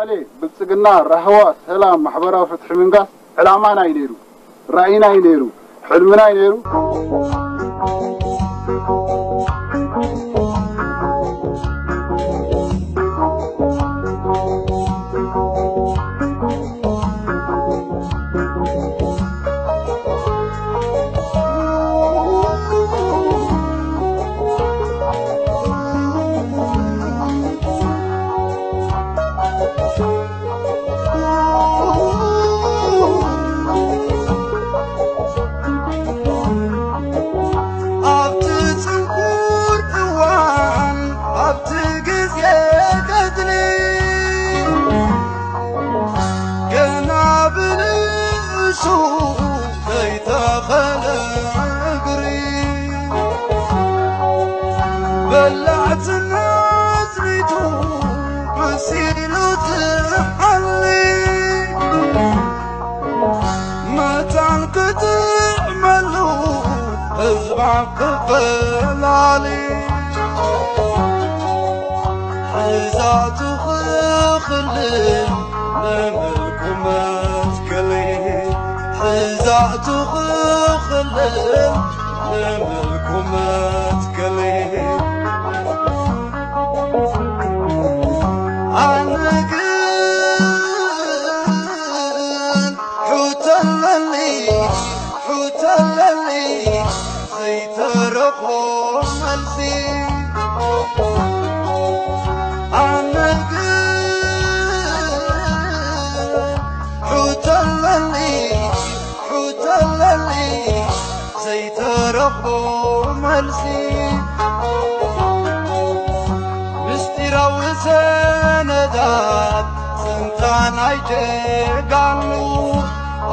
ብልጽግና፣ ራህዋ፣ ሰላም፣ ማሕበራዊ ፍትሒ ምንጋስ ዕላማና እዩ ነይሩ፣ ራእይና እዩ ነይሩ፣ ሕልምና እዩ ነይሩ። ኣብቲ ጽንኩር እዋን፣ ኣብቲ ግዜ ገድሊ፣ ገና ብንእሱ ዘይተኸለ እግሪ፣ በላዕትን ኣጽኒቱ መሲሉ ዝሓሊ፣ መታን ክጥዕመሉ ህዝባ ክፈላሊ፣ ሕዛቱ ክኽልል ንምልኩ መትከሊ፣ ሕዛቱ ክኽልል ንምልኩ መትከሊ። ኣነ ግን ሕቶ ኣለኒ፣ ሕቶ ኣለኒ ዘይተረኾ መልሲ። ኣነ ግን ሕቶ ኣለኒ፣ ሕቶ ኣለኒ ዘይተረኽቦ መልሲ። ምስጢራዊ ሰነዳት ስልጣን ኣይጀጋኑ፣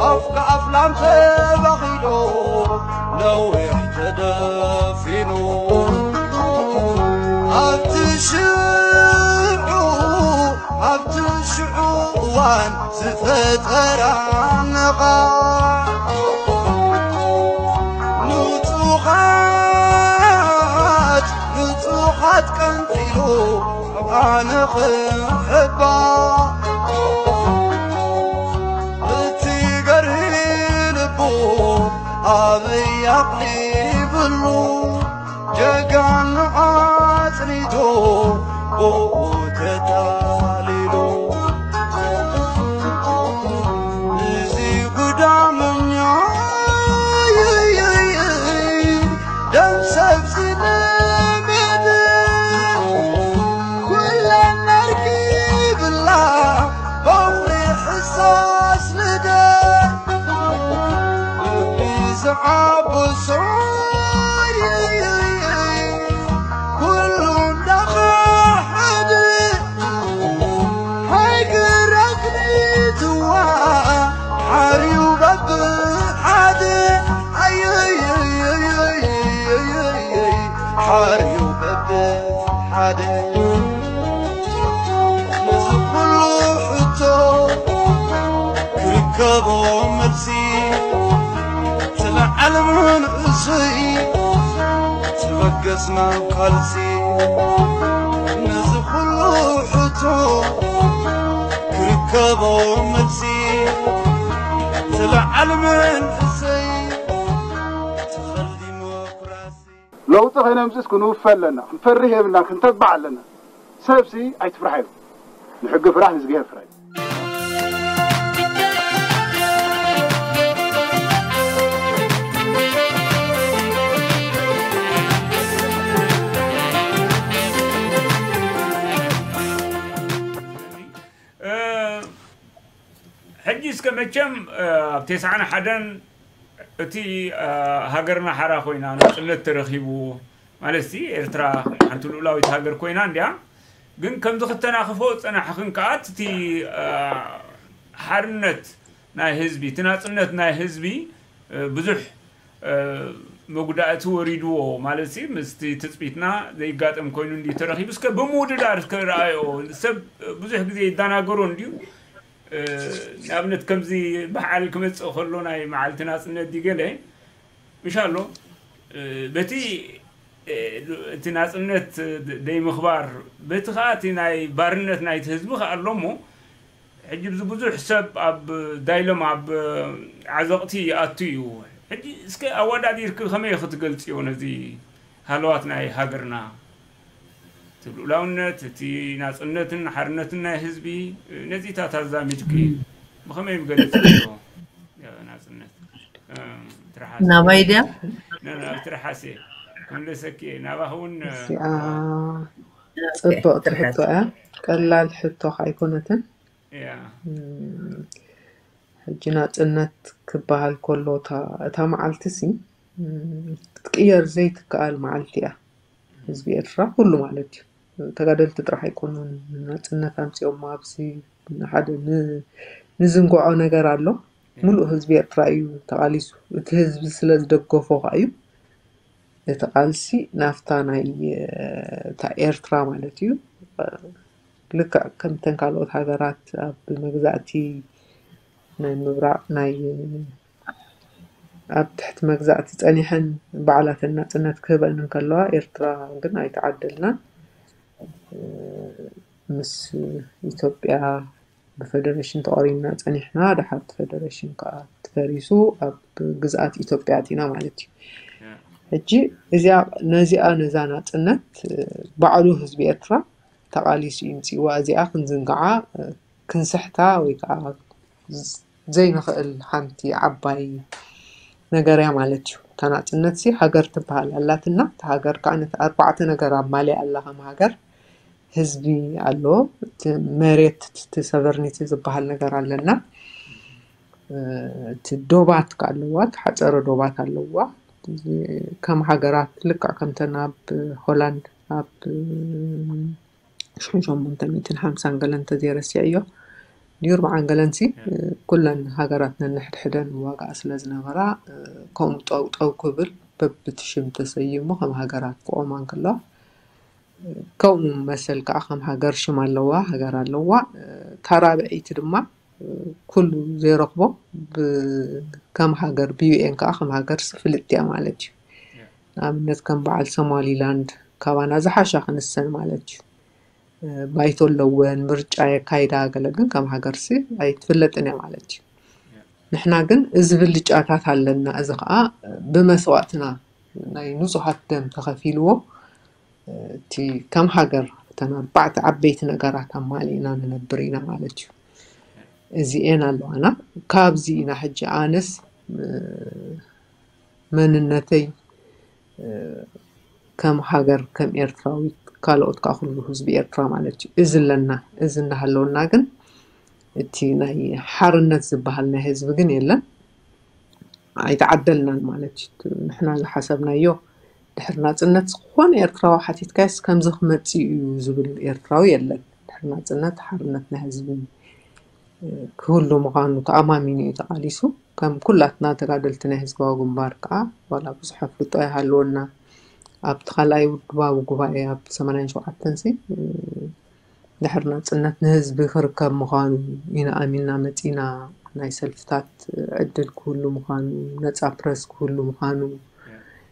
ኣፍ ከኣፍ ላም ተባኺሎ ነዊሕ ተደፊኑ። ኣብቲ ሽዑ፣ ኣብቲ ሽዑ እዋን ዝፈጠራ ነቓዕ፣ ንጹኻት፣ ንጹኻት ቀንጢሉ ኣነ ክሕባእ፣ እቲ ገርሂ ልቡ ኣበይ ኣቕሊብሉ፣ ጀጋኑ ኣጽኒቱ ብኡ ተታሊሉ። እዚ ጉዳመኛ ደም ሰብ ዝለመደ፣ ኩለን ኣርኪብላ ባውሪ ሕሳስ ልደ፣ ልቢ ዝዓብሶ ኩሉ እንዳኸሓደ፣ ሃይገር ኣግኒትዋ ሓርዩ በብሓደ፣ ኣየየየየየየየ ሓርዩ በብሓደ። ነዚ ኩሉ ሕቶ ክርከቦ መልሲ፣ ትልዓል መንእሰይ ትበገስ ናብ ቃልሲ። ነዚ ኩሉ ሕቶ ክርከቦ መልሲ፣ ትልዓል መንእሰይ ትኸል ዲሞክራሲ። ለውጢ ከይነምፅስ ክንውፈ ኣለና፣ ክንፈርህ የብልና፣ ክንተባዕ ኣለና። ሰብሲ ኣይትፍራሕ እዩ። ንሕጊ ፍራሕ፣ ንእዝግሄር ፍራሕ። እ፣ ሕጂ እስከ መቸም፣ እ፣ ኣብ ተስዓን ሓደን እቲ፣ እ፣ ሃገርና ሓራ ኮይና ናጽነት ተረኺቡ፣ ማለት ሲ ኤርትራ ሓንቲ ልኡላዊት ሃገር ኮይና እንድያ። ግን ከምዚ ክተናኽፎ ዝጸናሕኽን ከኣ እቲ፣ እ፣ ሓርነት ናይ ህዝቢ፣ እቲ ናጽነት ናይ ህዝቢ፣ እ፣ ብዙሕ፣ እ፣ መጉዳእቲ ወሪድዎ፣ ማለት ሲ ምስቲ ትጽቢትና ዘይጋጠም ኮይኑ እንድዩ ተረኺቡ። እስከ ብምውድዳር እስከ ረኣዮ። ሰብ ብዙሕ ግዜ ይደናገሮ እንድዩ። እ፣ ንኣብነት ከምዚ በዓል ክመጽእ ከሎ ናይ መዓልቲ ናጽነት ድዩ ገለ፣ ምሻሎ፣ እ፣ በቲ፣ እ፣ እቲ ናጽነት ደይምኽባር፣ በቲ ኸኣ እቲ ናይ ባርነት ናይቲ ህዝቢ ኸኣ ኣሎ እሞ፣ ሕጂ እዚ ብዙሕ ሰብ ኣብ ዳይሎም ኣብ ዓዘቕቲ ይኣቱ እዩ። ሕጂ እስከ ኣወዳዲርክ ከመይ ክትገልጽዮ ነዚ ሃለዋት ናይ ሃገርና? እቲ ልኡላውነት፣ እቲ ናጽነትን ሓርነትን ናይ ህዝቢ፣ ነዚታት ኣዛሚድክ ብኸመይ ምገልጽ ናጽነት? ናባይ ድያ? ትርሓስ ክምለሰኪ ናባኽ እውን ጽብቕቲ ሕቶ እያ። ቀላል ሕቶ ኣይኮነትን። ሕጂ ናጽነት ክበሃል ከሎ እታ መዓልቲ ሲ ክትቅየር ዘይትከኣል መዓልቲ እያ። ህዝቢ ኤርትራ ኩሉ ማለት እዩ። ተጋደልቲ ጥራሕ ኣይኮኑን ናጽነት ኣምጺኦም ኣብዚ ሓደ ንዝንግዖ ነገር ኣሎ። ሙሉእ ህዝቢ ኤርትራ እዩ ተቓሊሱ። እቲ ህዝቢ ስለ ዝደገፎ ከዓ እዩ እቲ ቃልሲ ናፍታ ናይ እታ ኤርትራ ማለት እዩ። ልክዕ ከምተን ካልኦት ሃገራት ኣብ መግዛእቲ ናይ ምብራቕ ናይ ኣብ ትሕቲ መግዛእቲ ጸኒሐን ባዕላተን ናጽነት ክህበን እንከለዋ ኤርትራ ግን ኣይተዓደልናን። ምስ ኢትዮጵያ ብፈደረሽን ተቆሪንና ጸኒሕና። ድሓር እቲ ፈደረሽን ከዓ ተፈሪሱ ኣብ ግዝኣት ኢትዮጵያ ኣቲና ማለት እዩ። ሕጂ እዚኣ ነዚኣ ነዛ ናጽነት ባዕሉ ህዝቢ ኤርትራ ተቓሊሱ ይምፅእዋ። እዚኣ ክንዝንግዓ ክንስሕታ ወይ ከዓ ዘይንኽእል ሓንቲ ዓባይ ነገር እያ ማለት እዩ። እታ ናፅነት ሲ ሃገር ትበሃል ኣላትና። እታ ሃገር ከዓ ነቲ ኣርባዕተ ነገር ኣማሊኣ ኣላ። ከም ሃገር ህዝቢ ኣሎ፣ እቲ መሬት፣ እቲ ሰቨርኒቲ ዝበሃል ነገር ኣለና። እቲ ዶባት ከዓ ኣለዋ፣ ተሓፀረ ዶባት ኣለዋ። ከም ሃገራት ልክዕ ከምተን ኣብ ሆላንድ ኣብ ሽሕን ሸሞንተ ሚእትን ሓምሳን ገለ እንተዘይረሲዐዮ ድዩ ኣርብዓን ገለንሲ ኩለን ሃገራት ነንሕድሕደን ዋጋ ስለ ዝነበራ ከምኡ ጠውጠው ክብል በብቲ ሽም ተሰይሙ ከም ሃገራት ክቆማ እንከለዋ ከምኡ መሰል ከዓ ከም ሃገር ሽም ኣለዋ፣ ሃገር ኣለዋ። እታ ራብዐይቲ ድማ ኩሉ ዘይረኽቦ ከም ሃገር ብዩኤን ከዓ ከም ሃገር ፍልጥቲ እያ ማለት እዩ። ንኣብነት ከም በዓል ሶማሊላንድ ካባና ዝሓሻ ክንሰን ማለት እዩ። ባይቶ ኣለወን፣ ምርጫ የካይዳ፣ ገለ ግን ከም ሃገርሲ ኣይትፍለጥን እያ ማለት እዩ። ንሕና ግን እዚ ብልጫታት ኣለና። እዚ ከዓ ብመስዋእትና ናይ ንጹሃት ደም ተኸፊልዎ እቲ ከም ሃገር እተን ኣርባዕተ ዓበይቲ ነገራት ኣማሊእና ንነብር ኢና ማለት እዩ። እዚኤን ኣለዋና። ካብዚ ኢና ሕጂ ኣነስ መንነተይ ከም ሃገር ከም ኤርትራዊት ካልኦት ከዓ ኩሉ ህዝቢ ኤርትራ ማለት እዩ። እዚ ኣለና። እዚ እንዳሃለወና ግን እቲ ናይ ሓርነት ዝበሃል ናይ ህዝቢ ግን የለን። ኣይተዓደልናን ማለት እዩ። ንሕና ዝሓሰብናዮ ድሕሪ ናፅነት ዝኾነ ኤርትራዊ ሓቲትካዮስ ከምዚ ክመፅእ እዩ ዝብል ኤርትራዊ የለን። ድሕሪ ናፅነት ሓርነት ናይ ህዝቢ ክህሉ ምዃኑ ተኣማሚኑ እዩ ተቓሊሱ። ከም ኩላትና ተጋደልቲ ናይ ህዝባዊ ግንባር ከዓ ዋላ ብዙሕ ኣፍልጦ ኣይሃልወና ኣብቲ ካልኣይ ውድባዊ ጉባኤ ኣብ ሰማንያን ሸውዓተን ሲ ድሕሪ ናፅነት ንህዝቢ ክርከብ ምዃኑ ኢና ኣሚንና መፂና። ናይ ሰልፍታት ዕድል ክህሉ ምዃኑ፣ ነፃ ፕረስ ክህሉ ምዃኑ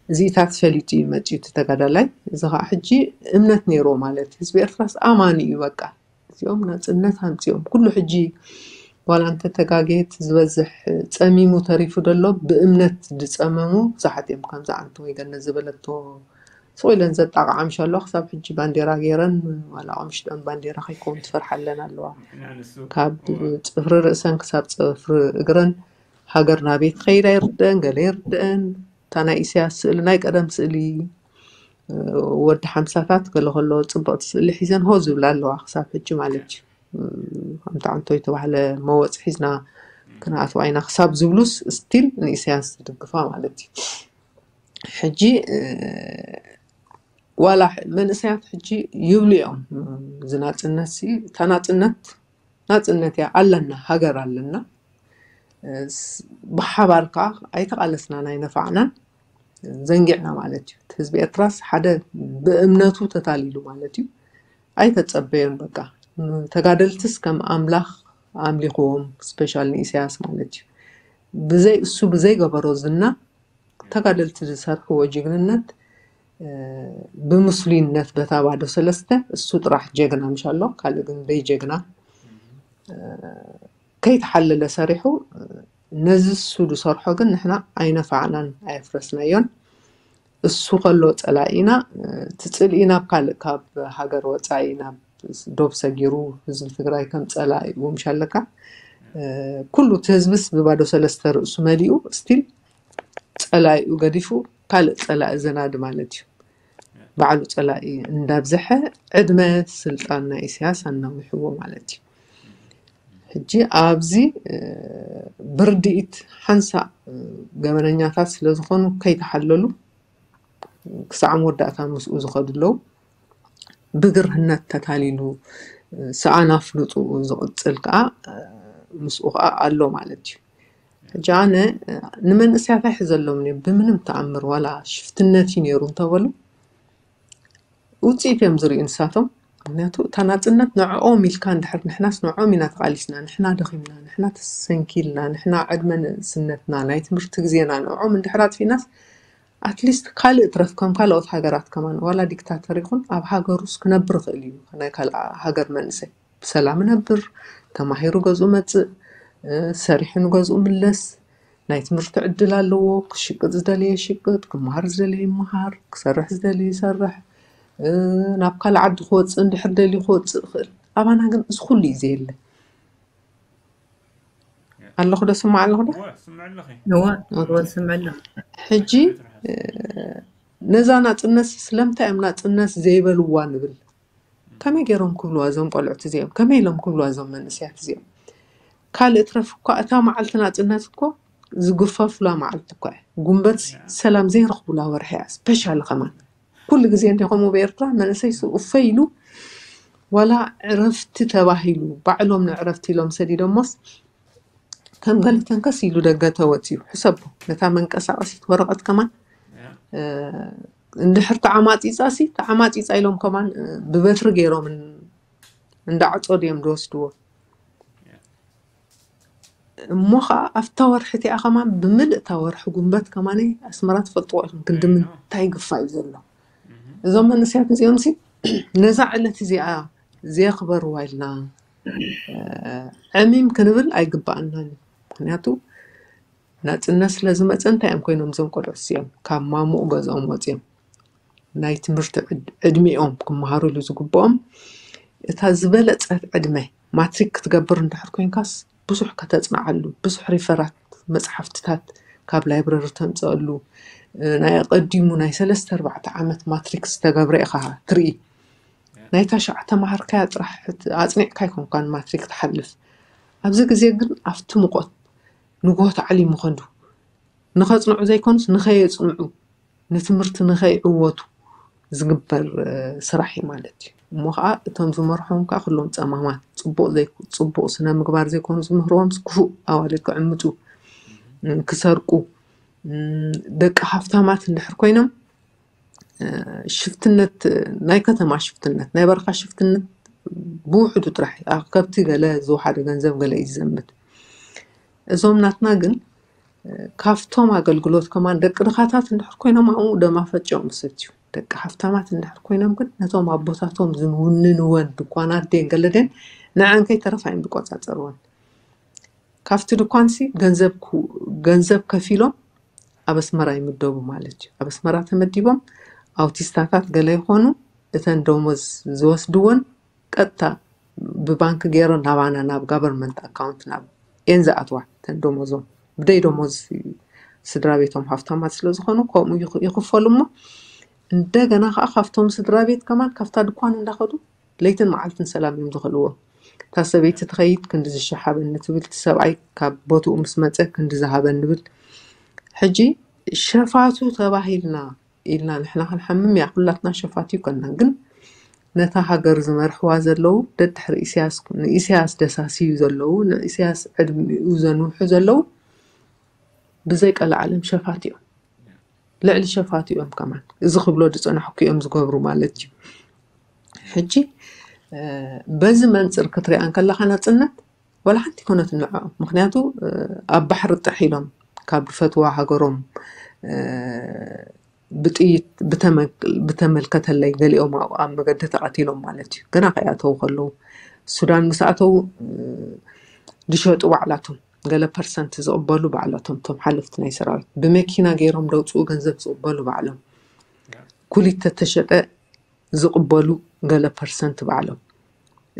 እዚታት ፈሊጡ እዩ መፂኡ እቲ ተጋዳላይ። እዚ ከዓ ሕጂ እምነት ነይርዎ ማለት ህዝቢ ኤርትራስ ኣማኒ እዩ። በቃ እዚኦም ናፅነት ኣምፂኦም ኩሉ ሕጂ ዋላ እንተ ተጋጌት ዝበዝሕ ፀሚሙ ተሪፉ ደሎ ብእምነት ዝፀመሙ ብዙሓት እዮም። ከምዚ ዓንተ ወይ ገነት ዝበለቶ ስቕ ኢለን ዘጣቕዓ ምሽ ኣለዋ። ክሳብ ሕጂ ባንዴራ ገይረን ዋላ ቐምሽጠን ባንዴራ ከይከውን ትፈርሓለን ኣለዋ። ካብ ፅፍሪ ርእሰን ክሳብ ፅፍሪ እግረን ሃገር ናበይ ትኸይድ ኣይርድአን፣ ገለ ይርድአን። እታ ናይ ኢሳያስ ስእሊ ናይ ቀደም ስእሊ ወዲ ሓምሳታት ገለ ከሎ ፅብቕቲ ስእሊ ሒዘን ሆ ዝብላ ኣለዋ ክሳብ ሕጂ ማለት እዩ። ከምቲ ዓንቶ የተባህለ መወፅ ሒዝና ክንኣትዋ ኢና ክሳብ ዝብሉስ ስቲል ንኢሳያስ ዝድግፋ ማለት እዩ። ሕጂ ዋላ መንእሰያት ሕጂ ይብሉ እዮም ዝናፅነት ሲ ተናፅነት ናፅነት እያ ኣለና ሃገር ኣለና ብሓባር ከዓ ኣይተቃለስናን ኣይነፋዕናን ዘንጊዕና ማለት እዩ። ህዝቢ ኤርትራስ ሓደ ብእምነቱ ተታሊሉ ማለት እዩ። ኣይተፀበዮን በቃ ተጋደልትስ ከም ኣምላኽ ኣምሊኽዎም ስፔሻል ንኢሳያስ ማለት እዩ። ብዘይ እሱ ብዘይገበሮ ዝና ተጋደልቲ ዝሰርሕዎ ጅግንነት ብምስሉይነት በታ ባዶ ሰለስተ እሱ ጥራሕ ጀግና ምሽ ኣሎ ካልእ ግን ደይ ጀግና ከይተሓለለ ሰሪሑ፣ ነዚ እሱ ዝሰርሖ ግን ንሕና ኣይነፋዕናን ኣየፍረስናዮን። እሱ ከሎ ጸላኢና፣ እቲ ጽልኢ ናብ ካልእ፣ ካብ ሃገር ወጻኢ ናብ ዶብ ሰጊሩ ህዝቢ ትግራይ ከም ጸላኢኡ ምሽ ኣለካ። ኩሉ እቲ ህዝብስ ብባዶ ሰለስተ ርእሱ መሊኡ ስቲል ጸላኢኡ ገዲፉ ካልእ ጸላኢ ዘናዲ ማለት እዩ። ባዕሉ ጸላኢ እንዳብዝሐ ዕድመ ስልጣን ናይ ኢሳያስ ኣናዊሕዎ ማለት እዩ። ሕጂ ኣብዚ ብርድኢት ሓንሳእ ገበነኛታት ስለ ዝኾኑ ከይተሓለሉ ክሳዕ መወዳእታ ምስኡ ዝኸዱ ኣለዉ። ብግርህነት ተታሊሉ ሰኣን ኣፍልጡ ዝቕጽል ከዓ ምስኡ ከዓ ኣሎ ማለት እዩ። ሕጂ ኣነ ንመንእሰያት ኣይሕዘሎም እየ ብምንም ተኣምር፣ ዋላ ሽፍትነት እዩ ነይሩ እንተበሉ ውፅኢት እዮም ዝርእዩ ንሳቶም። ምክንያቱ እታ ናፅነት ንዕኦም ኢልካ እንድሕር፣ ንሕናስ ንዕኦም ኢና ተቓሊስና፣ ንሕና ደኺምና፣ ንሕና ተሰንኪልና፣ ንሕና ዕድመ ንእስነትና፣ ናይ ትምህርቲ ግዜና ንዕኦም እንድሕር ኣጥፊእናስ ኣትሊስት ካልእ ትረፍ ከም ካልኦት ሃገራት ከማን ዋላ ዲክታተር ይኹን ኣብ ሃገሩስ ክነብር ይኽእል እዩ። ናይ ካልእ ሃገር መንእሰይ ብሰላም ነብር፣ ተማሂሩ ገዝኡ መጽእ፣ ሰሪሑ ንገዝኡ ምለስ፣ ናይ ትምህርቲ ዕድል ኣለዎ፣ ክሽቅጥ ዝደለየ ይሽቅጥ፣ ክመሃር ዝደለየ ይመሃር፣ ክሰርሕ ዝደለየ ይሰርሕ፣ ናብ ካልእ ዓዲ ክወፅእ እንድሕር ደልዩ ክወፅእ ይኽእል። ኣባና ግን እዚ ኩሉ እዩ ዘየለ። ኣለኹ ዶ ስማዕ ኣለኹ ዶ? እወ ስምዕ ኣለኹ። ሕጂ ነዛ ናፅነት ስለምንታይ እዮም ናፅነት ዘይበልዋ ንብል? ከመይ ገይሮም ክብልዋ እዞም ቆልዑት እዚኦም? ከመይ ኢሎም ክብልዋ እዞም መንእሰያት እዚኦም? ካልእ ትረፍ እኳ እታ መዓልቲ ናፅነት እኮ ዝግፈፉላ መዓልቲ እኳ እያ። ጉንበት ሰላም ዘይረኽቡላ ወርሒ እያ። ስፔሻሊ ከማን ኩሉ ግዜ እንዲኹም ብኤርትራ መንእሰይ እፈ ኢሉ ዋላ ዕረፍቲ ተባሂሉ ባዕሎም ንዕረፍቲ ኢሎም ሰዲዶሞስ ከም ገለ ተንከስ ኢሉ ደገ ተወፅዩ። ሕሰቦ ነታ መንቀሳቐሲት ወረቐት ከማን እንድሕር ተዓማፂፃ ሲ ተዓማፂፃ ኢሎም ከማን ብበትሪ ገይሮም እንዳዓፀዱ እዮም ዝወስድዎ። እሞ ከዓ ኣብታ ወርሒ እቲኣ ከማን ብምልእ እታ ወርሒ ጉንበት ከማን ኣስመራ ትፈልጥዎ ኢኹም ክንዲ ምንታይ ግፋ እዩ ዘሎ። እዞም መንእሰያት እዚኦም ሲ ነዛ ዕለት እዚኣ ዘየኽበርዋ ኢልና ዕሚም ክንብል ኣይግባኣናን። ምክንያቱ ናፅነት ስለ ዝመፀ እንታይ እዮም ኮይኖም እዞም ቆልዑት እዚኦም? ካብ ማሙቕ ገዝኦም ወፂኦም ናይ ትምህርቲ ዕድሚኦም ክመሃሩሉ ዝግብኦም እታ ዝበለፀት ዕድመ ማትሪክ ክትገብር እንድሕር ኮይንካስ ብዙሕ ከተፅንዓሉ፣ ብዙሕ ሪፈራት መፅሓፍትታት ካብ ላይብረሪ ተምፀኣሉ፣ ናይ ኣቐዲሙ ናይ ሰለስተ ኣርባዕተ ዓመት ማትሪክ ዝተገብረ ኢኻ ትርኢ። ናይ ታሽዓ ተማሃርካያ ጥራሕ ኣፅኒዕካ ኣይኮንካን ማትሪክ ትሓልፍ። ኣብዚ ግዜ ግን ኣብቲ ሙቐት ንግሆ ተዓሊሙ ከንዱ ንኸፅንዑ ዘይኮኑስ ንኸየፅንዑ ንትምህርቲ ንኸይዕወቱ ዝግበር ስራሕ እዩ ማለት እዩ። እሞ ከዓ እቶም ዝመርሖም ከዓ ኩሎም ፀማማት፣ ፅቡቕ ስነ ምግባር ዘይኮኑ ዝምህርዎም ክፉእ ኣዋልድ ክዕምፁ፣ ክሰርቁ፣ ደቂ ሃፍታማት እንድሕር ኮይኖም ሽፍትነት፣ ናይ ከተማ ሽፍትነት፣ ናይ በረኻ ሽፍትነት ብውሕዱ ጥራሕ ከብቲ ገለ ዝወሓደ ገንዘብ ገለ እዩ ዝዘምት። እዞም ናትና ግን ካብቶም ኣገልግሎት ከማን ደቂ ድኻታት እንድሕር ኮይኖም ኣብኡ ደማ ፈጭኦም ዝሰትዩ፣ ደቂ ሃፍታማት እንድሕር ኮይኖም ግን ነቶም ኣቦታቶም ዝውንንወን ድኳናት ደን ገለ ደን ንዐን ከይተረፋ እዮም ዝቆፃፀርወን። ካብቲ ድኳንሲ ገንዘብ ከፊሎም ኣብ ኣስመራ ይምደቡ ማለት እዩ። ኣብ ኣስመራ ተመዲቦም ኣውቲስታታት ገለ ይኾኑ፣ እተን ደሞዝ ዝወስድወን ቀጥታ ብባንክ ገይሮ ናባና ናብ ጋቨርንመንት ኣካውንት ናብ ኤን ዝኣትዋ እተን ደሞዞም ብደይ ደሞዝ ስድራ ቤቶም ሃፍታማት ስለ ዝኾኑ ከምኡ ይኽፈሉ እሞ እንደገና ከዓ ካብቶም ስድራ ቤት ከማን ካብታ ድኳን እንዳኸዱ ለይትን መዓልትን ሰላም እዮም ዝኽልዎ። እታ ሰበይቲ ትኸይድ ክንዲ ዝሸሓበኒ ትብል፣ እቲ ሰብኣይ ካብ ቦትኡ ምስ መፀ ክንዲ ዝሃበኒ ንብል። ሕጂ ሸፋቱ ተባሂልና ኢልና ንሕና ክንሓምም እያ፣ ኩላትና ሸፋት እዩ ከና። ግን ነታ ሃገር ዝመርሕዋ ዘለዉ ደድሕሪ ኢሳያስ፣ ንኢሳያስ ደሳስዩ ዘለዉ፣ ንኢሳያስ ዕድሚኡ ዘንውሑ ዘለዉ ብዘይ ቀለዓለም ሸፋት እዮም። ልዕሊ ሸፋት እዮም ከማን። እዚ ክብሎ ዝጸናሕኩ እዮም ዝገብሩ ማለት እዩ። ሕጂ በዚ መንፅር ክትሪኣ እንከለኻ ናፅነት ዋላ ሓንቲ ኮነት ንዕኦም። ምክንያቱ ኣብ ባሕሪ ጥሕ ኢሎም ካብ ዝፈትዋ ሃገሮም ብጥይት ብተመልከተለይ ገሊኦም ኣብ መገዲ ተቐቲሎም ማለት እዩ። ገና ከይኣተዉ ከለዉ ሱዳን ምስ ኣተዉ ዝሸጡ ባዕላቶም፣ ገለ ፐርሰንት ዝቕበሉ ባዕላቶም፣ እቶም ሓለፍቲ ናይ ሰራዊት ብመኪና ገይሮም ደውፅኡ ገንዘብ ዝቕበሉ ባዕሎም፣ ኩሊት ተተሸጠ ዝቕበሉ ገለ ፐርሰንት ባዕሎም።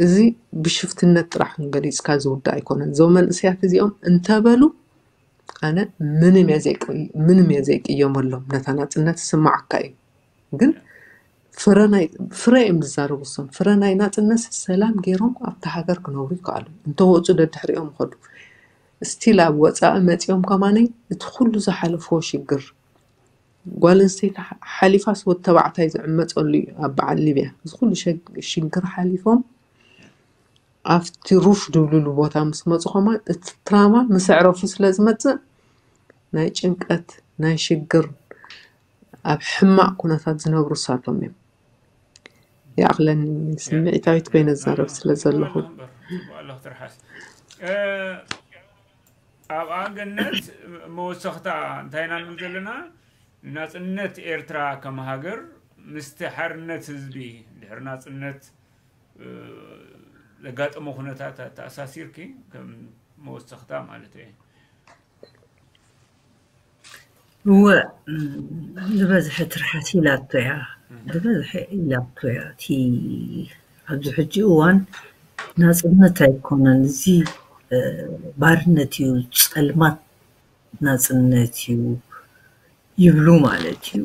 እዚ ብሽፍትነት ጥራሕ ገሊፅካ ዝውዳእ ኣይኮነን። እዞም መንእሰያት እዚኦም እንተበሉ ኣነ ምንም እየ ዘይቅ- ምንም እየ ዘይቅየመሎም። ነታ ናፅነት ስማዓካ እዩ፣ ግን ፍረ ናይ ፍረ እዮም ዝዛረቡ እሶም። ፍረ ናይ ናፅነት ሰላም ገይሮም ኣብታ ሃገር ክነብሩ ይከኣሉ። እንተወፁ ደድሕሪኦም ይኸዱ። ስቲል ኣብ ወፃኢ መፂኦም ከማነይ እቲ ኩሉ ዝሓለፍዎ ሽግር ጓል ኣንስተይቲ ሓሊፋስ ወዲ ተባዕታይ ዝዕመፀሉ እዩ። ኣብ በዓል ሊብያ እዚ ኩሉ ሽግር ሓሊፎም ኣብቲ ሩፍ ድብልሉ ቦታ ምስ መፁ ከማን እቲ ትራማ ምስ ኣዕረፉ ስለ ዝመፅእ ናይ ጭንቀት ናይ ሽግር ኣብ ሕማቕ ኩነታት ዝነብሩ እሳቶም እዮም። ይኣኽለኒ ስምዒታዊት ኮይነ ዝዛረብ ስለ ዘለኹ። ኣብኣ ገነት መወሰኽታ እንታይ ኢና ንብል ዘለና? ናፅነት ኤርትራ ከም ሃገር ምስቲ ሓርነት ህዝቢ ድሕሪ ናፅነት ዘጋጠሞ ኩነታት ተኣሳሲርኪ ከም መወሰኽታ ማለት እየ። እወ ዝበዝሐ ትርሓስ ኢላቶ እያ ዝበዝሐ ኢላቶ እያ እቲ ኣብዚ ሕጂ እዋን ናፅነት ኣይኮነን እዚ ባርነት እዩ ፀልማት ናፅነት እዩ ይብሉ ማለት እዩ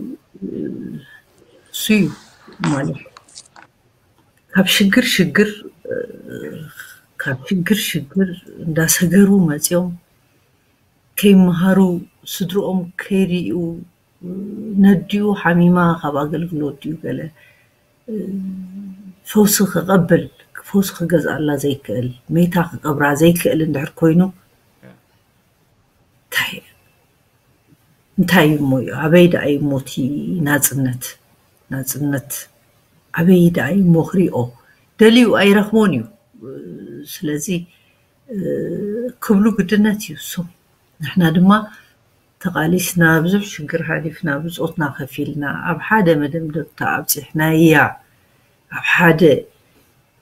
እሱ እዩ ማለት ካብ ሽግር ሽግር ካብ ሽግር ሽግር እንዳሰገሩ መፅኦም ከይመሃሩ ስድርኦም ከይርእዩ ነዲኡ ሓሚማ ካብ ኣገልግሎት ድዩ ገለ ፈውሲ ክቐብል ፈውሲ ክገዝኣላ ዘይክእል መይታ ክቀብራ ዘይክእል እንድሕር ኮይኑ እንታይ እንታይ እዩ እሞ እዩ ኣበይ ደኣ እዩ እሞ እቲ ናፅነት ናፅነት ኣበይ ደኣ እዩ እሞ ክሪኦ ደልዩ ኣይረኽቦን እዩ ስለዚ ክብሉ ግድነት እዩ እሱ ንሕና ድማ ተቓሊስና ብዙሕ ሽግር ሓሊፍና ብፆትና ከፊልና ኣብ ሓደ መደምደምታ ኣብፂሕናያ ኣብ ሓደ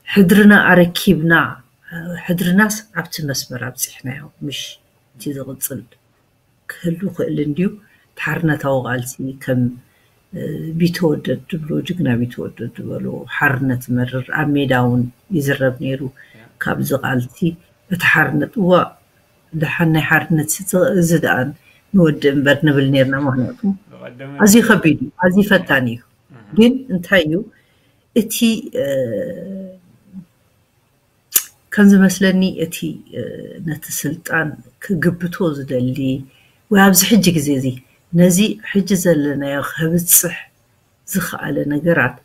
ሕድርና ኣረኪብና ሕድርናስ ኣብቲ መስመር ኣብፂሕናዮ ምሽ እቲ ዝቕፅል ክህሉ ክእል እንድዩ እቲ ሓርነታዊ ቃልሲ ከም ቢተወደድ ድብሎ ጅግና ቢተወደድ ዝበሎ ሓርነት መርር ኣብ ሜዳ እውን ይዝረብ ነይሩ ካብዚ ቃልሲ እቲ ሓርነት እዋ ደሓን ናይ ሓርነት እዚ ደኣ ንወዲ እምበር ንብል ነርና ምክንያቱ ኣዝዩ ከቢድ እዩ ኣዝዩ ፈታን እዩ ግን እንታይ እዩ እቲ ከም ዝመስለኒ እቲ ነቲ ስልጣን ክግብቶ ዝደሊ ወይ ኣብዚ ሕጂ ግዜ እዚ ነዚ ሕጂ ዘለናዮ ከብፅሕ ዝኸኣለ ነገራት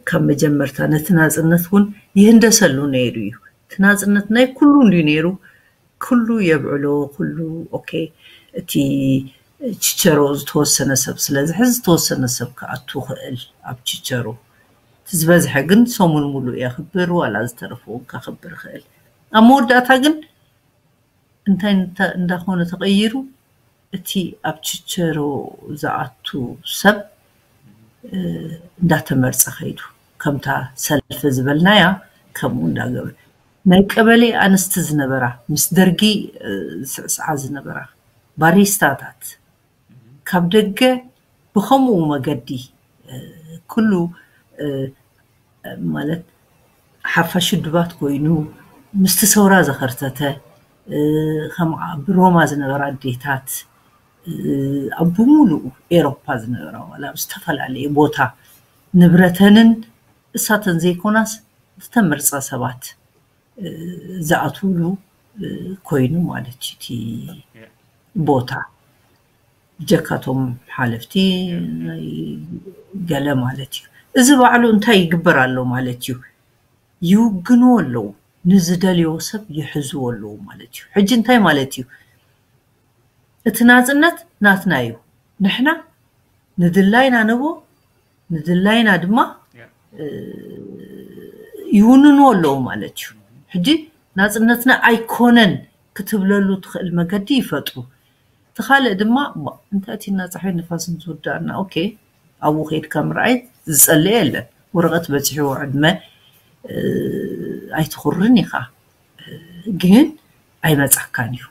ካብ መጀመርታ ነቲ ናፅነት እውን ይህንደሰሉ ነይሩ እዩ እቲ ናፅነት ናይ ኩሉ እንድዩ ነይሩ ኩሉ የብዕሎ ኩሉ ኦኬ እቲ ችቸሮ ዝተወሰነ ሰብ ስለዝሕዝ ዝተወሰነ ሰብ ክኣቱ ክእል ኣብ ችቸሮ እቲ ዝበዝሐ ግን ሰሙን ሙሉእ የኽብር ዋላ ዝተረፈ እውን ከኽብር ይኽእል ኣብ መወዳእታ ግን እንታይ እንዳኾነ ተቐይሩ እቲ ኣብ ችቸሮ ዝኣቱ ሰብ እንዳተመርፀ ከይዱ ከምታ ሰልፊ ዝበልናያ ከምኡ እንዳገበ ናይ ቀበሌ ኣንስቲ ዝነበራ ምስ ደርጊ ዝስዕስዓ ዝነበራ ባሪስታታት ካብ ደገ ብኸምኡ መገዲ ኩሉ ማለት ሓፋሽ ውድባት ኮይኑ ምስቲ ሰውራ ዘኸርተተ ከም ኣብ ሮማ ዝነበራ ኣዴታት ኣብ ብምሉኡ ኤሮፓ ዝነበራ ዋላ ኣብ ዝተፈላለየ ቦታ ንብረተንን እሳተን ዘይኮናስ ዝተመርፃ ሰባት ዝኣትውሉ ኮይኑ ማለት እዩ እቲ ቦታ ብጀካቶም ሓለፍቲ ገለ ማለት እዩ እዚ ባዕሉ እንታይ ይግበር ኣሎ ማለት እዩ ይውግንዎ ኣለዉ ንዝደልዮ ሰብ ይሕዝዎ ኣለዉ ማለት እዩ ሕጂ እንታይ ማለት እዩ እቲ ናፅነት ናትና እዩ ንሕና ንድላይና ንቦ ንድላይና ድማ ይውንንዎ ኣለዉ ማለት እዩ ሕጂ ናፅነትና ኣይኮነን ክትብለሉ ትኽእል መገዲ ይፈጥሩ እቲ ካልእ ድማ እንታይ እቲ ናፃሒ ንፋስን ዝውዳእና ኦኬ ኣብኡ ከይድካ ምርኣይ ዝፀልእ የለን ወረቐት በፂሕዎ ዕድመ ኣይትኹርን ኢኻ፣ ግን ኣይመጻካን እዩ።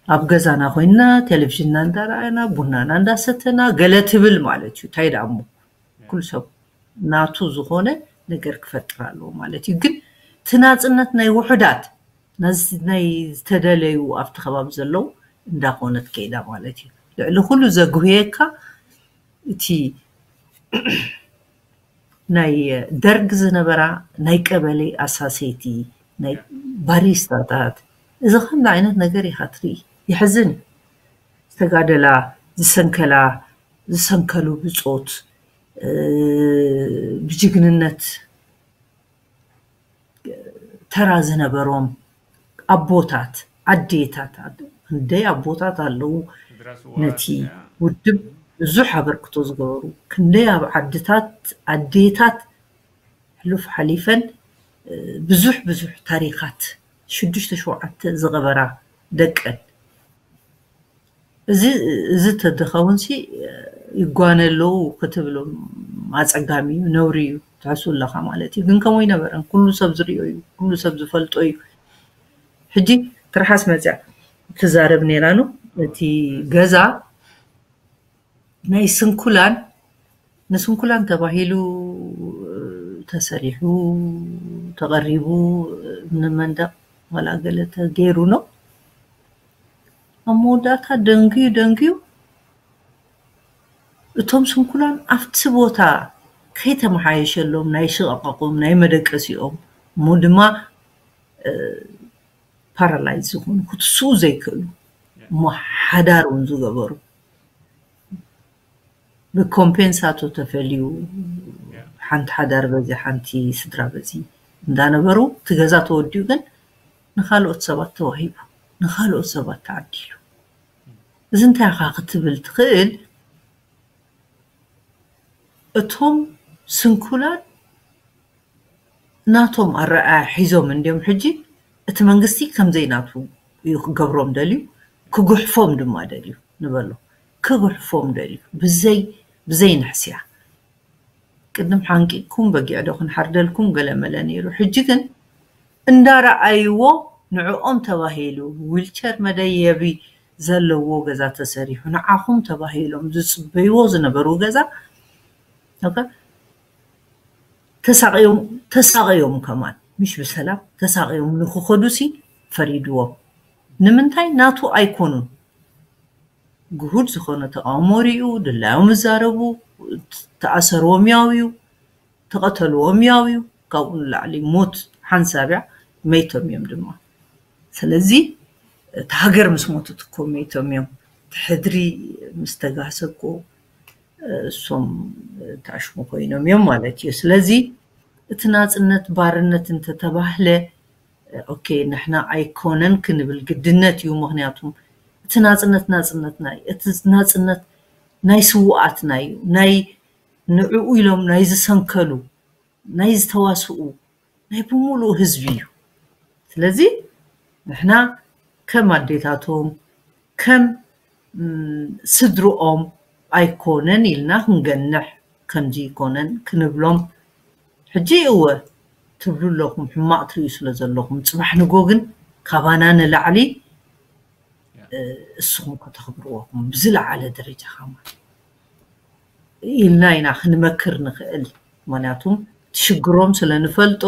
ኣብ ገዛና ኮይንና ቴሌቪዥንና እንዳረኣና፣ ቡናና እንዳሰተና ገለ ትብል ማለት እዩ። እንታይ ደኣ እሞ ኩሉ ሰብ ናቱ ዝኾነ ነገር ክፈጥር ኣለዎ ማለት እዩ። ግን እቲ ናጽነት ናይ ውሑዳት፣ ናይ ዝተደለዩ ኣብቲ ከባቢ ዘለዉ እንዳኾነት ከይዳ ማለት እዩ። ልዕሊ ኩሉ ዘጉህየካ እቲ ናይ ደርግ ዝነበራ ናይ ቀበሌ ኣሳሰይቲ፣ ናይ ባሪስታታት፣ እዚ ከምዚ ዓይነት ነገር ኢኻ ትርኢ። የሕዝን እዩ። ዝተጋደላ፣ ዝሰንከላ፣ ዝሰንከሉ ብጾት፣ ብጅግንነት ተራ ዝነበሮም ኣቦታት፣ ኣዴታት፣ ክንደይ ኣቦታት ኣለዉ ነቲ ውድብ ብዙሕ ኣበርክቶ ዝገበሩ፣ ክንደይ ኣብ ዓድታት ኣዴታት ሕሉፍ ሓሊፈን ብዙሕ ብዙሕ ታሪኻት ሽዱሽተ ሸውዓተ ዝቐበራ ደቀን። እዚ እዚ ተድኸውን ሲ ይጓነ ኣለዉ ክትብል ኣጸጋሚ እዩ፣ ነውሪ እዩ፣ ትሕሱ ኣለኻ ማለት እዩ። ግን ከምኡ ኣይነበረን። ኩሉ ሰብ ዝሪኦ እዩ፣ ኩሉ ሰብ ዝፈልጦ እዩ። ሕጂ ትርሓስ መጽያ ትዛረብ ነይራ ነው። እቲ ገዛ ናይ ስንኩላን፣ ንስንኩላን ተባሂሉ ተሰሪሑ፣ ተቐሪቡ፣ እምኒ መንደቕ ዋላ ገለ ተገይሩ ነው። ኣብ መወዳእታ ደንግዩ ደንግዩ እቶም ስንኩላን ኣብቲ ቦታ ከይተመሓየሸሎም ናይ ሽቓቓቖም ናይ መደቀሲኦም እሞ ድማ ፓራላይዝ ዝኾኑ ክትስኡ ዘይክእሉ እሞ ሓዳር እውን ዝገበሩ ብኮምፔንሳቶ ተፈልዩ ሓንቲ ሓዳር በዚ ሓንቲ ስድራ በዚ እንዳነበሩ እቲ ገዛ ተወዲኡ ግን ንኻልኦት ሰባት ተዋሂቡ ንኻልኦት ሰባት ተዓዲሉ። እዚ እንታይ ኢኻ ክትብል ትኽእል? እቶም ስንኩላን ናቶም ኣረኣያ ሒዞም እንድዮም ሕጂ እቲ መንግስቲ ከምዘይ ናቱ እዩ ክገብሮም ደልዩ ክጉሕፎም ድማ ደልዩ ንበሎ ክጉሕፎም ደልዩ ብዘይ ብዘይ ንሕስያ ቅድም ሓንቂቅኩም በጊዕ ዶ ክንሓርደልኩም ገለ መለ ነይሩ ሕጂ ግን እንዳረኣይዎ ንዕኦም ተባሂሉ ዊልቸር መደየቢ ዘለዎ ገዛ ተሰሪሑ ንዓኹም ተባሂሎም ዝፅበይዎ ዝነበሩ ገዛ ተሳቅዮም ተሳቅዮም ከማን ምሽ ብሰላም ተሳቅዮም ንክኸዱ ሲ ፈሪድዎም ንምንታይ ናቱ ኣይኮኑን ግሁድ ዝኾነ ተቃውሞ ሪኡ ድላዮም ዝዛረቡ ተኣሰርዎም ያው እዩ ተቐተልዎም ያው እዩ ካብኡ ንላዕሊ ሞት ሓንሳብ እያ መይቶም እዮም ድማ ስለዚ እቲ ሃገር ምስ ሞተት እኮ መይቶም እዮም እቲ ሕድሪ ምስ ተጋህሰ እኮ እሶም ተኣሽሙ ኮይኖም እዮም ማለት እዩ ስለዚ እቲ ናፅነት ባርነት እንተተባህለ ኦኬ ንሕና ኣይኮነን ክንብል ግድነት እዩ ምክንያቱም እቲ ናፅነት ናፅነትና እዩ እቲ ናፅነት ናይ ስውኣትና እዩ ናይ ንዕኡ ኢሎም ናይ ዝሰንከሉ ናይ ዝተዋስኡ ናይ ብምሉኡ ህዝቢ እዩ ስለዚ ንሕና ከም ኣዴታቶም ከም ስድርኦም ኣይኮነን ኢልና ክንገንሕ ከምዚ ይኮነን ክንብሎም ሕጂ እወ ትብሉ ኣለኹም ሕማቕ ትርእዩ ስለ ዘለኹም ጽባሕ ንጎ ግን ካባና ንላዕሊ እስኹም ከተኽብርዎኹም ብዝለዓለ ደረጃ ከማ ኢልና ኢና ክንመክር ንኽእል ምክንያቱም ትሽግሮም ስለ ንፈልጦ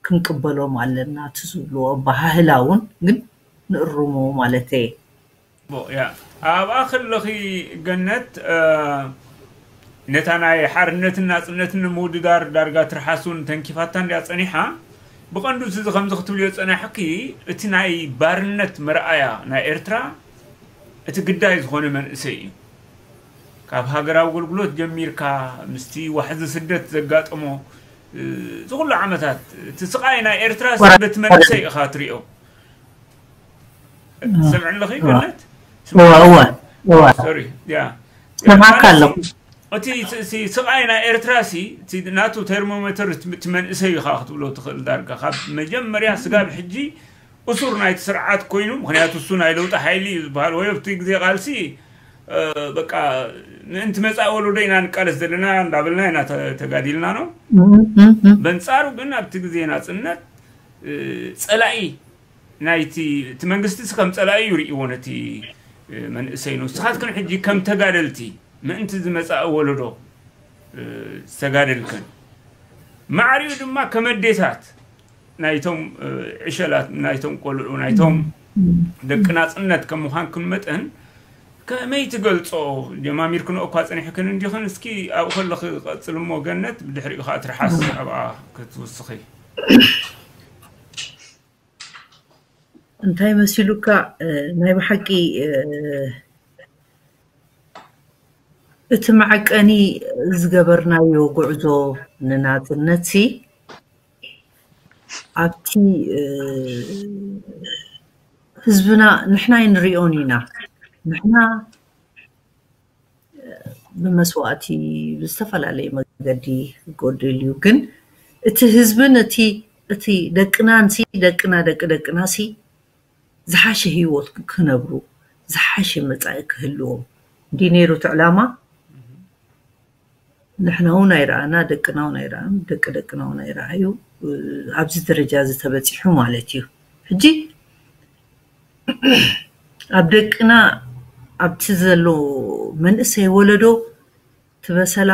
ክንቅበሎም ኣለና እቲ ዝብልዎ ኣበሃህላ እውን ግን ንእርሞ ማለት እየ። ኣብኣ ከለኺ ገነት ነታ ናይ ሓርነትን ናፅነትን ንምውድዳር ዳርጋ ትርሓስ እውን ተንኪፋታ እንድያ ፀኒሓ። ብቐንዱ እዚ ከምዚ ክትብልዮ ዝፀናሕኪ እቲ ናይ ባርነት መርኣያ ናይ ኤርትራ እቲ ግዳይ ዝኾነ መንእሰይ እዩ። ካብ ሃገራዊ ኣገልግሎት ጀሚርካ ምስቲ ዋሕዚ ስደት ዘጋጠሞ እዚ ኩሉ ዓመታት እቲ ስቃይ ናይ ኤርትራ ስደት መንእሰይ ኢኻ ትሪኦ። ትሰምዕኒ ኣለኺ ገነት? እወ እወ እወ ሶሪ ያ ሰማዕካ ኣለኹ። እቲ ስቃይ ናይ ኤርትራ ሲ ናቱ ቴርሞሜተር እቲ መንእሰይ ኢኻ ክትብሎ ትኽእል ዳርጋ ካብ መጀመርያ ስጋብ ሕጂ እሱር ናይቲ ስርዓት ኮይኑ ምክንያቱ እሱ ናይ ለውጢ ሓይሊ እዩ ዝበሃል ወይ ኣብቲ ግዜ ቃልሲ በቃ ምእንቲ መፃኢ ወለዶ ኢና ንቃለስ ዘለና እንዳበልና ኢና ተጋዲልና ነው። በንፃሩ ግን ኣብቲ ግዜ ናፅነት ፀላኢ ናይቲ እቲ መንግስቲ ከም ፀላኢ እዩ ርእይዎ ነቲ መንእሰይ ነው። ንስኻትክን ሕጂ ከም ተጋደልቲ ምእንቲ ዝመፃኢ ወለዶ ዝተጋደልክን ማዕሪኡ ድማ ከመዴታት ናይቶም ዕሸላት ናይቶም ቆልዑ ናይቶም ደቂ ናፅነት ከም ምዃንክን መጠን ከመይ ትገልፆ? ጀማሚርክንኦ እኳ ፀኒሕክን እንዲኽን እስኪ ኣብኡ ከለኺ ቀፅል እሞ ገነት ብድሕሪኡ ከዓ ትርሓስ ኣብኣ ክትውስኺ። እንታይ መሲሉካ? ናይ ብሓቂ እቲ መዐቀኒ ዝገበርናዮ ጉዕዞ ንናፅነት ሲ ኣብቲ ህዝብና ንሕና ኣይንሪኦን ኢና። ንሕና ብመስዋእቲ ብዝተፈላለየ መገዲ ክጎድል እዩ። ግን እቲ ህዝብን እቲ እቲ ደቅናን ሲ ደቅና ደቂ ደቅና ሲ ዝሓሸ ህይወት ክነብሩ ዝሓሸ መፃኢ ክህልዎም እንዲ ነይሩ እቲ ዕላማ። ንሕና እውን ኣይረኣና፣ ደቅና እውን ኣይረኣም፣ ደቂ ደቅና እውን ኣይረኣዩ። ኣብዚ ደረጃ እዚ ተበፂሑ ማለት እዩ። ሕጂ ኣብ ደቅና ኣብቲ ዘሎ መንእሰይ ወለዶ ትበሰላ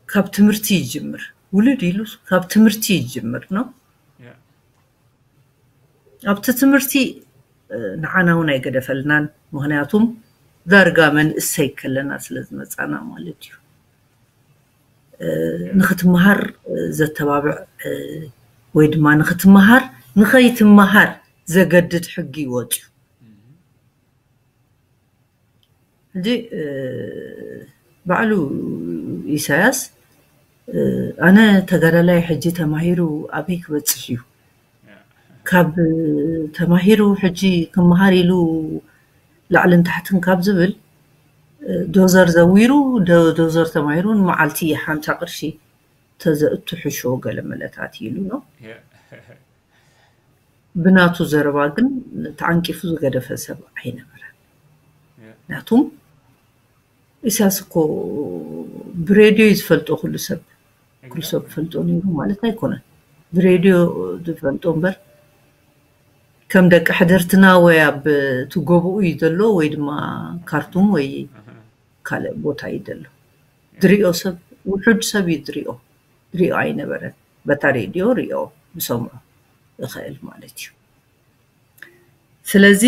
ካብ ትምህርቲ ይጅምር። ውልድ ኢሉ ካብ ትምህርቲ ይጅምር ነው። ኣብቲ ትምህርቲ ንዓና እውን ኣይገደፈልናን። ምክንያቱም ዳርጋ መንእሰይ ከለና ስለ ዝመፃና ማለት እዩ። ንክትመሃር ዘተባብዕ ወይ ድማ ንክትመሃር ንኸይትመሃር ዘገድድ ሕጊ ይወፅዩ። ሕጂ ባዕሉ ኢሳያስ ኣነ ተጋዳላይ ሕጂ ተማሂሩ ኣበይ ክበፅሕ እዩ? ካብ ተማሂሩ ሕጂ ክመሃር ኢሉ ላዕልን ታሕትን ካብ ዝብል ዶዘር ዘዊሩ ዶዘር ተማሂሩ ንመዓልቲ ሓምሳ ቅርሺ ተዘእቱ ሕሾ ገለ መለታት ኢሉ ነው። ብናቱ ዘረባ ግን ተዓንቂፉ ዝገደፈ ሰብ ኣይነበረን። ምክንያቱም ኢሳያስ እኮ ብሬድዮ እዩ ዝፈልጦ ኩሉ ሰብ። ኩሉ ሰብ ፈልጦ ነይሩ ማለት ኣይኮነን። ብሬድዮ ዝፈልጦ እምበር ከም ደቂ ሕደርትና ወይ ኣብ ትጎብኡ እዩ ዘሎ ወይ ድማ ካርቱም ወይ ካልእ ቦታ እዩ ዘሎ። ድሪኦ ሰብ ውሑድ ሰብ እዩ ድሪኦ። ድሪኦ ኣይነበረን። በታ ሬድዮ ሪኦ ብሰምዖ እኽእል ማለት እዩ። ስለዚ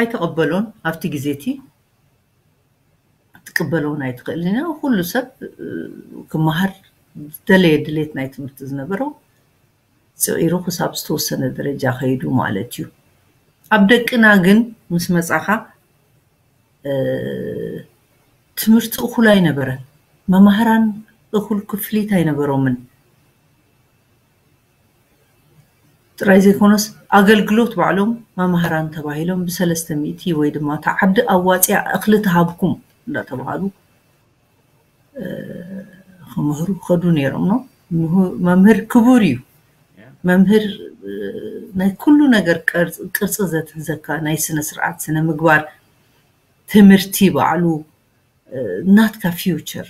ኣይተቐበሎን ኣብቲ ግዜ እቲ ክትቅበሎ እውን ኣይትኽእልን እያ። ኩሉ ሰብ ክመሃር ዝደለየ ድሌት ናይ ትምህርቲ ዝነበሮ ፅዒሩ ክሳብ ዝተወሰነ ደረጃ ከይዱ ማለት እዩ። ኣብ ደቅና ግን ምስ መፃኻ ትምህርቲ እኹል ኣይነበረን። መማህራን እኹል ክፍሊት ኣይነበሮምን። ጥራይ ዘይኮነስ ኣገልግሎት ባዕሎም መማህራን ተባሂሎም ብሰለስተ ሚእቲ ወይ ድማ እታ ዓዲ ኣዋፂኣ እኽሊ ትሃብኩም እንዳተባሃሉ ክምህሩ ከዱ ነይሮም ነው። መምህር ክቡር እዩ። መምህር ናይ ኩሉ ነገር ቅርፂ ዘትሕዘካ ናይ ስነ ስርዓት ስነ ምግባር ትምህርቲ ባዕሉ ናትካ ፊውቸር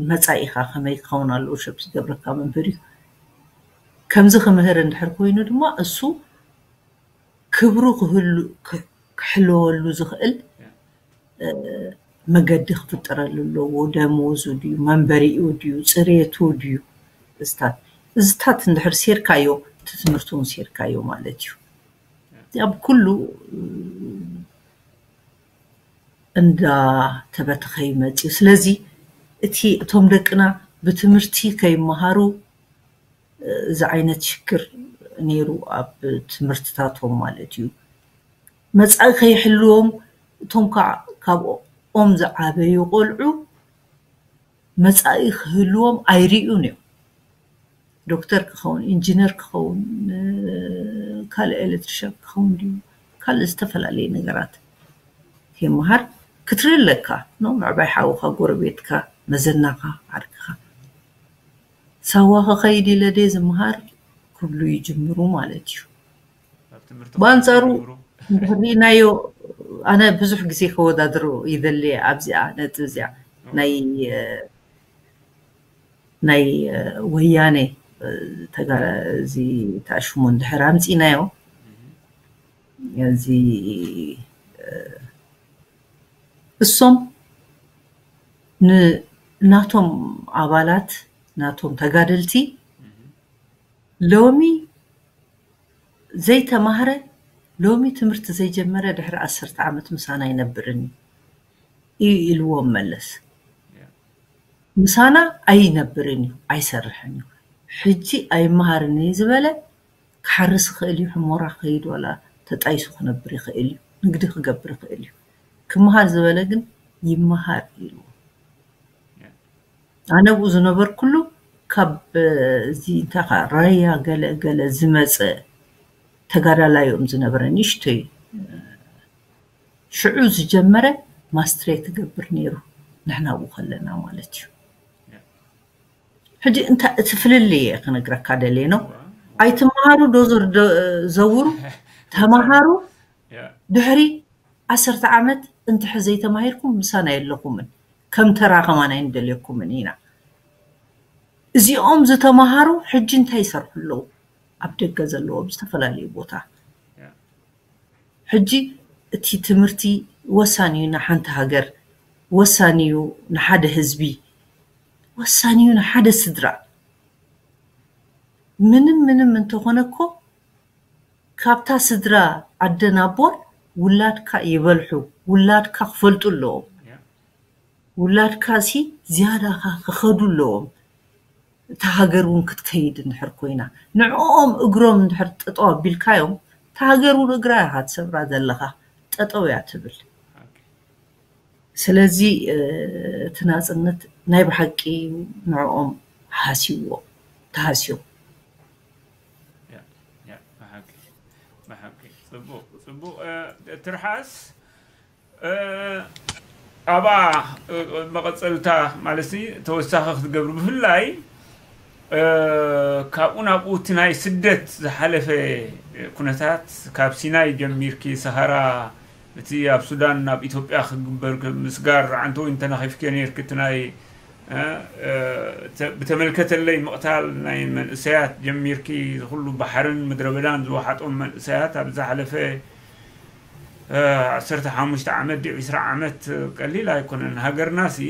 መፃኢኻ ከመይ ክኸውን ኣለዎ ሸፕ ዝገብረካ መምህር እዩ። ከምዚ ክምህር እንድሕር ኮይኑ ድማ እሱ ክብሩ ክህሉ ክሕለወሉ ዝኽእል መገዲ ክፍጠረሉ ኣለዎ። ደሞዙ ድዩ መንበሪኡ ድዩ ፅሬቱ ድዩ እዝታት እዝታት እንድሕር ሴርካዮ እቲ ትምህርቲ እውን ሴርካዮ ማለት እዩ። ኣብ ኩሉ እንዳተበተኸ ይመፅዩ። ስለዚ እቲ እቶም ደቅና ብትምህርቲ ከይመሃሩ እዚ ዓይነት ሽግር ነይሩ ኣብ ትምህርትታቶም ማለት እዩ። መፃኢ ከይሕልዎም እቶም ከዓ ካብኦም ዝዓበዩ ቆልዑ መፃኢ ክህልዎም ኣይርእዩን እዮም። ዶክተር ክኸውን፣ ኢንጂነር ክኸውን፣ ካልእ ኤሌክትሪሻን ክኸውን ድዩ ካልእ ዝተፈላለየ ነገራት ይመሃር ክትርኢ ኣለካ። ምዕባይ ሓውካ፣ ጎረቤትካ፣ መዘናካ፣ ዓርክካ ሳዋ ክኸይድ ኢለ ድየ ዝመሃር ክብሉ ይጅምሩ ማለት እዩ። ብኣንፃሩ እንድሕር ርኢናዮ ኣነ ብዙሕ ግዜ ከወዳድሮ ይደሊ ኣብዚኣ ነጥብ እዚኣ ናይ ናይ ወያኔ ተጋራ እዚ ታሽሙ እንድሕር ኣምፂናዮ እዚ እሶም ናቶም ኣባላት ናቶም ተጋደልቲ ሎሚ ዘይተማህረ ሎሚ ትምህርቲ ዘይጀመረ ድሕሪ ዓሰርተ ዓመት ምሳና ኣይነብርን እዩ ኢልዎም መለስ። ምሳና ኣይነብርን እዩ፣ ኣይሰርሕን እዩ። ሕጂ ኣይመሃርን እዩ ዝበለ ክሓርስ ይኽእል እዩ፣ ሕሞራ ክኸይድ ዋላ ተጣይሱ ክነብር ይኽእል እዩ፣ ንግዲ ክገብር ይኽእል እዩ። ክመሃር ዝበለ ግን ይመሃር ኢልዎ። ኣነ ኣብኡ ዝነበርኩሉ ካብ እዚ እንታይ ራያ ገለ ገለ ዝመፀ ተጋዳላይ እዮም ዝነበረ፣ ንእሽተይ ሽዑ ዝጀመረ ማስትሬት ይገብር ነይሩ፣ ንሕና ኣብኡ ከለና ማለት እዩ። ሕጂ እንታይ እቲ ፍልልይ እየ ክነግረካ ደልየ ነው። ኣይትመሃሩ ዶዞር ዘውሩ ተመሃሩ ድሕሪ ዓሰርተ ዓመት እንድሕር ዘይተማሂርኩም ምሳና የለኹምን፣ ከም ተራ ከማን ኣይንደልየኩምን ኢና። እዚኦም ዝተማሃሩ ሕጂ እንታይ ይሰርሑ ኣለዉ? ኣብ ደገ ዘለዎ ኣብ ዝተፈላለዩ ቦታ ሕጂ እቲ ትምህርቲ ወሳኒ እዩ ንሓንቲ ሃገር፣ ወሳኒ እዩ ንሓደ ህዝቢ፣ ወሳኒ እዩ ንሓደ ስድራ። ምንም ምንም እንተኾነ እኮ ካብታ ስድራ ኣደን ኣቦን ውላድካ ይበልሑ፣ ውላድካ ክፈልጡ ኣለዎም። ውላድካ ሲ ዝያዳ ክኸዱ ኣለዎም። እታ ሃገር እውን ክትከይድ እንድሕር ኮይና ንዕኦም እግሮም እንድሕር ጠጠው ኣቢልካዮም እታ ሃገር እውን እግራ ኢኻ ትሰብራ ዘለኻ፣ ጠጠው እያ ትብል። ስለዚ እቲ ናፅነት ናይ ብሓቂ ንዕኦም ሃስይዎ ተሃስዮም። ብሓቂ ብሓቂ ፅቡቅ ፅቡቅ ትርሓስ ኣባ መቐፀልታ ማለት ተወሳኺ ክትገብሩ ብፍላይ ካብኡ ናብኡ እቲ ናይ ስደት ዝሓለፈ ኩነታት ካብ ሲናይ ጀሚርኪ ሰሃራ እቲ ኣብ ሱዳን ናብ ኢትዮጵያ ክግበር ምስጋር ዓንተወይ እንተናኺፍኪዮ ነርኪ እቲ ናይ ብተመልከተለይ ምቕታል ናይ መንእሰያት ጀሚርኪ ዝኩሉ ባሕርን ምድረ በዳን ዝወሓጦም መንእሰያት ኣብ ዝሓለፈ ዓሰርተ ሓሙሽተ ዓመት ድዩ ዕስራ ዓመት ቀሊል ኣይኮነን። ሃገርና ሲ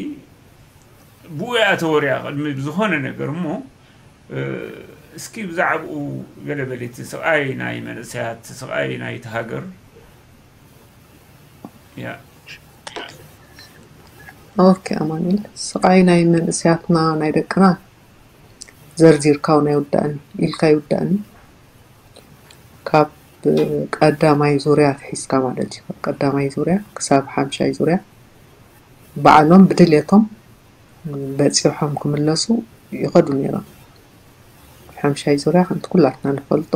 ብኡ እያ ተወርያ ቅድሚ ብዝኾነ ነገር እሞ እስኪ ብዛዕባኡ ገለ በሊ እቲ ስቓይ ናይ መንእሰያት ስቓይ ናይቲ ሃገር ያ ኦኬ ኣማኑኤል ስቓይ ናይ መንእሰያትና ናይ ደቅና ዘርዚርካ እውን ኣይውዳእን ኢልካ ኣይውዳእን ካብ ቀዳማይ ዙርያ ኣትሒዝካ ማለት እዩ ካብ ቀዳማይ ዙርያ ክሳብ ሓምሻይ ዙርያ ባዕሎም ብድልየቶም በፂሖም ክምለሱ ይኸዱ ነይሮም ሓምሻይ ዙርያ ከምቲ ኩላትና ንፈልጦ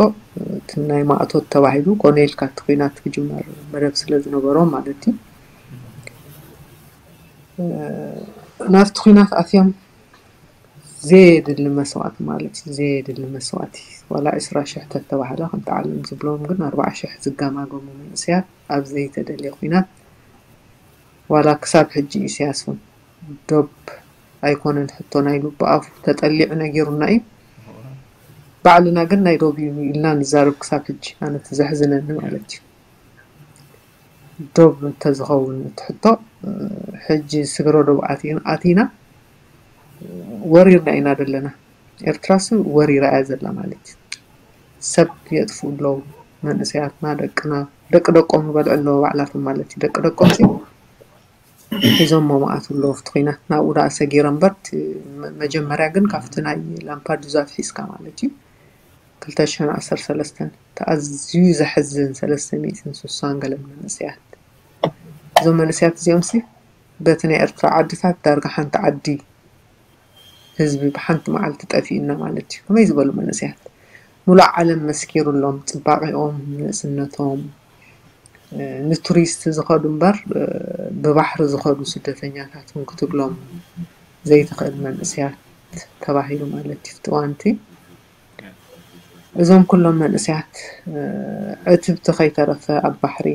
እቲ ናይ ማእቶት ተባሂሉ ኮነ ኢልካ እቲ ኩናት ክጅመር መደብ ስለ ዝነበሮም ማለት እዩ ናብቲ ኩናት ኣትዮም ዘየድሊ መስዋእቲ ማለት እዩ ዘየድሊ መስዋእቲ ዋላ ዕስራ ሽሕ ተተባህለ ከምቲ ዓለም ዝብሎም ግን ኣርባዓ ሽሕ ዝገማገሙ መንእሰያት ኣብ ዘይተደልየ ኩናት ዋላ ክሳብ ሕጂ ኢሳያስ እውን ዶብ ኣይኮነን ሕቶና ኢሉ ብኣፉ ተጠሊዑ ነጊሩና እዩ ባዕልና ግን ናይ ዶብ እዩ ኢልና ንዛረብ ክሳብ ሕጂ ኣነ እቲ ዘሕዝነኒ ማለት እዩ ዶብ እንተዝኸውን እቲ ሕቶ ሕጂ ስግረ ዶብ ኣቲና ወሪርና ኢና ዘለና ኤርትራስ ወሪራ እያ ዘላ ማለት እዩ ሰብ የጥፍኡ ኣለዉ መንእሰያትና ደቅና ደቂ ደቆም ይበልዑ ኣለዉ ባዕላቶም ማለት እዩ ደቂ ደቆም ሲ ሒዞሞ መኣት ኣለዉ ኣብቲ ኩናት ናብኡ ደኣ ሰጊረ እምበር መጀመርያ ግን ካብቲ ናይ ላምፓዱዛ ኣትሒዝካ ማለት እዩ ክልተ ሽሕን ዓሰርተ ሰለስተን እቲ ኣዝዩ ዘሕዝን ሰለስተ ሚእትን ስሳን ገለን መንእሰያት እዞም መንእሰያት እዚኦም ሲ በቲ ናይ ኤርትራ ዓድታት ዳርጋ ሓንቲ ዓዲ ህዝቢ ብሓንቲ መዓልቲ ጠፊእና ማለት እዩ ከመይ ዝበሉ መንእሰያት ሙሉእ ዓለም መስኪሩሎም ፅባቂኦም ንእስነቶም ንቱሪስት ዝኸዱ እምበር ብባሕሪ ዝኸዱ ስደተኛታት እውን ክትብሎም ዘይትኽእል መንእሰያት ተባሂሉ ማለት እዩ ፍትዋንቲ እዞም ኩሎም መንእሰያት ዕትብቲ ከይተረፈ ኣብ ባሕሪ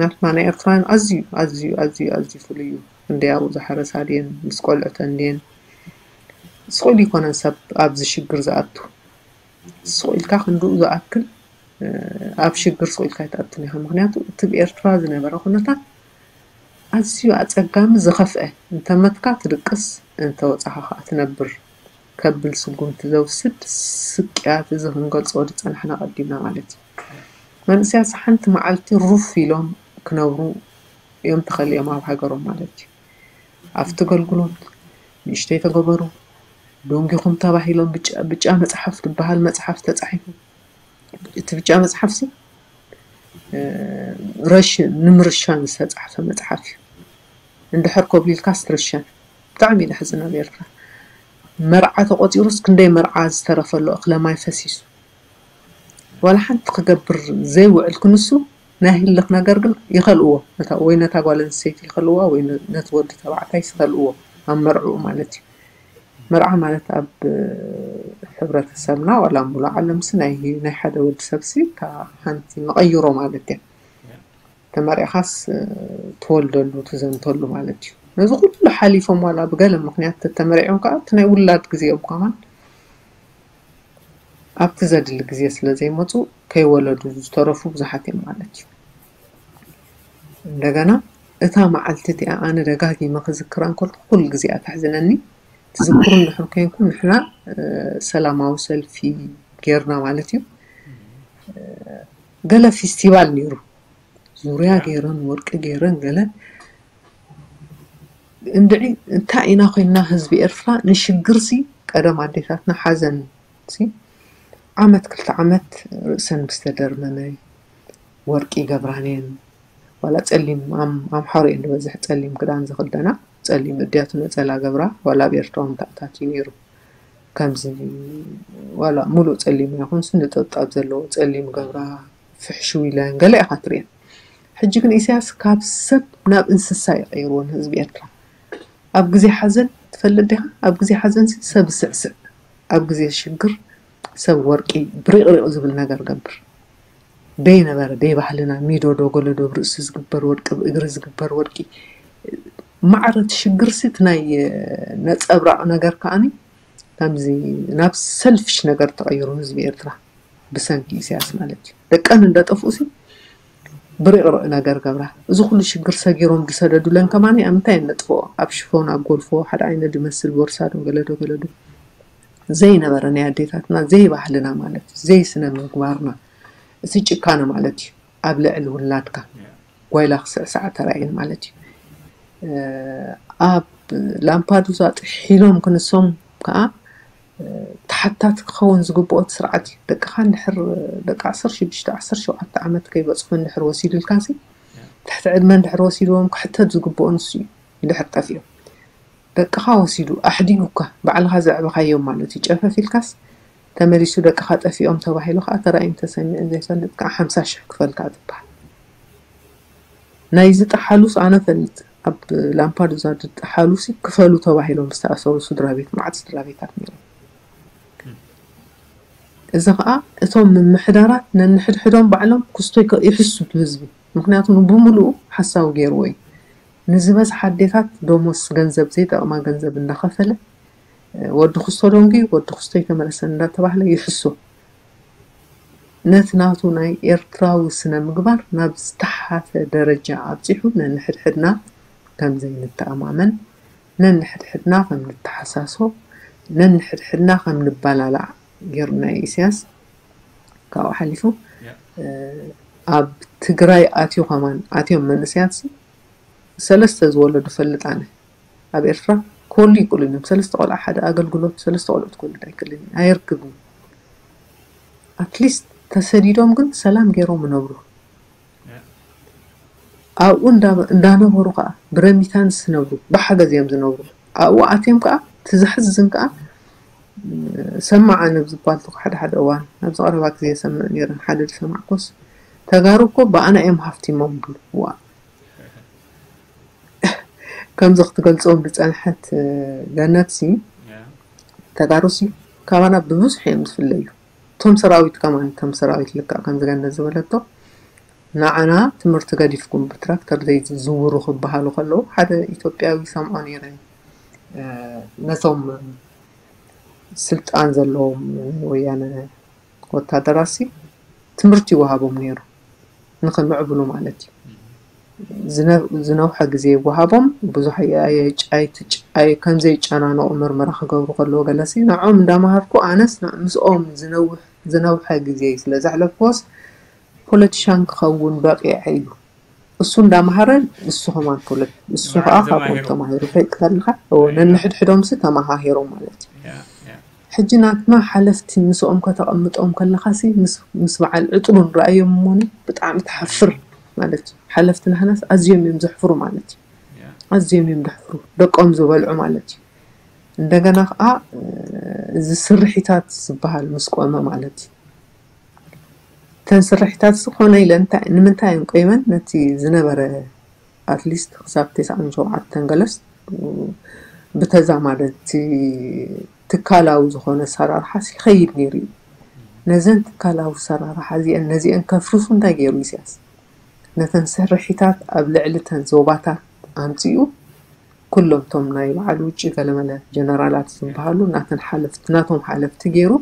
ናትና ናይ ኤርትራውያን ኣዝዩ ኣዝዩ ኣዝዩ ኣዝዩ ፍሉይ እዩ። እንደ ኣብኡ ዝሓረሳ ድየን ምስ ቆልዕተን ድየን ስቕ ኢሉ ይኮነን ሰብ ኣብዚ ሽግር ዝኣቱ። ስቕ ኢልካ ክንድኡ ዝኣክል ኣብ ሽግር ስቕ ኢልካ ኣይትኣቱን ኢኻ። ምክንያቱ እቲ ብኤርትራ ዝነበረ ኩነታት ኣዝዩ ኣጸጋሚ ዝኸፍአ፣ እንተመትካ ትድቅስ እንተወጻኻ ከኣ ትነብር ከብል ስጉምቲ ዘውስድ ስቅያት እዚ ክንገልጾ ዝጸናሕና ቀዲምና ማለት እዩ። መንእሰያት ሓንቲ መዓልቲ ሩፍ ኢሎም ክነብሩ እዮም ተኸሊኦም ኣብ ሃገሮም ማለት እዩ። ኣብቲ ገልግሎት ንእሽተይ ተገበሩ፣ ደንጊኹም ተባሂሎም ብጫ ብጫ መጽሓፍ ዝበሃል መጽሓፍ ተጻሒፉ። እቲ ብጫ መጽሓፍሲ ረሽን ንምርሻን ዝተጻሕፈ መጽሓፍ እዩ። እንድሕር ኮብሊልካስ ትርሸን። ብጣዕሚ እዩ ዘሕዝን ኣብ ኤርትራ። መርዓ ተቆጺሩስ ክንደይ መርዓ ዝተረፈሉ እኽለ ማይ ፈሲሱ። ዋላ ሓንቲ ክገብር ዘይውዕል ክንሱ ናይ ህልኽ ነገር ግን ይኸልእዎ። ነታ ወይ ነታ ጓል ኣንስተይቲ ይኸልእዋ ወይ ነ- ነቲ ወዲ ተባዕታይስ ይኸልእዎ ኣብ መርዕኡ ማለት እዩ። መርዓ ማለት ኣብ ሕብረተሰብና ዋላ ሙሉእ ዓለምሲ ናይ ናይ ሓደ ወዲ ሰብሲ እታ ሓንቲ መቐይሮ ማለት እያ። ተመሪዕኻስ ትወልደሉ ትዘንተሉ ማለት እዩ። ነዚ ኩሉ ሓሊፎም ዋላ ብገለ ምክንያት ተተመሪዖም ከዓ እቲ ናይ ውላድ ግዜኦም ከማን ኣብቲ ዘድሊ ግዜ ስለ ዘይመፁ ከይወለዱ ዝተረፉ ብዙሓት እዮም ማለት እዩ። እንደገና እታ መዓልቲ እቲኣ ኣነ ደጋጊመ ክዝክራ እንከልኩ ኩሉ ግዜ እያ ተሕዝነኒ። ትዝክሩ እንድሕር ኮይንኩም ንሕና ሰላማዊ ሰልፊ ጌርና ማለት እዩ። ገለ ፌስቲቫል ነይሩ ዙርያ ገይረን ወርቂ ገይረን ገለ እንድዒ እንታይ ኢና ኮይንና ህዝቢ ኤርትራ ንሽግርሲ ቀደም ኣዴታትና ሓዘን ሲ ዓመት ክልተ ዓመት ርእሰን ምስተደርመመ ወርቂ ይገብራን እየን። ዋላ ጸሊም ኣም- ኣምሓሩ እየን ዝበዝሕ ጸሊም ክዳን ዝኽደና ጸሊም እድያቱ ነጸላ ገብራ ዋላ ኣብ ኤርትራ እውን ተኣታትዩ ነይሩ። ከምዚ ዋላ ሙሉእ ጸሊም ኣይኹንስ ንጠብጣብ ዘለዎ ጸሊም ገብራ ፍሕሽው ኢለን ገለ ኢኻ ትርእየን። ሕጂ ግን ኢሳያስ ካብ ሰብ ናብ እንስሳ ይቐይርዎ ንህዝቢ ኤርትራ። ኣብ ግዜ ሓዘን ትፈልጥ ዲኻ? ኣብ ግዜ ሓዘን ሰብ ስዕስዕ፣ ኣብ ግዜ ሽግር ሰብ ወርቂ ብሪቕሪቕ ዝብል ነገር ገብር። ደይ ነበረ ደይ ባህልና ሚዶ ዶ ገለዶ ብርእሲ ዝግበር ወርቂ ብእግሪ ዝግበር ወርቂ ማዕረ እቲ ሽግርሲ እቲ ናይ ነፀብራቕ ነገር ከዓኒ ከምዚ ናብ ሰልፊሽ ነገር ተቐይሩ ህዝቢ ኤርትራ ብሰንኪ ኢሳያስ ማለት እዩ። ደቀን እንዳጠፍኡ ሲ ብሪቕሪቕ ነገር ገብራ። እዚ ኩሉ ሽግር ሰጊሮም ዝሰደዱለን ከማኒ ኣብ ምንታይ እየን ነጥፍኦ? ኣብ ሽፎን ኣብ ጎልፎ ሓደ ዓይነት ዝመስል ቦርሳ ዶ ገለዶ ገለዶ ዘይነበረ ናይ ኣዴታትና ዘይባህልና ማለት እዩ። ዘይስነ ምግባርና እቲ ጭካነ ማለት እዩ። ኣብ ልዕሊ ውላድካ ጓይላ ክስዕስዓ ተራእየን ማለት እዩ። ኣብ ላምፓዱዛ ጥሒሎም ክንሶም ከዓ ተሓታቲ ክኸውን ዝግብኦ እቲ ስርዓት እዩ። ደቅኻ እንድሕር ደቂ ዓሰርተ ሽዱሽተ ዓሰርተ ሸውዓተ ዓመት ከይበፅሑ እንድሕር ወሲዱልካሲ ትሕቲ ዕድመ እንድሕር ወሲድዎም ክሕተት ዝግብኦ ንሱ እዩ። እንድሕር ጠፊኦም ደቅኻ ወሲዱ ኣሕዲጉካ ባዕልኻ ዘዕበኻዮም ማለት እዩ። ጨፈፍ ኢልካስ ተመሊሱ ደቅኻ ጠፊኦም ተባሂሉ ከዓ ተራእዩን ተሰሚዑን ዘይፈልጥ ከዓ ሓምሳ ሽሕ ክፈልካ ትበሃል። ናይዚ ጠሓሉስ ኣነ ፈልጥ ኣብ ላምፓዱዛ ዝጠሓሉሲ ክፈሉ ተባሂሎም ዝተኣሰሩ ስድራ ቤት መዓት ስድራ ቤታት ነይሮም። እዚ ከዓ እቶም ምምሕዳራት ነንሕድሕዶም ባዕሎም ክስቶ ይከ- ይሕሱ እቲ ህዝቢ። ምክንያቱ ብሙሉኡ ሓሳዊ ገይርዎ እዩ። ንዝበዝሓ ኣዴታት ደሞስ ገንዘብ ዘይጠቕማ ገንዘብ እንዳኸፈለ ወዲ ክስቶ ደንጉዩ ወዲ ክስቶ ይተመለሰን እንዳተባህለ ይሕሶ። ነቲ ናቱ ናይ ኤርትራዊ ስነ ምግባር ናብ ዝተሓተ ደረጃ ኣብፂሑ ነንሕድሕድና ከም ዘይንተኣማመን ነንሕድሕድና ከም ንተሓሳሶ ነንሕድሕድና ከም ንባላላዕ ገይሩና እዩ ኢሳያስ። ካብኡ ሓሊፉ ኣብ ትግራይ ኣትዩ ከማን ኣትዮም መንእሰያት ሰለስተ ዝወለዱ ፈልጥ ኣነ ኣብ ኤርትራ ክወልዱ ይክእሉን እዮም። ሰለስተ ቆልዓ ሓደ ኣገልግሎት ሰለስተ ቆልዑት ክወልድ ኣይክእልን እዩ። ኣየርክብን። ኣትሊስት ተሰዲዶም ግን ሰላም ገይሮም ይነብሩ። ኣብኡ እንዳነበሩ ከዓ ብረሚታንስ ዝነብሩ ብሓገዝ እዮም ዝነብሩ። ኣብኡ ኣትዮም ከዓ ትዘሕዝን ከዓ ሰማዕ ኣነ ብዝባል ሓደ ሓደ እዋን ኣብዚ ቀረባ ግዜ የሰምዕ ነይረን ሓደ ዝሰማዕኮስ ተጋሩ እኮ ብኣና እዮም ሃፍቲሞም ብሉ ዋ ከምዚ ክትገልጾም ዝጸንሐት ገነትሲ ተጋሩሲ ካባና ብብዙሕ እዮም ዝፍለዩ። እቶም ሰራዊት ከማን እቶም ሰራዊት ልክዕ ከምዚ ገነት ዝበለቶ ንዓና ትምህርቲ ገዲፍኩም ብትራክተር ዘይትዝውሩ ክበሃሉ ከለዉ ሓደ ኢትዮጵያዊ ይሰምዖ ነይረ። ነቶም ስልጣን ዘለዎም ወያነ ወታደራሲ ትምህርቲ ይወሃቦም ነይሩ፣ ንኽምዕብሉ ማለት እዩ። ዝነውሐ ግዜ ይወሃቦም። ብዙሕ ከምዘይጨናነቑ ምርመራ ክገብሩ ከለዉ ገለሲ ንዖም እንዳመሃርኩ ኣነስ ምስኦም ዝነውሐ ግዜ ስለ ዘሕለፍኩዎስ ፖለቲሻን ክኸውን በቂዐ ኢሉ እሱ እንዳመሃረ እሱ ከማን ፖለቲ እሱ ከዓ ካብኦም ተማሂሩ ፈይቅ ተልካ ነንሕድሕዶምሲ ተመሃሂሮም ማለት እዩ። ሕጂ ናትና ሓለፍቲ ምስኦም ከተቐምጦም ከለኻሲ ምስ በዓል ዕጥሉን ረኣዮም እሞኒ ብጣዕሚ ትሓፍር ማለት እዩ። ሓለፍቲ ናህናስ ኣዝዮም እዮም ዘሕፍሩ ማለት እዩ። ኣዝዮም እዮም ዘሕፍሩ ደቆም ዝበልዑ ማለት እዩ። እንደገና ከዓ እዚ ስርሒታት ዝበሃል ምስ ቆመ ማለት እዩ። እተን ስርሒታት ዝኾነ ኢለ ንምንታይ እየን ቆይመን ነቲ ዝነበረ ኣትሊስት ክሳብ ተስዓን ሸውዓተን ገለስ ብተዛማደቲ ትካላዊ ዝኾነ ኣሰራርሓስ ይኸይድ ነይሩ እዩ። ነዘን ትካላዊ ኣሰራርሓ እዚአን ነዚአን ከፍርሱ እንታይ ገይሩ ኢሳያስ? ነተን ስርሒታት ኣብ ልዕሊ ተን ዞባታት ኣምፂኡ ኩሎም ቶም ናይ በዓል ውጭ ገለመለ ጀነራላት ዝበሃሉ ናተን ሓለፍቲ ናቶም ሓለፍቲ ገይሩ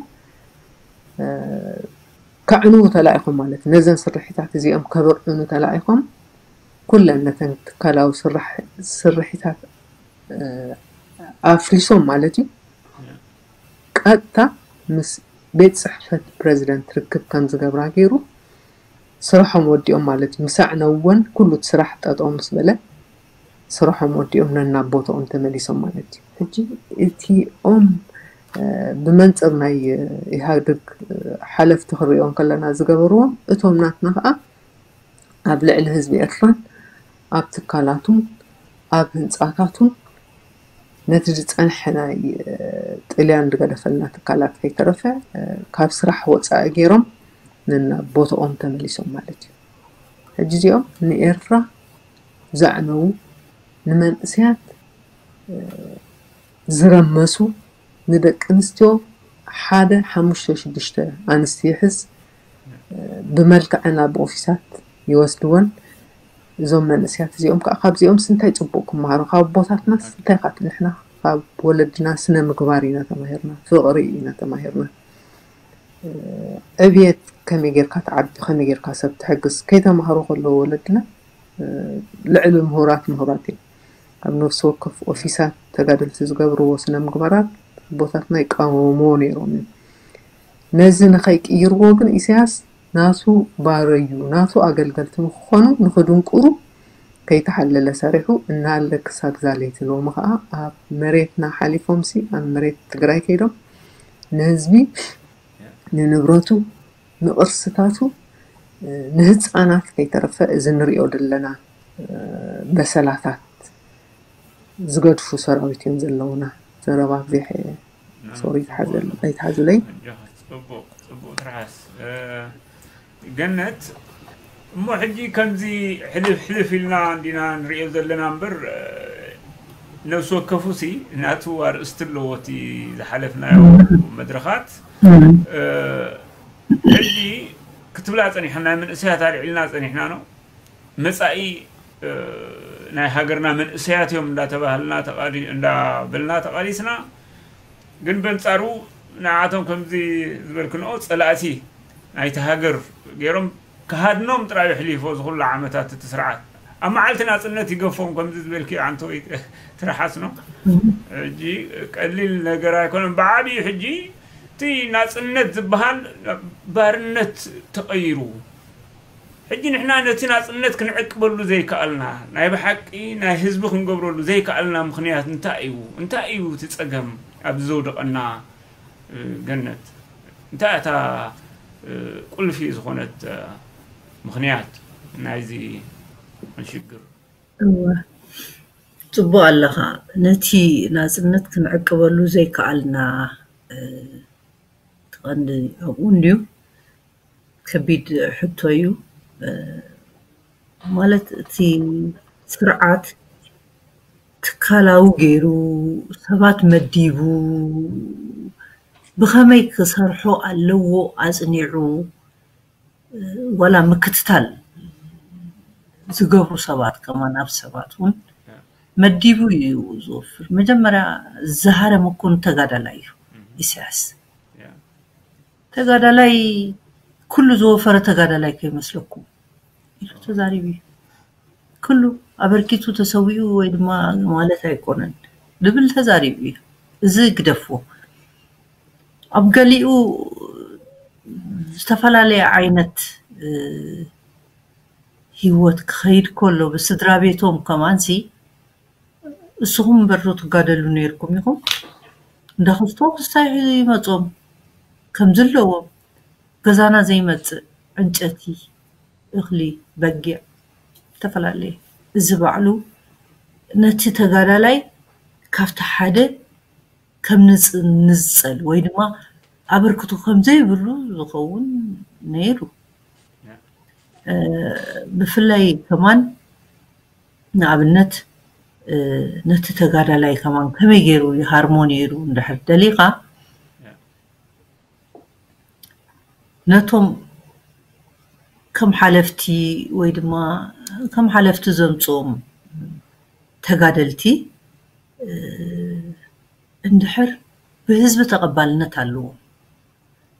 ከዕንዉ ተላኢኾም ማለት እዩ። ነዘን ስርሒታት እዚኦም ከብርዕኑ ተላኢኾም ኩለን ነተን ትካላዊ ስርሒታት ኣፍሪሶም ማለት እዩ። ቀጥታ ምስ ቤት ፅሕፈት ፕረዚደንት ርክብ ከም ዝገብራ ገይሩ ስርሖም ወዲኦም ማለት እዩ። ምስ ኣዕነውወን ኩሉ እቲ ስራሕ ጠጠው ምስ በለ ስርሖም ወዲኦም ነናብ ቦትኦም ተመሊሶም ማለት እዩ። ሕጂ እቲኦም ብመንፅር ናይ ኢህኣዴግ ሓለፍቲ ክንሪኦም ከለና ዝገበርዎም እቶም ናትና ከዓ ኣብ ልዕሊ ህዝቢ ኤርትራን ኣብ ትካላቱን ኣብ ህንፃታቱን ነቲ ዝፀንሐ ናይ ጥልያን ዝገደፈልና ትካላት ከይተረፈ ካብ ስራሕ ወፃኢ ገይሮም ነናብ ቦትኦም ተመሊሶም ማለት እዩ። ሕጂ እዚኦም ንኤርትራ ዘዕነዉ ንመንእሰያት ዝረመሱ ንደቂ ኣንስትዮ ሓደ ሓሙሽተ ሽዱሽተ ኣንስቲ ይሕዝ ብመልክዐን ኣብ ኦፊሳት ይወስድወን። እዞም መንእሰያት እዚኦም ከዓ ካብዚኦም ስንታይ ፅቡቅ ክመሃሩ ካብ ኣቦታትና ስንታይ ካ ንሕና ካብ ወለድና ስነ ምግባር ኢና ተማሂርና ፍቅሪ ኢና ተማሂርና። ዕብየት ከመይ ጌርካ ትዓቢ ከመይ ጌርካ ሰብ ትሕግዝ ከይተማህሩ ከለዉ ወለድና ልዕሊ ምሁራት ምሁራት እዮም። ኣብ ነፍሲ ወከፍ ኦፊሳት ተጋደልቲ ዝገብርዎ ስነ ምግባራት ኣቦታትና ይቃወምዎ ነይሮም እዮም። ነዚ ንኸይቅይርዎ ግን ኢሳያስ ናቱ ባረዩ ናቱ ኣገልገልቲ ንክኾኑ ንክድንቁሩ ከይተሓለለ ሰሪሑ እናሃለ ክሳብ ዛለይቲ ሎሚ ከዓ ኣብ መሬትና ሓሊፎምሲ ኣብ መሬት ትግራይ ከይዶም ንህዝቢ ንንብረቱ ንቕርስታቱ ንህፃናት ከይተረፈ እዚ ንሪኦ ዘለና በሰላታት ዝገድፉ ሰራዊት እዮም ዘለውና። ዘረባ ኣብዚሐ ሶሪ ኣይትሓዙለይ። ገነት እሞ ሕጂ ከምዚ ሕልፍ ሕልፍ ኢልና እንዲና ንሪኦ ዘለና እምበር ነብሲ ወከፉ ሲ ናቱ ኣርእስቲ ኣለዎ እቲ ዝሓለፍናዮ መድረኻት። ሕጂ ክትብላ ፀኒሕና መንእሰያት ኣልዒልና ፀኒሕና ነው መፃኢ ናይ ሃገርና መንእሰያት እዮም እንዳተባህልና እንዳበልና ተቓሊስና። ግን በንፃሩ ንዓቶም ከምዚ ዝበልክንኦ ፀላእቲ ናይቲ ሃገር ገይሮም ክሃድኖም ጥራይ ኣሕሊፎ ዝኩሉ ዓመታት እቲ ስርዓት ኣብ መዓልቲ ናፅነት ይገፎም ከምዚ ዝበልክዮ ኣንተ ወይ ትርሓስ ነው። ሕጂ ቀሊል ነገር ኣይኮነን። ብዓብዩ ሕጂ እቲ ናፅነት ዝበሃል ባርነት ተቐይሩ። ሕጂ ንሕና ነቲ ናፅነት ክንዕቅበሉ ዘይከኣልና ናይ ብሓቂ ናይ ህዝቢ ክንገብረሉ ዘይከኣልና ምኽንያት እንታይ እዩ? እንታይ እዩ እቲ ፀገም ኣብዚ ዘውደቐና? ገነት እንታይ እታ ቁልፊ ዝኾነት ምኽንያት ናይዚ ሽግር? እወ ፅቡቅ ኣለኻ። ነቲ ናፅነት ክንዕቅበሉ ዘይከኣልና እቲ ቀንዲ ኣብኡ እንድዩ። ከቢድ ሕቶ እዩ። ማለት እቲ ስርዓት ትካላዊ ገይሩ ሰባት መዲቡ ብኸመይ ክሰርሖ ኣለዎ ኣፅኒዑ ዋላ ምክትታል ዝገብሩ ሰባት ከማን ኣብ ሰባት እውን መዲቡ እዩ ዝወፍር። መጀመርያ ዝሃረመ እኮ ንተጋዳላይ እዩ ኢሳያስ። ተጋዳላይ ኩሉ ዝወፈረ ተጋዳላይ ከይመስለኩም ኢሉ ተዛሪቡ እዩ። ኩሉ ኣበርኪቱ ተሰዊኡ ወይ ድማ ማለት ኣይኮነን ድብል ተዛሪቡ እዩ። እዚ ግደፍዎ። ኣብ ገሊኡ ዝተፈላለየ ዓይነት ህይወት ክኸይድ ከሎ ብስድራ ቤቶም ከማንሲ እስኹም እምበር ዶ ትጋደሉ ነይርኩም ኢኹም? እንዳ ክስቶ ክስታይ ይመጾም ከም ዘለዎም ገዛና ዘይመጽእ ዕንጨቲ፣ እኽሊ፣ በጊዕ ዝተፈላለየ እዚ ባዕሉ ነቲ ተጋዳላይ ካብቲ ሓደ ከም ንጽ- ንዝጸል ወይ ድማ ኣበርክቶ ከም ዘይብሉ ዝኸውን ነይሩ። ብፍላይ ከማን ንኣብነት ነቲ ተጋዳላይ ከማን ከመይ ገይሩ ይሃርሞ ነይሩ እንድሕር ደሊኻ ነቶም ከም ሓለፍቲ ወይ ድማ ከም ሓለፍቲ ዘምፅኦም ተጋደልቲ እንድሕር ብህዝቢ ተቐባልነት ኣለዎም፣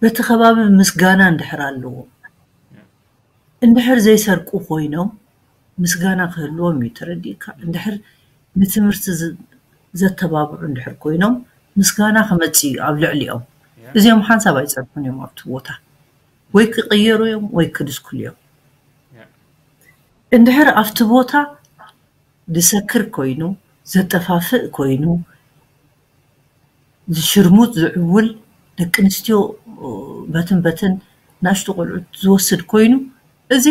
በቲ ከባቢ ምስጋና እንድሕር ኣለዎም፣ እንድሕር ዘይሰርቁ ኮይኖም ምስጋና ክህልዎም እዩ። ተረዲእካ? እንድሕር ንትምህርቲ ዘተባብዑ እንድሕር ኮይኖም ምስጋና ክመፅእ እዩ ኣብ ልዕሊኦም። እዚኦም ሓንሳብ ኣይፀንሑን እዮም ኣብቲ ቦታ፣ ወይ ክቕየሩ እዮም ወይ ክድስኩሉ እዮም። እንድሕር ኣብቲ ቦታ ዝሰክር ኮይኑ፣ ዘጠፋፍእ ኮይኑ፣ ዝሽርሙጥ ዝዕውል፣ ደቂ ኣንስትዮ በትን በትን ንኣሽቱ ቆልዑት ዝወስድ ኮይኑ፣ እዚ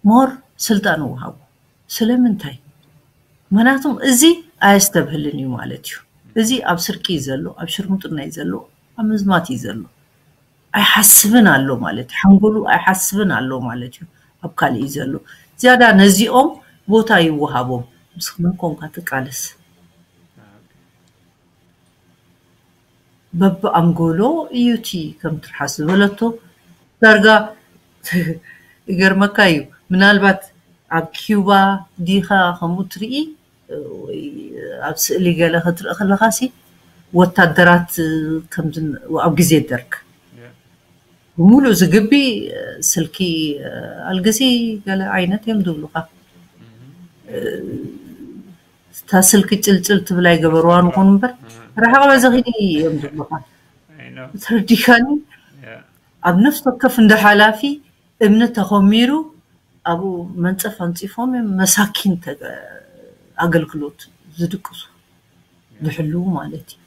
ሞር ስልጣን ይወሃቦ። ስለምንታይ? ምክንያቱም እዚ ኣየስተብህልን እዩ ማለት እዩ። እዚ ኣብ ስርቂ እዩ ዘሎ፣ ኣብ ሽርሙጥና እዩ ዘሎ፣ ኣብ ምዝማት እዩ ዘሎ። ኣይሓስብን ኣሎ ማለት እዩ። ሓንጎሉ ኣይሓስብን ኣሎ ማለት እዩ። ኣብ ካልእ እዩ ዘሎ። ዝያዳ ነዚኦም ቦታ ይወሃቦም። ምስ መን ኮንካ ትቃለስ? በብኣንጎሎ እዩ እቲ ከም ትርሓስ ዝበለቶ ዳርጋ ይገርመካ እዩ። ምናልባት ኣብ ኪዩባ ዲኻ ከምኡ ትርኢ ወይ ኣብ ስእሊ ገለ ክትርኢ ከለኻሲ ወታደራት ከምዚ ኣብ ግዜ ደርግ ብምሉእ ዝግቢ ስልኪ ኣልግሲ ገለ ዓይነት እዮም ዝብሉኻ። እታ ስልኪ ጭልጭል ትብል ኣይገበርዋን ይኹን እምበር ርሕቕ በዚ ኺዲ እዮም ዝብሉኻ። ተረዲኻኒ? ኣብ ነፍሲ ወከፍ እንደ ሓላፊ እምኒ ተኾሚሩ ኣብኡ መንፀፍ ኣንፂፎም እዮም መሳኪን ኣገልግሎት ዝድቅሱ ዝሕልዉ ማለት እዩ።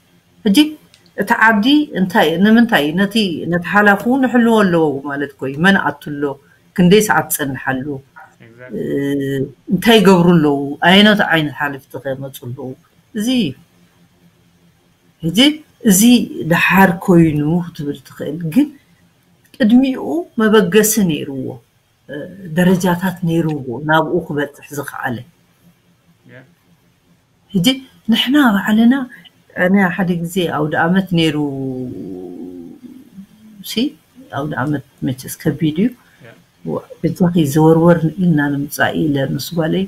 ሕጂ እቲ ዓዲ እንታይ ንምንታይ ነቲ ነቲ ሓላፉ ንሕልዎ ኣለዎ ማለት ኮይ መን ኣቱ ኣሎ ክንደይ ሰዓት ትፀንሓሉ እንታይ ይገብሩ ኣለዉ ኣየኖት ዓይነት ሓለፍቲ ከመፁ ኣለዉ እዚ እዩ። ሕጂ እዚ ደሓር ኮይኑ ክትብል ትኽእል ግን ቅድሚኡ መበገሲ ነይርዎ። ደረጃታት ነይርዎ ናብኡ ክበፅሕ ዝኸኣለ። ሕጂ ንሕና ባዕልና ኣነ ሓደ ግዜ ኣውደ ኣመት ነይሩ ሲ ኣውደ ኣመት መቸስ ከቢድ እዩ። በጃኺ ዘወርወር ኢልና ንምፃእ ኢለ ምስ ጓለይ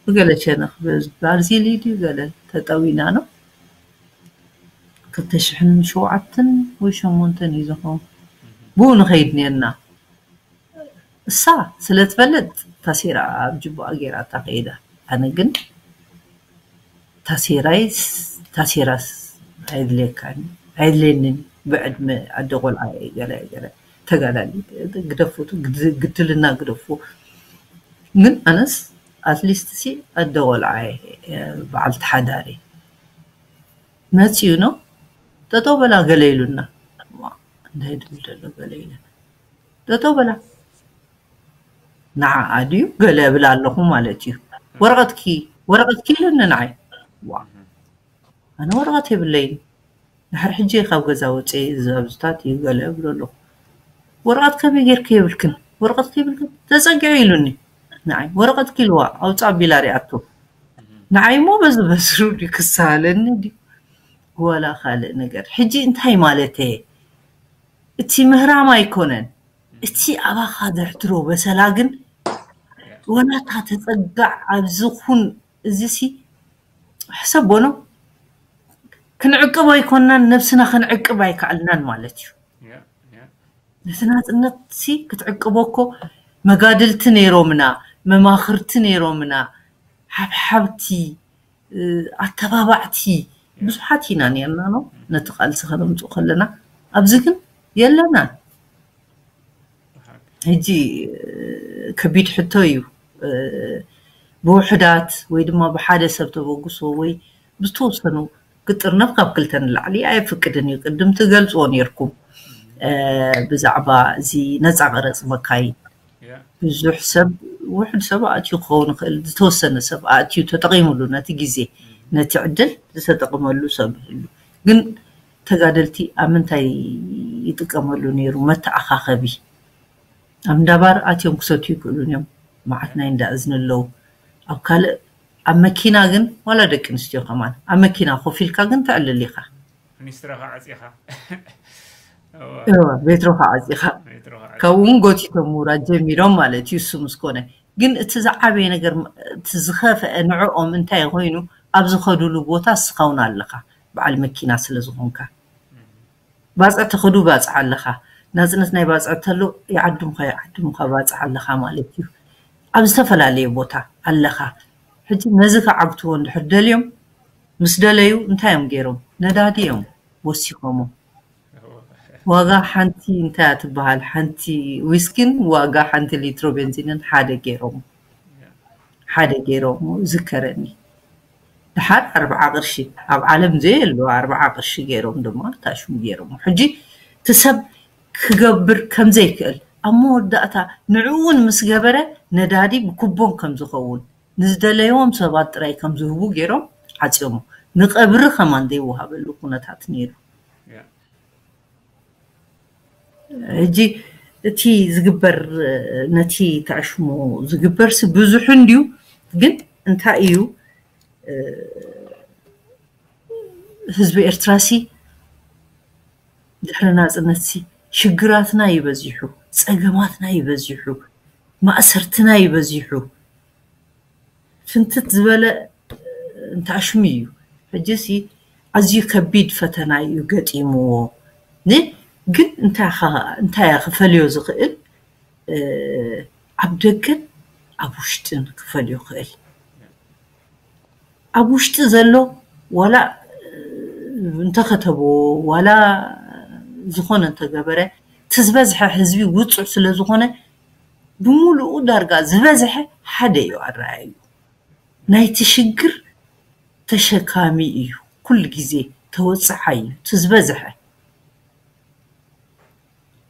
ብገለ ሸነኽ ባርዚሊ ድዩ ገለ ተጠዊና ነው ክልተ ሽሕን ሸውዓተን ወይ ሸሞንተን እዩ ዝኸውን ብኡ ንኸይድ ነርና። እሳ ስለ ትፈልጥ ታሴራ ኣብ ጅቡኣ ገይራ እታ ከይዳ ኣነ ግን ታሴራይ ታሴራስ ኣይድልየካን ኣይድልየንን ብዕድመ ኣደ ቆልዓ ገለ ገለ ተጋዳሊ ግደፉ ግድልና ግደፉ ግን ኣነስ ኣትሊስት ሲ ኣደ ቆልዓ በዓልቲ ሓዳሪ መፅዩ ነው ጠጠው በላ ገለ ኢሉና እንታይ ድብል ዘሎ ገለ ኢለ ጠጠው በላ ንዓኣ ድዩ ገለ እብል ኣለኹ ማለት እዩ። ወረቐትኪ ወረቐትኪ ኢሉኒ ንዓይ። ዋ ኣነ ወረቐት የብለይን። ድሕሪ ሕጂ ካብ ገዛ ወፅየ ዝዛብዝታት እዩ ገለ እብሎ ኣለኹ። ወረቐት ከመይ ጌርኪ የብልክን ወረቐት ከይብልክን ተፀጊዑ ኢሉኒ። ንዓይ ወረቐትኪ ኢልዋ ኣውፃ ኣቢላ ሪኣቶ። ንዓይ እሞ በዚ በስሩ ድዩ ክሳለኒ ድዩ ዋላ ካልእ ነገር። ሕጂ እንታይ ማለት እየ? እቲ ምህራም ኣይኮነን። እቲ ኣባኻ ዘሕድሮ በሰላ ግን ወላ እታ ተጸጋዕ ኣብዚ ኹን፣ እዚ ሲ ሕሰቦ ነው። ክንዕቅብ ኣይኮናን፣ ነብስና ክንዕቅብ ኣይከኣልናን ማለት እዩ። ነቲ ናጽነት ሲ ክትዕቅቦ እኮ መጋድልቲ ነይሮምና፣ መማኽርቲ ነይሮምና፣ ሓብሓብቲ፣ ኣተባባዕቲ ብዙሓት ኢና ነርና ነው ነቲ ቃልሲ ከነምፅኡ ከለና። ኣብዚ ግን የለናን። ሕጂ ከቢድ ሕቶ እዩ። ብውሕዳት ወይ ድማ ብሓደ ሰብ ተበግሶ ወይ ብዝተወሰኑ ክጥርነፍ ካብ ክልተ ንላዕሊ ኣየፍቅድን እዩ። ቅድም ትገልፅዎ ነርኩም ብዛዕባ እዚ ነፃ ቀረፅ መካይን ብዙሕ ሰብ ውሕድ ሰብ ኣእትዩ ክኸውን ይኽእል፣ ዝተወሰነ ሰብ ኣእትዩ ተጠቒሙሉ ነቲ ግዜ ነቲ ዕድል ዝተጠቕመሉ ሰብ ይህሉ። ግን ተጋደልቲ ኣብ ምንታይ ይጥቀመሉ ነይሩ? መተኣኻኸቢ ኣብ እንዳባር ኣትዮም ክሰትዩ ይኽእሉን እዮም። መዓት ናይ እንዳ እዝኒ ኣለዉ። ኣብ ካልእ ኣብ መኪና ግን ዋላ ደቂ ኣንስትዮ ከማን ኣብ መኪና ኮፍ ኢልካ ግን ተዕልል ኢኻ። ሚኒስትርኻ ዓፂኻ እዋ ቤትሮኻ ዓፂኻ ካብኡ እውን ጎቲቶም ምውራድ ጀሚሮም ማለት እዩ። እሱ ምስ ኮነ ግን እቲ ዝዓበየ ነገር እቲ ዝኸፍአ ንዕኦም እንታይ ኮይኑ ኣብ ዝኸዱሉ ቦታ እስኻ እውን ኣለኻ በዓል መኪና ስለ ዝኾንካ ባፅዕ ተኸዱ ባፅዕ ኣለኻ ናፅነት ናይ ባፅዕ ተሎ ይዓድምኻ ይዓድምኻ ባፅዕ ኣለኻ ማለት እዩ። ኣብ ዝተፈላለየ ቦታ ኣለኻ። ሕጂ ነዚ ከዓግትዎ እንድሕር ደልዮም ምስ ደለዩ እንታይ እዮም ገይሮም? ነዳዲ እዮም ወሲኾሞ። ዋጋ ሓንቲ እንታይ እያ ትበሃል ሓንቲ ዊስኪን ዋጋ ሓንቲ ሊትሮ ቤንዚንን ሓደ ገይሮም ሓደ ገይሮም ዝከረኒ ድሓር ኣርብዓ ቅርሺ ኣብ ዓለም ዘየሉ ኣርብዓ ቅርሺ ገይሮም ድማ ታሽሙ ገይሮም ሕጂ እቲ ሰብ ክገብር ከምዘይክእል ኣብ መወዳእታ ንዕውን ምስ ገበረ ነዳዲ ብኩቦን ከም ዝኸውን ንዝደለይዎም ሰባት ጥራይ ከም ዝህቡ ገይሮም ዓፅዮሞ ንቀብሪ ከማን ዘይወሃበሉ ኩነታት ነይሩ። ሕጂ እቲ ዝግበር ነቲ ተዕሽሞ ዝግበር ሲ ብዙሕ እንድዩ ግን እንታይ እዩ ህዝቢ ኤርትራ ሲ ድሕሪ ናፅነት ሲ ሽግራትና ይበዚሑ ፀገማትና ይበዚሑ ማእሰርትና ይበዚሑ ፍንትት ዝበለ እንታሽሙ እዩ። ሕጂ ሲ ኣዝዩ ከቢድ ፈተና እዩ ገጢምዎ። ን ግን እንታይ ኸ- እንታይ ክፈልዮ ዝኽእል ኣብ ደገን ኣብ ውሽጥን ክፈልዮ ክእል። ኣብ ውሽጢ ዘሎ ዋላ እንተኸተቦ ዋላ ዝኾነ እንተገበረ እቲ ዝበዝሐ ህዝቢ ውፁዕ ስለ ዝኾነ ብምሉኡ ዳርጋ ዝበዝሐ ሓደ እዩ ኣረኣዩ ናይቲ ሽግር ተሸካሚ እዩ ኩሉ ግዜ ተወፅሓ እዩ እቲ ዝበዝሐ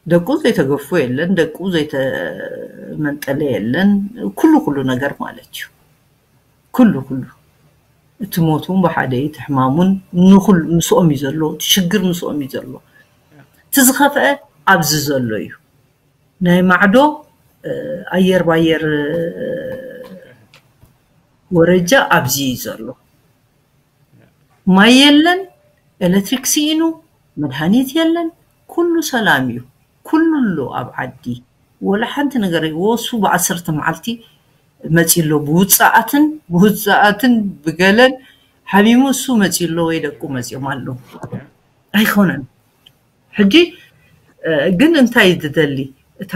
ደቁ ዘይተገፎ የለን ደቁ ዘይተመንጠለ የለን ኩሉ ኩሉ ነገር ማለት እዩ ኩሉ ኩሉ እቲ ሞት እውን ብሓደ እዩ እቲ ሕማም እውን ንኩሉ ምስኦም እዩ ዘሎ እቲ ሽግር ምስኦም እዩ ዘሎ እቲ ዝኸፍአ ኣብዚ ዘሎ እዩ ናይ ማዕዶ ኣየር ባየር ወረጃ ኣብዚ እዩ ዘሎ ማይ የለን ኤሌክትሪክ ስኢኑ መድሃኒት የለን ኩሉ ሰላም እዩ ኩሉ ኣሎ ኣብ ዓዲ ወላ ሓንቲ ነገር ወሱ ብዓሰርተ መዓልቲ መፂ ኣሎ ብውፃኣትን ብውፃኣትን ብገለን ሓሚሙ እሱ መፂ ኣሎ ወይ ደቁ መፂኦም ኣሎ ኣይኮነን ሕጂ ግን እንታይ ዝደሊ እታ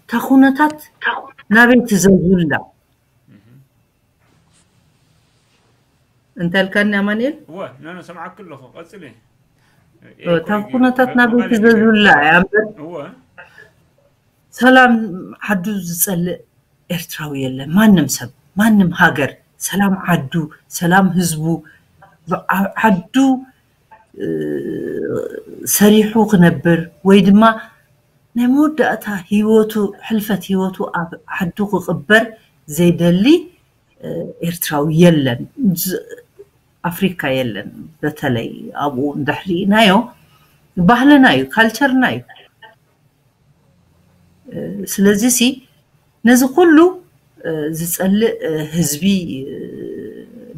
እታ ኩነታት ናበይ ትዘዙላ እንታይ ልካኒ ኣማንኤል እወ ኖ ኖ ሰምዓክ ኣለኹ ቀፅሊ እታ ኩነታት ናበይ ትዘዙላ እያ እምበር እወ ሰላም ዓዱ ዝፀልእ ኤርትራዊ የለን ማንም ሰብ ማንም ሃገር ሰላም ዓዱ ሰላም ህዝቡ ዓዱ ሰሪሑ ክነብር ወይ ድማ ናይ መወዳእታ ህይወቱ ሕልፈት ህይወቱ ኣብ ዓዱ ክቕበር ዘይደሊ ኤርትራዊ የለን ኣፍሪካ የለን በተለይ ኣብኡ እንድሕር ርኢናዮ ባህልና እዩ ካልቸርና እዩ ስለዚ ሲ ነዚ ኩሉ ዝፀልእ ህዝቢ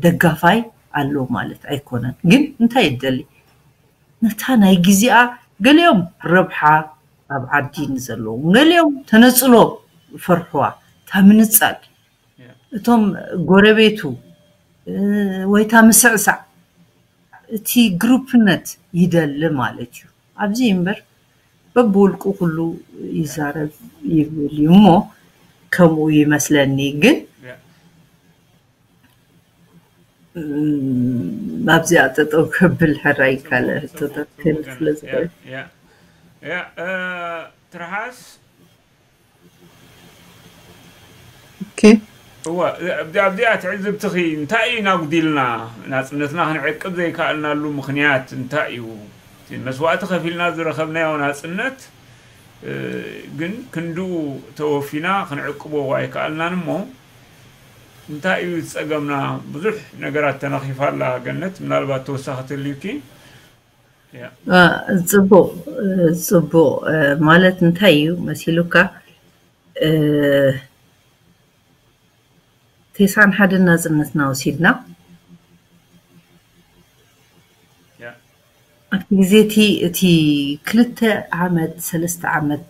ደጋፋይ ኣሎ ማለት ኣይኮነን ግን እንታይ ይደሊ ነታ ናይ ግዜኣ ገሊኦም ረብሓ ኣብ ዓዲ ንዘለዉ ገሊኦም ተነፅሎ ፈርሕዋ እታ ምንጻል፣ እቶም ጎረቤቱ፣ እ፣ ወይ እታ ምስዕሳዕ፣ እቲ ግሩፕነት ይደሊ ማለት እዩ። ኣብዚ እምበር በብውልቁ ኩሉ ይዛረብ ይብል እዩ እሞ፣ ከምኡ ይመስለኒ። ግን፣ እም፣ ኣብዚኣ ጠጠው ከብል ሕራይ ካልእ ሕቶታት ክህልፍ ስለ ዝኽእል። ትርሃስ ኦኬ። እወ፣ ኣብዚኣ ትዕዝብትኺ እንታይ እዩ ናጉዲልና? ናጽነትና ክንዕቅብ ዘይከኣልናሉ ምኽንያት እንታይ እዩ? እቲ መስዋእቲ ከፊልና ዝረኸብናዮ ናጽነት፣ እ፣ ግን ክንድኡ ተወፊና ክንዕቅቦ ኣይከኣልናን እሞ፣ እንታይ እዩ ዝጸገምና? ብዙሕ ነገራት ተነኺፋ ኣላ ገነት፣ ምናልባት ተወሳኺ ትልዩኪ? ያ። አ፣ ጽቡቕ፣ እ፣ ጽቡቕ፣ እ፣ ማለት እንታይ እዩ መሲሉካ? እ፣ ቴስዓን ሓደን ናጽነትና ወሲድና። ያ። ኣብቲ ግዜ እቲ፣ እቲ ክልተ ዓመት፣ ሰለስተ ዓመት፣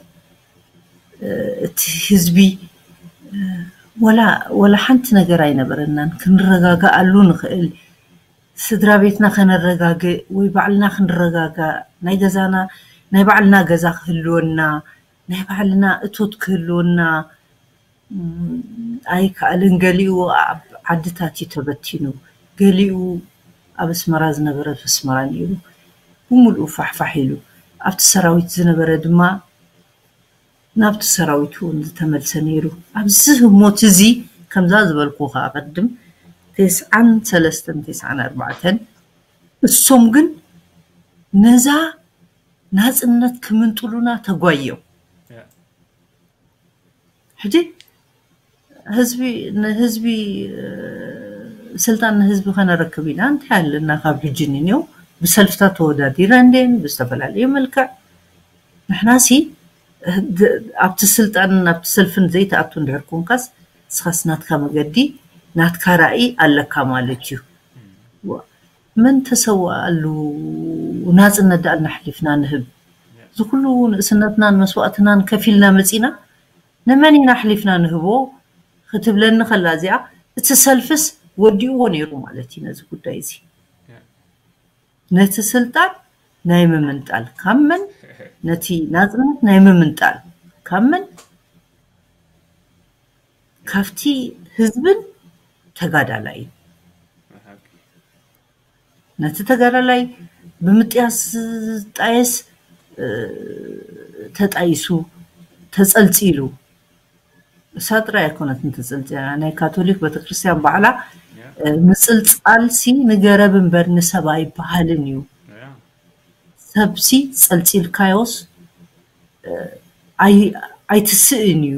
እ፣ እቲ ህዝቢ፣ እ፣ ወላ፣ ወላ ሓንቲ ነገር ኣይነበረናን። ክንረጋግኣሉ ንኽእል፣ ስድራ ቤትና ከነረጋግእ ወይ ባዕልና ክንረጋጋእ፣ ናይ ገዛና፣ ናይ ባዕልና ገዛ ክህልወና፣ ናይ ባዕልና እቶት ክህልወና፣ እም፣ ኣይከኣልን። ገሊኡ ኣብ ዓድታት እዩ ተበቲኑ፣ ገሊኡ ኣብ ኣስመራ ዝነበረ ኣብ ኣስመራ ነይሩ፣ ብምሉኡ ፋሕፋሕ ኢሉ። ኣብቲ ሰራዊት ዝነበረ ድማ ናብቲ ሰራዊት እውን ዝተመልሰ ነይሩ። ኣብዚ ህሞት እዚ፣ ከምዛ ዝበልኩ ከዓ ቅድም፣ ቴስዓን ሰለስተን፣ ቴስዓን ኣርባዕተን፣ እሶም ግን ነዛ ናጽነት ክምንጥሉና ተጓዮም። ያ። ሕጂ ህዝቢ፣ ንህዝቢ፣ እ፣ ስልጣን ንህዝቢ ከነረክብ ኢና። እንታይ ኣለና ካብ ሕጂ ንኔው? ብሰልፍታት ተወዳዲረ እንዴን ብዝተፈላለየ መልክዕ። ንሕናሲ፣ እ፣ ድ-፣ ኣብቲ ስልጣንን ኣብቲ ሰልፍን ዘይትኣቱ እንድሕር ኮንካስ፣ ንስኻስ ናትካ መገዲ፣ ናትካ ራእይ ኣለካ ማለት እዩ። ዋ፣ መን ተሰዋኣሉ ናጽነት ደኣ ኣልና ኣሕሊፍና ንህብ? እዚ ኩሉ ንእስነትናን መስዋእትናን ከፊልና መጺና፣ ንመን ኢና ኣሕሊፍና ንህቦ? ክትብለኒ ከላ እዚኣ፣ እቲ ሰልፍስ ወዲእዎ ነይሩ ማለት እዩ ነዚ ጉዳይ እዚ። ነቲ ስልጣን ናይ ምምንጣል ካብ መን፣ ነቲ ናጽነት ናይ ምምንጣል ካብ መን? ካብቲ ህዝብን ተጋዳላይን። ነቲ ተጋዳላይ ብምጥያስ ዝጣየስ፣ እ፣ ተጣይሱ፣ ተጸልጺሉ። እሳ ጥራይ ኣይኮነትን ተጸልጺላ። ናይ ካቶሊክ ቤተክርስትያን ባዕላ፣ ያ። እ፣ ምጽልጻልሲ ንገረብ እምበር ንሰብ ኣይበሃልን እዩ። ያ። ሰብሲ ጸልጺልካዮስ፣ እ፣ ኣይ-፣ ኣይትስእን እዩ።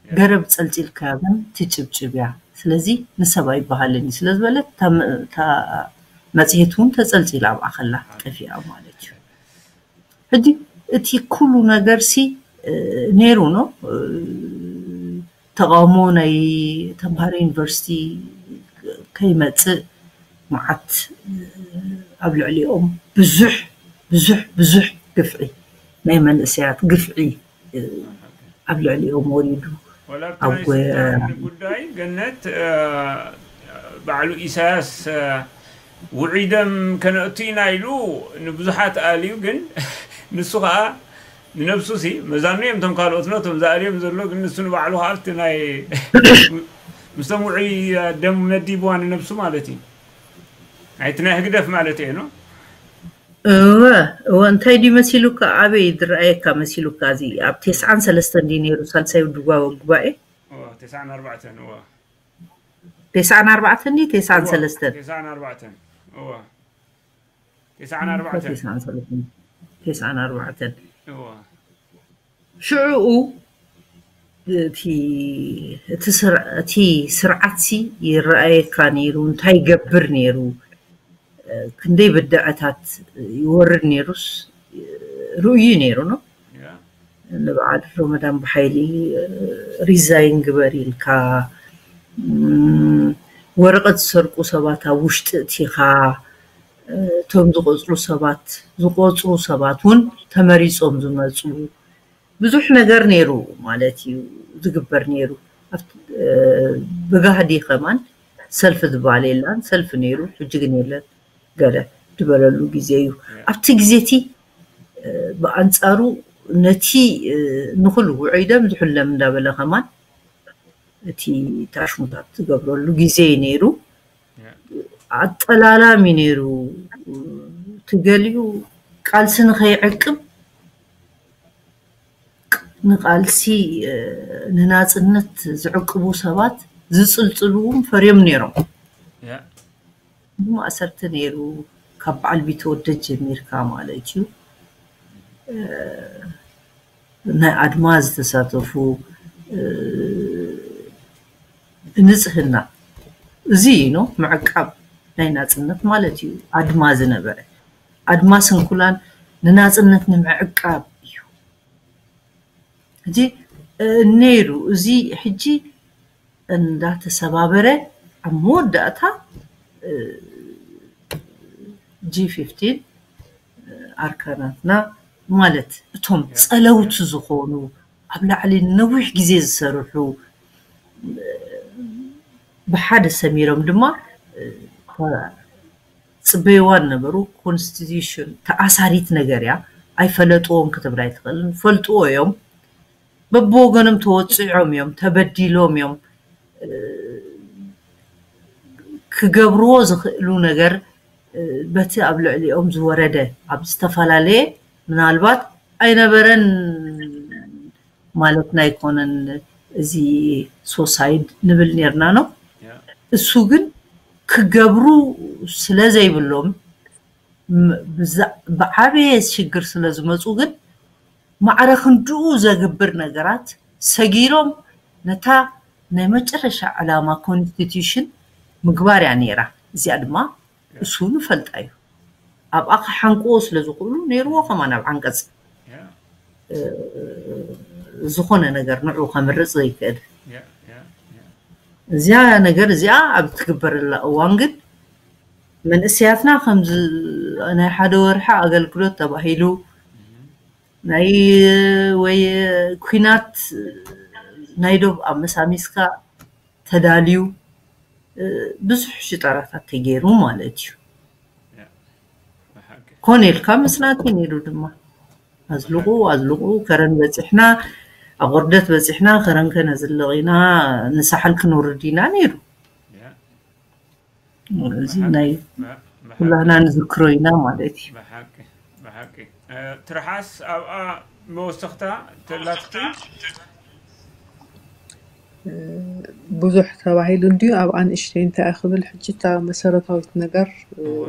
ገረብ ጸልጺልካዮ ግን ትጭብጭብ እያ። ስለዚ ንሰብ ኣይበሃልን እዩ ስለ ዝበለት፣ እታ መ-፣ እታ መጽሔት እውን ተጸልጺላ ኣብኣ ከላ ጠፊኣ ማለት እዩ። ሕጂ እቲ ኩሉ ነገርሲ፣ እ፣ ነይሩ ነው። እ፣ ተቓውሞ ናይ ተምሃሮ ዩኒቨርሲቲ ከይመጽእ መዓት፣ እ፣ ኣብ ልዕሊኦም ብዙሕ፣ ብዙሕ፣ ብዙሕ ግፍዒ፣ ናይ መንእሰያት ግፍዒ፣ እ፣ ኣብ ልዕሊኦም ወሪዱ። ወላ ኣብቲ ኣብ ናይ ጎ-፣ ስልጣን ጉዳይ ገነት፣ እ፣ ባዕሉ ኢሳያስ፣ እ፣ ውዒደም ከነእቱ ኢና ኢሉ ንብዙሓት ኣልዩ፣ ግን ንሱ ኸዓ ንነብሱ ሲ መዛኑ እዮም እቶም ካልኦት ነቶም ዝኣልዮም ዘሎ፣ ግን ንሱ ንባዕሉ ኸዓ ኣብቲ ናይ ምስቶም ውዑይ ደም መዲብዋ ንነብሱ ማለት እዩ። ናይቲ ናይ ህግደፍ ማለት እዩ ነው። እወ፣ እወ፣ እንታይ ድዩ መሲሉካ? ኣበይ ዝረኣየካ መሲሉካ? እዚ ኣብ ቴስዓን ሰለስተን ድዩ ነይሩ ሳልሳይ ውድባዊ ጉባኤ? እወ፣ ቴስዓን ኣርባዕተን፣ እወ። ቴስዓን ኣርባዕተን ድዩ ቴስዓን እወ፣ ሰለስተን? ቴስዓን ኣርባዕተን፣ እወ። ቴስዓን ኣርባዕተን። ቴስዓን ሰለስተን፣ ቴስዓን ኣርባዕተን። እወ። ሽዑኡ እቲ፣ እቲ ስር-፣ እቲ ስርዓትሲ ይረኣየካ ነይሩ፣ እንታይ ይገብር ነይሩ፣ ክንደይ ብድዐታት ይወርድ ነይሩስ ርኡይ ነይሩ ነው። ያ። ንበዓል ሮመዳን ብሓይሊ ሪዛይን ግበር ኢልካ፣ እም፣ ወረቐት ዝሰርቁ ሰባት ኣብ ውሽጢ እቲኻ፣ እቶም ዝቆጽሩ ሰባት፣ ዝቆጽሩ ሰባት እውን ተመሪጾም ዝመጹ፣ ብዙሕ ነገር ነይሩ ማለት እዩ ዝግበር ነይሩ። ኣብቲ፣ እ፣ ብጋህዲ ከማን ሰልፊ ዝበሃል የላን፣ ሰልፊ ነይሩ፣ ሕጂ ግን የለን፣ ገለ ዝበለሉ ግዜ እዩ። ኣብቲ ግዜ እቲ፣ እ፣ ብኣንጻሩ ነቲ፣ እ፣ ንኹሉ ውዑይ ደም ዝሑል ደም እንዳበለ ከማን እቲ ታሽሙታት ዝገብረሉ ግዜ እዩ ነይሩ። ኣጠላላሚ ነይሩ። እቲ ገሊኡ ቃልሲ ንኸይዕቅብ፣ ንቃልሲ፣ እ፣ ንናጽነት ዝዕቅቡ ሰባት ዝጽልጽሉ እውን ፈርዮም ነይሮም። ያ ማእሰርቲ ነይሩ፣ ካብ በዓል ቢተወደድ ጀሚርካ ማለት እዩ። እ፣ ናይ ኣድማ ዝተሳተፉ፣ እ፣ ንጽህና፣ እዚ እዩ ነው ምዕቃብ ናይ ናጽነት ማለት እዩ። ኣድማ ዝነበረ፣ ኣድማ ስንኩላን ንናጽነት ንምዕቃብ እዩ። ሕጂ፣ እ፣ ነይሩ፣ እዚ ሕጂ እንዳተሰባበረ ኣብ መወዳእታ፣ እ፣ ጂ ፊፍቲን፣ እ፣ ኣርካናትና ማለት እቶም ጸለውቲ ዝኾኑ ኣብ ላዕሊ ነዊሕ ግዜ ዝሰርሑ፣ እ፣ ብሓደ ሰሚሮም ድማ፣ እ፣ ጽበይዋ ነበሩ። ኮንስቲቱሽን ተኣሳሪት ነገር እያ፣ ኣይፈለጥዎን ክትብል ኣይትኽእልን። ፈልጥዎ እዮም፣ በብወገኖም ተወጺዖም እዮም፣ ተበዲሎም እዮም። እ፣ ክገብርዎ ዝኽእሉ ነገር፣ እ፣ በቲ ኣብ ልዕሊኦም ዝወረደ ኣብ ዝተፈላለየ፣ ምናልባት ኣይነበረን ማለትና ኣይኮነን፣ እዚ ሶሳይድ ንብል ነርና ነው። ያ እሱ ግን ክገብሩ ስለ ዘይብሎም፣ ም-፣ ብዛ-፣ ብዓበየ ሽግር ስለ ዝመጹ ግን ማዕረ ክንድኡ ዘግብር ነገራት ሰጊሮም ነታ ናይ መጨረሻ ዕላማ ኮንስቲቱሽን ምግባር እያ ነይራ። እዚኣ ድማ እሱ ንፈልጣ እዩ። ኣብኣ ክሓንቅዎ ስለ ዝኽእሉ ነይርዎ ከማን ኣብ ዓንቀጽ፣ ያ እ፣ ዝኾነ ነገር ንዑ ከምርጽ ዘይክእል። ያ ያ ያ እዚኣ ነገር እዚኣ ኣብ ትግበረላ እዋን ግን መንእሰያትና ከምዚ ናይ ሓደ ወርሒ ኣገልግሎት ተባሂሉ ናይ ወይ ኩናት ናይ ዶብ ኣመሳሚስካ ተዳልዩ፣ እ፣ ብዙሕ ሽጣራታት ተገይሩ ማለት እዩ። ያ ብሓቂ ኮነ ኢልካ መጽናዕቲ ነይሩ ድማ። ኣዝልቑ፣ ኣዝልቑ፣ ከረን በጺሕና፣ ኣቑርደት በጺሕና፣ ከረን ከነዝልቕ ኢና፣ ንሳሕል ክንውርድ ኢና ነይሩ። ያ እዚ ናይ ብሓቂ ኩላህና ንዝክሮ ኢና ማለት እዩ። ብሓቂ ብሓቂ። እ፣ ትርሓስ ኣብኣ መወሰኽታ ተላትኪ? ብዙሕ ተባሂሉ እንድዩ። ኣብኣ ንእሽተይ እንታይ ክብል፣ ሕጂ እታ መሰረታዊት ነገር፣ እ፣ እወ።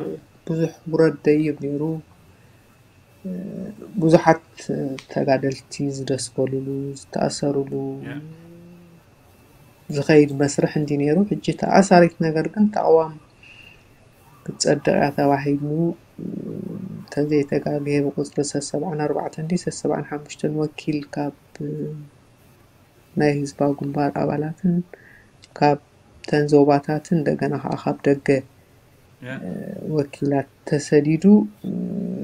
ብዙሕ ውረድ ደይብ ነይሩ። እ፣ ብዙሓት፣ እ፣ ተጋደልቲ ዝደስከሉሉ፣ ዝተኣሰሩሉ ያ። ዝኸይድ መስርሕ እንዲ ነይሩ። ሕጂ ተኣሳሪት ነገር ግን ተቕዋም ክትጸድቕ እያ ተባሂሉ፣ እ፣ ተዘይተጋግየ ብቁጽሪ ሰሰብዓን ኣርባዕተን እንዲ ሰሰብዓን ሓሙሽተን ወኪል ካብ፣ እ፣ ናይ ህዝባዊ ግንባር ኣባላትን ካብ ተን ዞባታትን እንደገና ከዓ ካብ ደገ ያ። ወኪላት ተሰዲዱ፣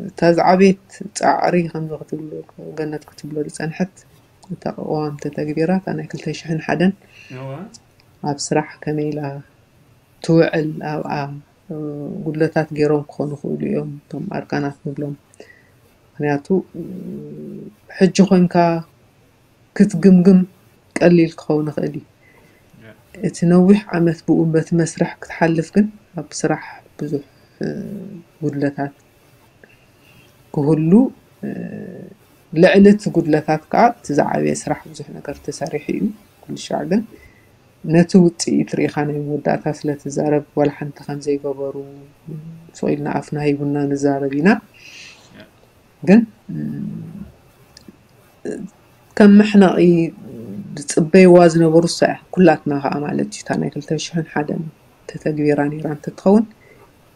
እታ ዝዓበየት ጻዕሪ ከምዚ ክትብሎ፣ ገነት ክትብሎ ዝጸንሐት እታ ቅዋም ተተግቢራ፣ እታ ናይ ክልተ ሽሕን ሓደን እወ። ኣብ ስራሕ ከመይ ኢላ ትውዕል፣ ኣብኣ፣ እ፣ ጉድለታት ገይሮም ክኾኑ ይኽእሉ እዮም፣ እቶም ኣርካናት ንብሎም። ምኽንያቱ፣ እ፣ ሕጂ ኮንካ ክትግምግም ቀሊል ክኸውን ይኽእል እዩ። እቲ ነዊሕ ዓመት ብኡ በቲ መስርሕ ክትሓልፍ ግን ኣብ ስራሕ ብዙሕ፣ እ፣ ጉድለታት ክህሉ፣ እ፣ ልዕሊ እቲ ጉድለታት ከዓ እቲ ዝዓበየ ስራሕ ብዙሕ ነገር ተሰሪሑ እዩ። ኩሉ ሻዕ ግን ነቲ ውፅኢት ርኢኻ ናይ መወዳእታ ስለ ትዛረብ ዋላ ሓንቲ ከም ዘይገበሩ ስቕ ኢልና ኣፍና ሂቡና ንዛረብ ኢና። ግን፣ እ፣ ከም መሕነቒ ዝፅበይዋ ዝነበሩ እሳ እያ። ኩላትና ከዓ ማለት እዩ። እታ ናይ ክልተ ሽሕን ሓደን ተተግቢራ ነይራ እንተትኸውን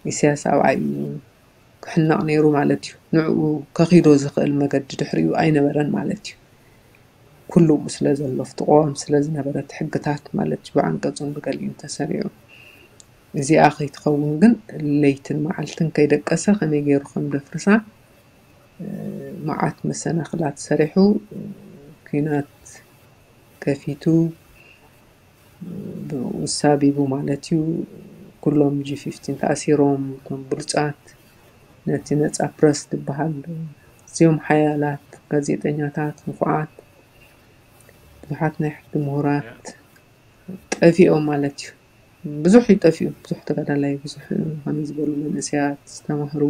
ኢሳያስ ኣብኣ እዩ ክሕነቕ ነይሩ ማለት እዩ። ንዕኡ ከኺዶ ዝኽእል መገዲ ድሕሪኡ ኣይነበረን ማለት እዩ። ኩሉ ስለ ዘሎ፣ ኣብቲ ቅዋም ስለ ዝነበረ፣ እቲ ሕግታት ማለት እዩ፣ ብዓንቀጹን ብገሊኡን ተሰሪዑ። እዚኣ ከይትኸውን ግን ለይትን መዓልትን ከይደቀሰ ከመይ ገይሩ ከም ደፍርሳ፣ እ፣ መዓት መሰናኽላት ሰሪሑ፣ እ፣ ኲናት ከፊቱ፣ ውሳቢቡ ማለት እዩ። ኩሎም ጂ ፊፍቲን ተኣሲሮም፣ እቶም ብሉጻት ነቲ ነጻ ፕረስ ዝበሃል፣ እዚኦም ሓያላት ጋዜጠኛታት፣ ንፉዓት፣ ብዙሓት ናይ ሕጊ ምሁራት ጠፊኦም ማለት እዩ። ብዙሕ እዩ ጠፊኡ፣ ብዙሕ ተጋዳላይ፣ ብዙሕ ከመይ ዝበሉ መንእሰያት ዝተማህሩ፣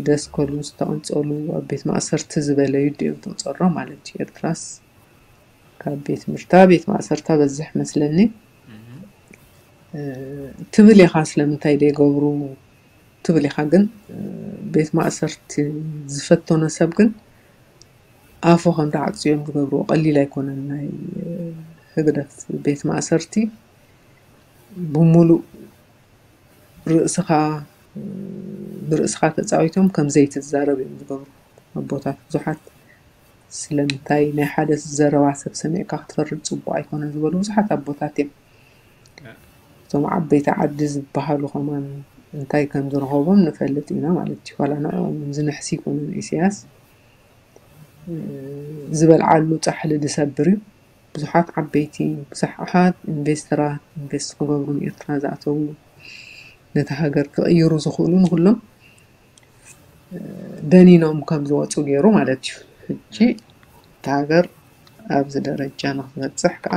ደስከሉ ዝተቐንጸሉ፣ ኣብ ቤት ማእሰርቲ ዝበለዩ ድዮም ተቆጸሮ ማለት እዩ። ኤርትራስ ካብ ቤት ምርታ ቤት ማእሰርታ በዝሕ መስለኒ። ትብል ኢኻ፣ ስለምንታይ ደይገብሩ ትብል ኢኻ። ግን ቤት ማእሰርቲ ዝፈተኖ ሰብ ግን ኣፉ ከም ተዓፅዮም ዝገብርዎ ቀሊል ኣይኮነን። ናይ ህግደፍ ቤት ማእሰርቲ ብሙሉእ ርእስኻ ብርእስኻ ተፃዊቶም ከም ዘይትዛረብ እዮም ዝገብሩ ኣቦታት። ብዙሓት ስለምንታይ ናይ ሓደ ዘረባ ሰብ ሰሚዕካ ክትፈርድ ፅቡቅ ኣይኮነን ዝበሉ ብዙሓት ኣቦታት እዮም። እቶም ዓበይቲ ዓዲ ዝበሃሉ ከማን እንታይ ከም ዝረኸቦም ንፈልጥ ኢና ማለት እዩ። ዋላ ንዕኦም ዝንሕስ ይኮነን ኢሳያስ ዝበልዓሉ ፃሕሊ ዝሰብር እዩ። ብዙሓት ዓበይቲ ብዙሓት ኢንቨስተራት ኢንቨስት ክገብሩ ንኤርትራ ዝኣተዉ ነቲ ሃገር ክቕይሩ ዝኽእሉ ንኩሎም ደኒኖም ከም ዝወፁ ገይሩ ማለት እዩ። ሕጂ እታ ሃገር ኣብዚ ደረጃ ንክትበፅሕ ከዓ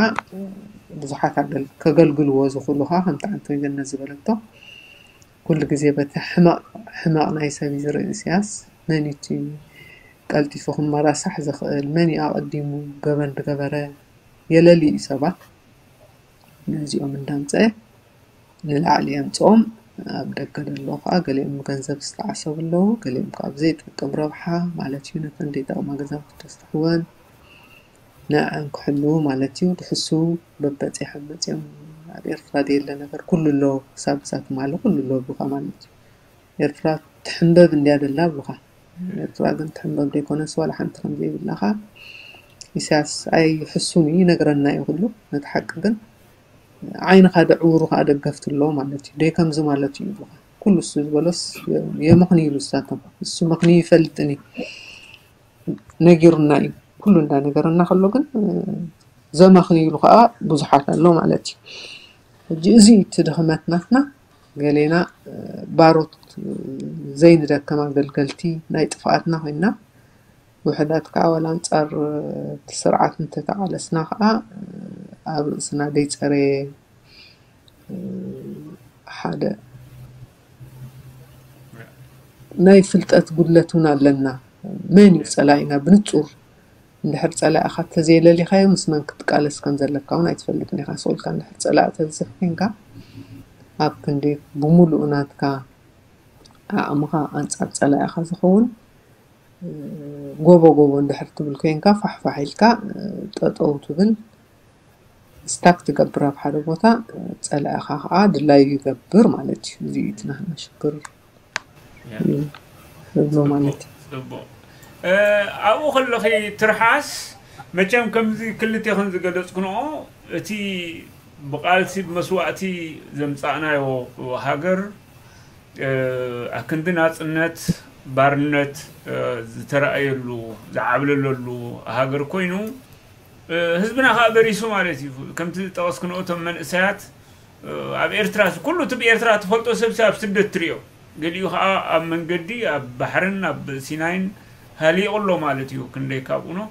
ብዙሓት ኣገል- ከገልግልዎ ዝኽእሉ ከዓ ከምቲ ኣንቶይ ገነት ዝበለቶ ኩሉ ግዜ በቲ ሕመቕ ሕመቕ ናይ ሰብ እዩ ዝርኢ ኢሳያስ። መን እዩ እቲ ቀልጢፉ ክመራሳሕ ዝኽእል? መን እዩ ኣቐዲሙ ገበን ዝገበረ? የለልዩ እዩ ሰባት ነዚኦም እንዳምፀአ ንላዕሊ የምፅኦም። ኣብ ደገ ዘለዉ ከዓ ገሊኦም ብገንዘብ ዝተዓሰቡ ኣለዉ፣ ገሊኦም ከዓ ብዘይጠቅም ረብሓ ማለት እዩ ነተን ዘይጠቅማ ገዛውቲ ተስርሕወን ንዐን ክሕልዉ ማለት እዩ። ድሕሱ በበፂሖም መፂኦም ኣብ ኤርትራ ዘየለ ነገር ኩሉ ኣሎ፣ ክሳብ እሳት ማለ ኩሉ ኣሎ ብካ ማለት እዩ። ኤርትራ ትሕንበብ እንድያ ደላ ብካ። ኤርትራ ግን ትሕንበብ ዘይኮነስ ዋላ ሓንቲ ከም ዘይብላ ከዓ ኢሳያስ ኣይሕሱን እዩ፣ ይነግረና እዩ ኩሉ ነቲ ሓቂ። ግን ዓይንኻ ደዕውሩ ከዓ ደገፍቲ ኣለዎ ማለት እዩ። ደይ ከምዚ ማለት እዩ ይብሉኻ። ኩሉ እሱ ዝበሎስ የመኽንይሉ እሳቶም። እሱ መኽንዩ ይፈልጥን እዩ። ነጊሩና እዩ። ኩሉ እንዳነገረና ከሎ ግን ዘመኽንይሉ ከዓ ብዙሓት ኣሎ ማለት እዩ። ሕጂ እዚ እቲ ድኽመት ናትና። ገሌና ባሮት ዘይንደከም ኣገልገልቲ ናይ ጥፍኣትና ኮይና ውሕዳት ከዓ ዋላ ኣንፃር እቲ ስርዓት እንተተቓለስና ከዓ ኣብ ርእስና ዘይፀረየ ሓደ ናይ ፍልጠት ጉድለት እውን ኣለና። መን እዩ ፀላኢና ብንፁር? እንድሕር ፀላኢኻ ተዘየለሊኻዮ ምስ መን ክትቃለስ ከም ዘለካ እውን ኣይትፈልጥን ኢኻ። ስቕ ኢልካ እንድሕር ፀላኢ ተብዝሕ ኮንካ ኣብ ክንዲ ብሙሉእ ናትካ ዓቕምኻ ኣንፃር ፀላኢኻ ዝኸውን ጎቦ ጎቦ እንድሕር ትብል ኮንካ ፋሕፋሕ ኢልካ ጠጠው ትብል ስታክ ትገብር ኣብ ሓደ ቦታ ፀላኢኻ ከዓ ድላዩ ይገብር ማለት እዩ። እዚ እዩ እቲ ናህና ሽግር እብሎ ማለት እዩ። ኣብኡ ከለኺ ትርሓስ መቸም ከምዚ ክልቴኽን ዝገለፅክንኦ እቲ ብቃልሲ ብመስዋእቲ ዘምፃእናዮ ሃገር ኣክንዲ ናፅነት ባርነት ዝተረኣየሉ ዝዓብለለሉ ሃገር ኮይኑ ህዝብና ከዓ በሪሱ ማለት እዩ። ከምቲ ዝጠቐስክንኦ እቶም መንእሰያት ኣብ ኤርትራ ኩሉ እቲ ብኤርትራ ትፈልጦ ሰብ ኣብ ስደት ትሪኦ። ገሊኡ ከዓ ኣብ መንገዲ ኣብ ባሕርን ኣብ ሲናይን ሃሊቑ ኣሎ ማለት እዩ። ክንደይ ካብኡ ነው።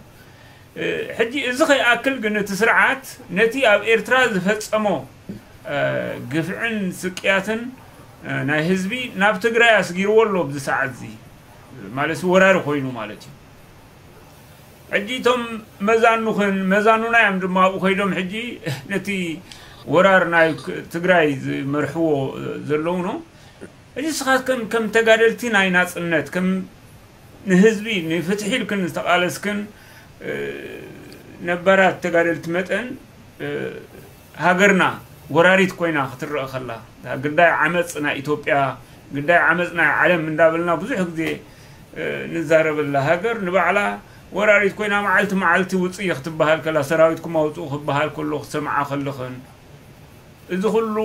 ሕጂ እዚ ከይኣክል ግን እቲ ስርዓት ነቲ ኣብ ኤርትራ ዝፈጸሞ ግፍዕን ስቅያትን ናይ ህዝቢ ናብ ትግራይ ኣስጊርዎ ኣሎ። ኣብዚ ሰዓት እዚ ማለት ወራሪ ኮይኑ ማለት እዩ። ሕጂ እቶም መዛኑኽን መዛኑና እዮም ድማ ኣብኡ ከይዶም ሕጂ ነቲ ወራር ናይ ትግራይ ዝመርሕዎ ዘለዉ ነው። ሕጂ ንስኻትክን ከም ተጋደልቲ ናይ ናፅነት ከም ንህዝቢ ንፍትሒ ኢልክን ዝተቓለስክን ነባራት ተጋደልቲ መጠን ሃገርና ወራሪት ኮይና ክትረአ ከላ ግዳይ ዓመፅ ናይ ኢትዮጵያ ግዳይ ዓመፅ ናይ ዓለም እንዳበልና ብዙሕ ግዜ ንዛረበላ ሃገር ንባዕላ ወራሪት ኮይና መዓልቲ መዓልቲ ውፅእ ክትበሃል ከላ ሰራዊትኩም ኣውፅኡ ክበሃል ከሎ ክትሰምዓ ከለኽን እዚ ኩሉ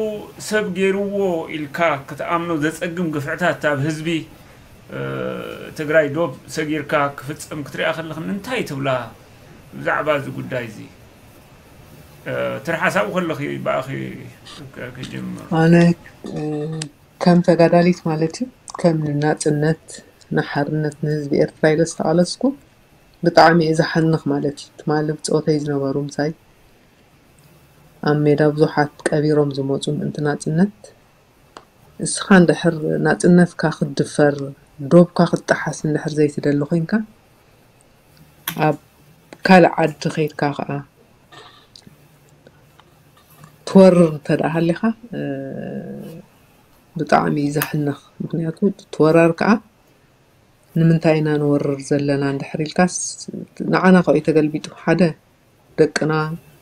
ሰብ ገይርዎ ኢልካ ክትኣምኖ ዘፀግም ግፍዕታት ኣብ ህዝቢ ትግራይ ዶብ ሰጊርካ ክፍፀም ክትሪኣ ከለኽን እንታይ ትብላ ብዛዕባ እዚ ጉዳይ እዚ? ትሪ ሓሳቡ ከለኺ ብኣኺ ክጅምር። ኣነ ከም ተጋዳሊት ማለት እዩ፣ ከም ናፅነት ንሓርነት ንህዝቢ ኤርትራ ኢለ ዝተቓለስኩ ብጣዕሚ እየ ዝሓንኽ ማለት እዩ። ትማሊ ብፆተይ ዝነበሩ ምሳይ ኣብ ሜዳ ብዙሓት ቀቢሮም ዝመፁ ምእንቲ ናፅነት፣ እስኻ እንድሕር ናፅነትካ ክትድፈር፣ ዶብካ ክትጠሓስ እንድሕር ዘይትደሊ ኮይንካ፣ ኣብ ካልእ ዓዲ ከይድካ ከዓ ትወርር እንተ ደኣ ሃሊኻ፣ ብጣዕሚ እዩ ዘሕንኽ። ምክንያቱ እቲ ወራር ከዓ ንምንታይ ኢና ንወርር ዘለና እንድሕር ኢልካስ፣ ንዓና ከ እዩ ተገልቢጡ። ሓደ ደቅና፣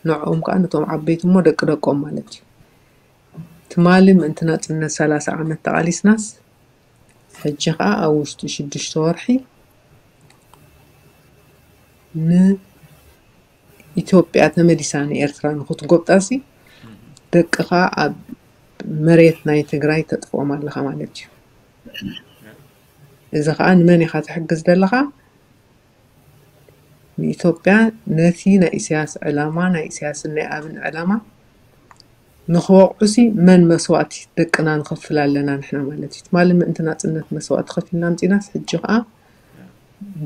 ንዕኦም ከዓ ነቶም ዓበይቲ እሞ ደቂ ደቆም ማለት እዩ። ትማሊ ምእንቲ ናፅነት ሰላሳ ዓመት ተቓሊስናስ፣ ሕጂ ከዓ ኣብ ውሽጢ ሽዱሽተ ወርሒ ንኢትዮጵያ ተመሊሳ ንኤርትራ ንክትጎብጣሲ፣ ደቅኻ ኣብ መሬት ናይ ትግራይ ተጥፍኦም ኣለኻ ማለት እዩ። እዚ ከዓ ንመን ኢኻ ትሕግዝ ዘለኻ? ንኢትዮጵያ ነቲ ናይ ኢሳያስ ዕላማ፣ ናይ ኢሳያስን ናይ ኣብን ዕላማ ንክወቕዑሲ መን መስዋእቲ ደቅና ንኸፍል ኣለና ንሕና ማለት እዩ። ትማሊ ምእንቲ ናፅነት መስዋእቲ ከፊልና ኣምፂናስ፣ ሕጂ ከዓ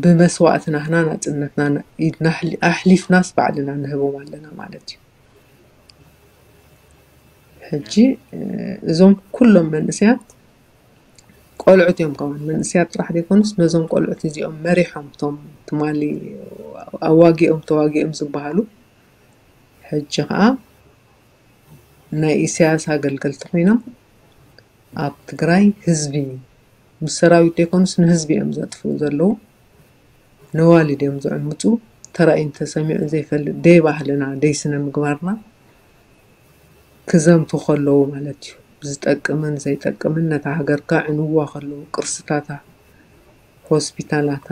ብመስዋእቲ ናህና ናፅነትና ኢድና ኣሕሊ-፣ ኣሕሊፍናስ ባዕልና ንህቦም ኣለና ማለት እዩ። ሕጂ፣ እ፣ እዞም ኩሎም መንእሰያት ቆልዑት እዮም። ከማን መንእሰያት ጥራሕ ዘይኮኑስ፣ ነዞም ቆልዑት እዚኦም መሪሖም፣ እቶም ትማሊ ኣዋጊኦም ተዋጊኦም ዝበሃሉ፣ ሕጂ ከዓ ናይ ኢሳያስ ኣገልገልቲ ኮይኖም ኣብ ትግራይ ህዝቢ ምስ ሰራዊት ዘይኮኑስ ንህዝቢ እዮም ዘጥፍኡ ዘለዉ። ነዋልድ እዮም ዝዕምፁ። ተራእዩን ተሰሚዑን ዘይፈልጥ ደይ ባህልና፣ ደይ ስነ ምግባርና ክዘምቱ ከለዉ ማለት እዩ። ዝጠቅምን ዘይጠቅምን ነታ ሃገር ከዕንዋ ከለዉ፣ ቅርስታታ፣ ሆስፒታላታ፣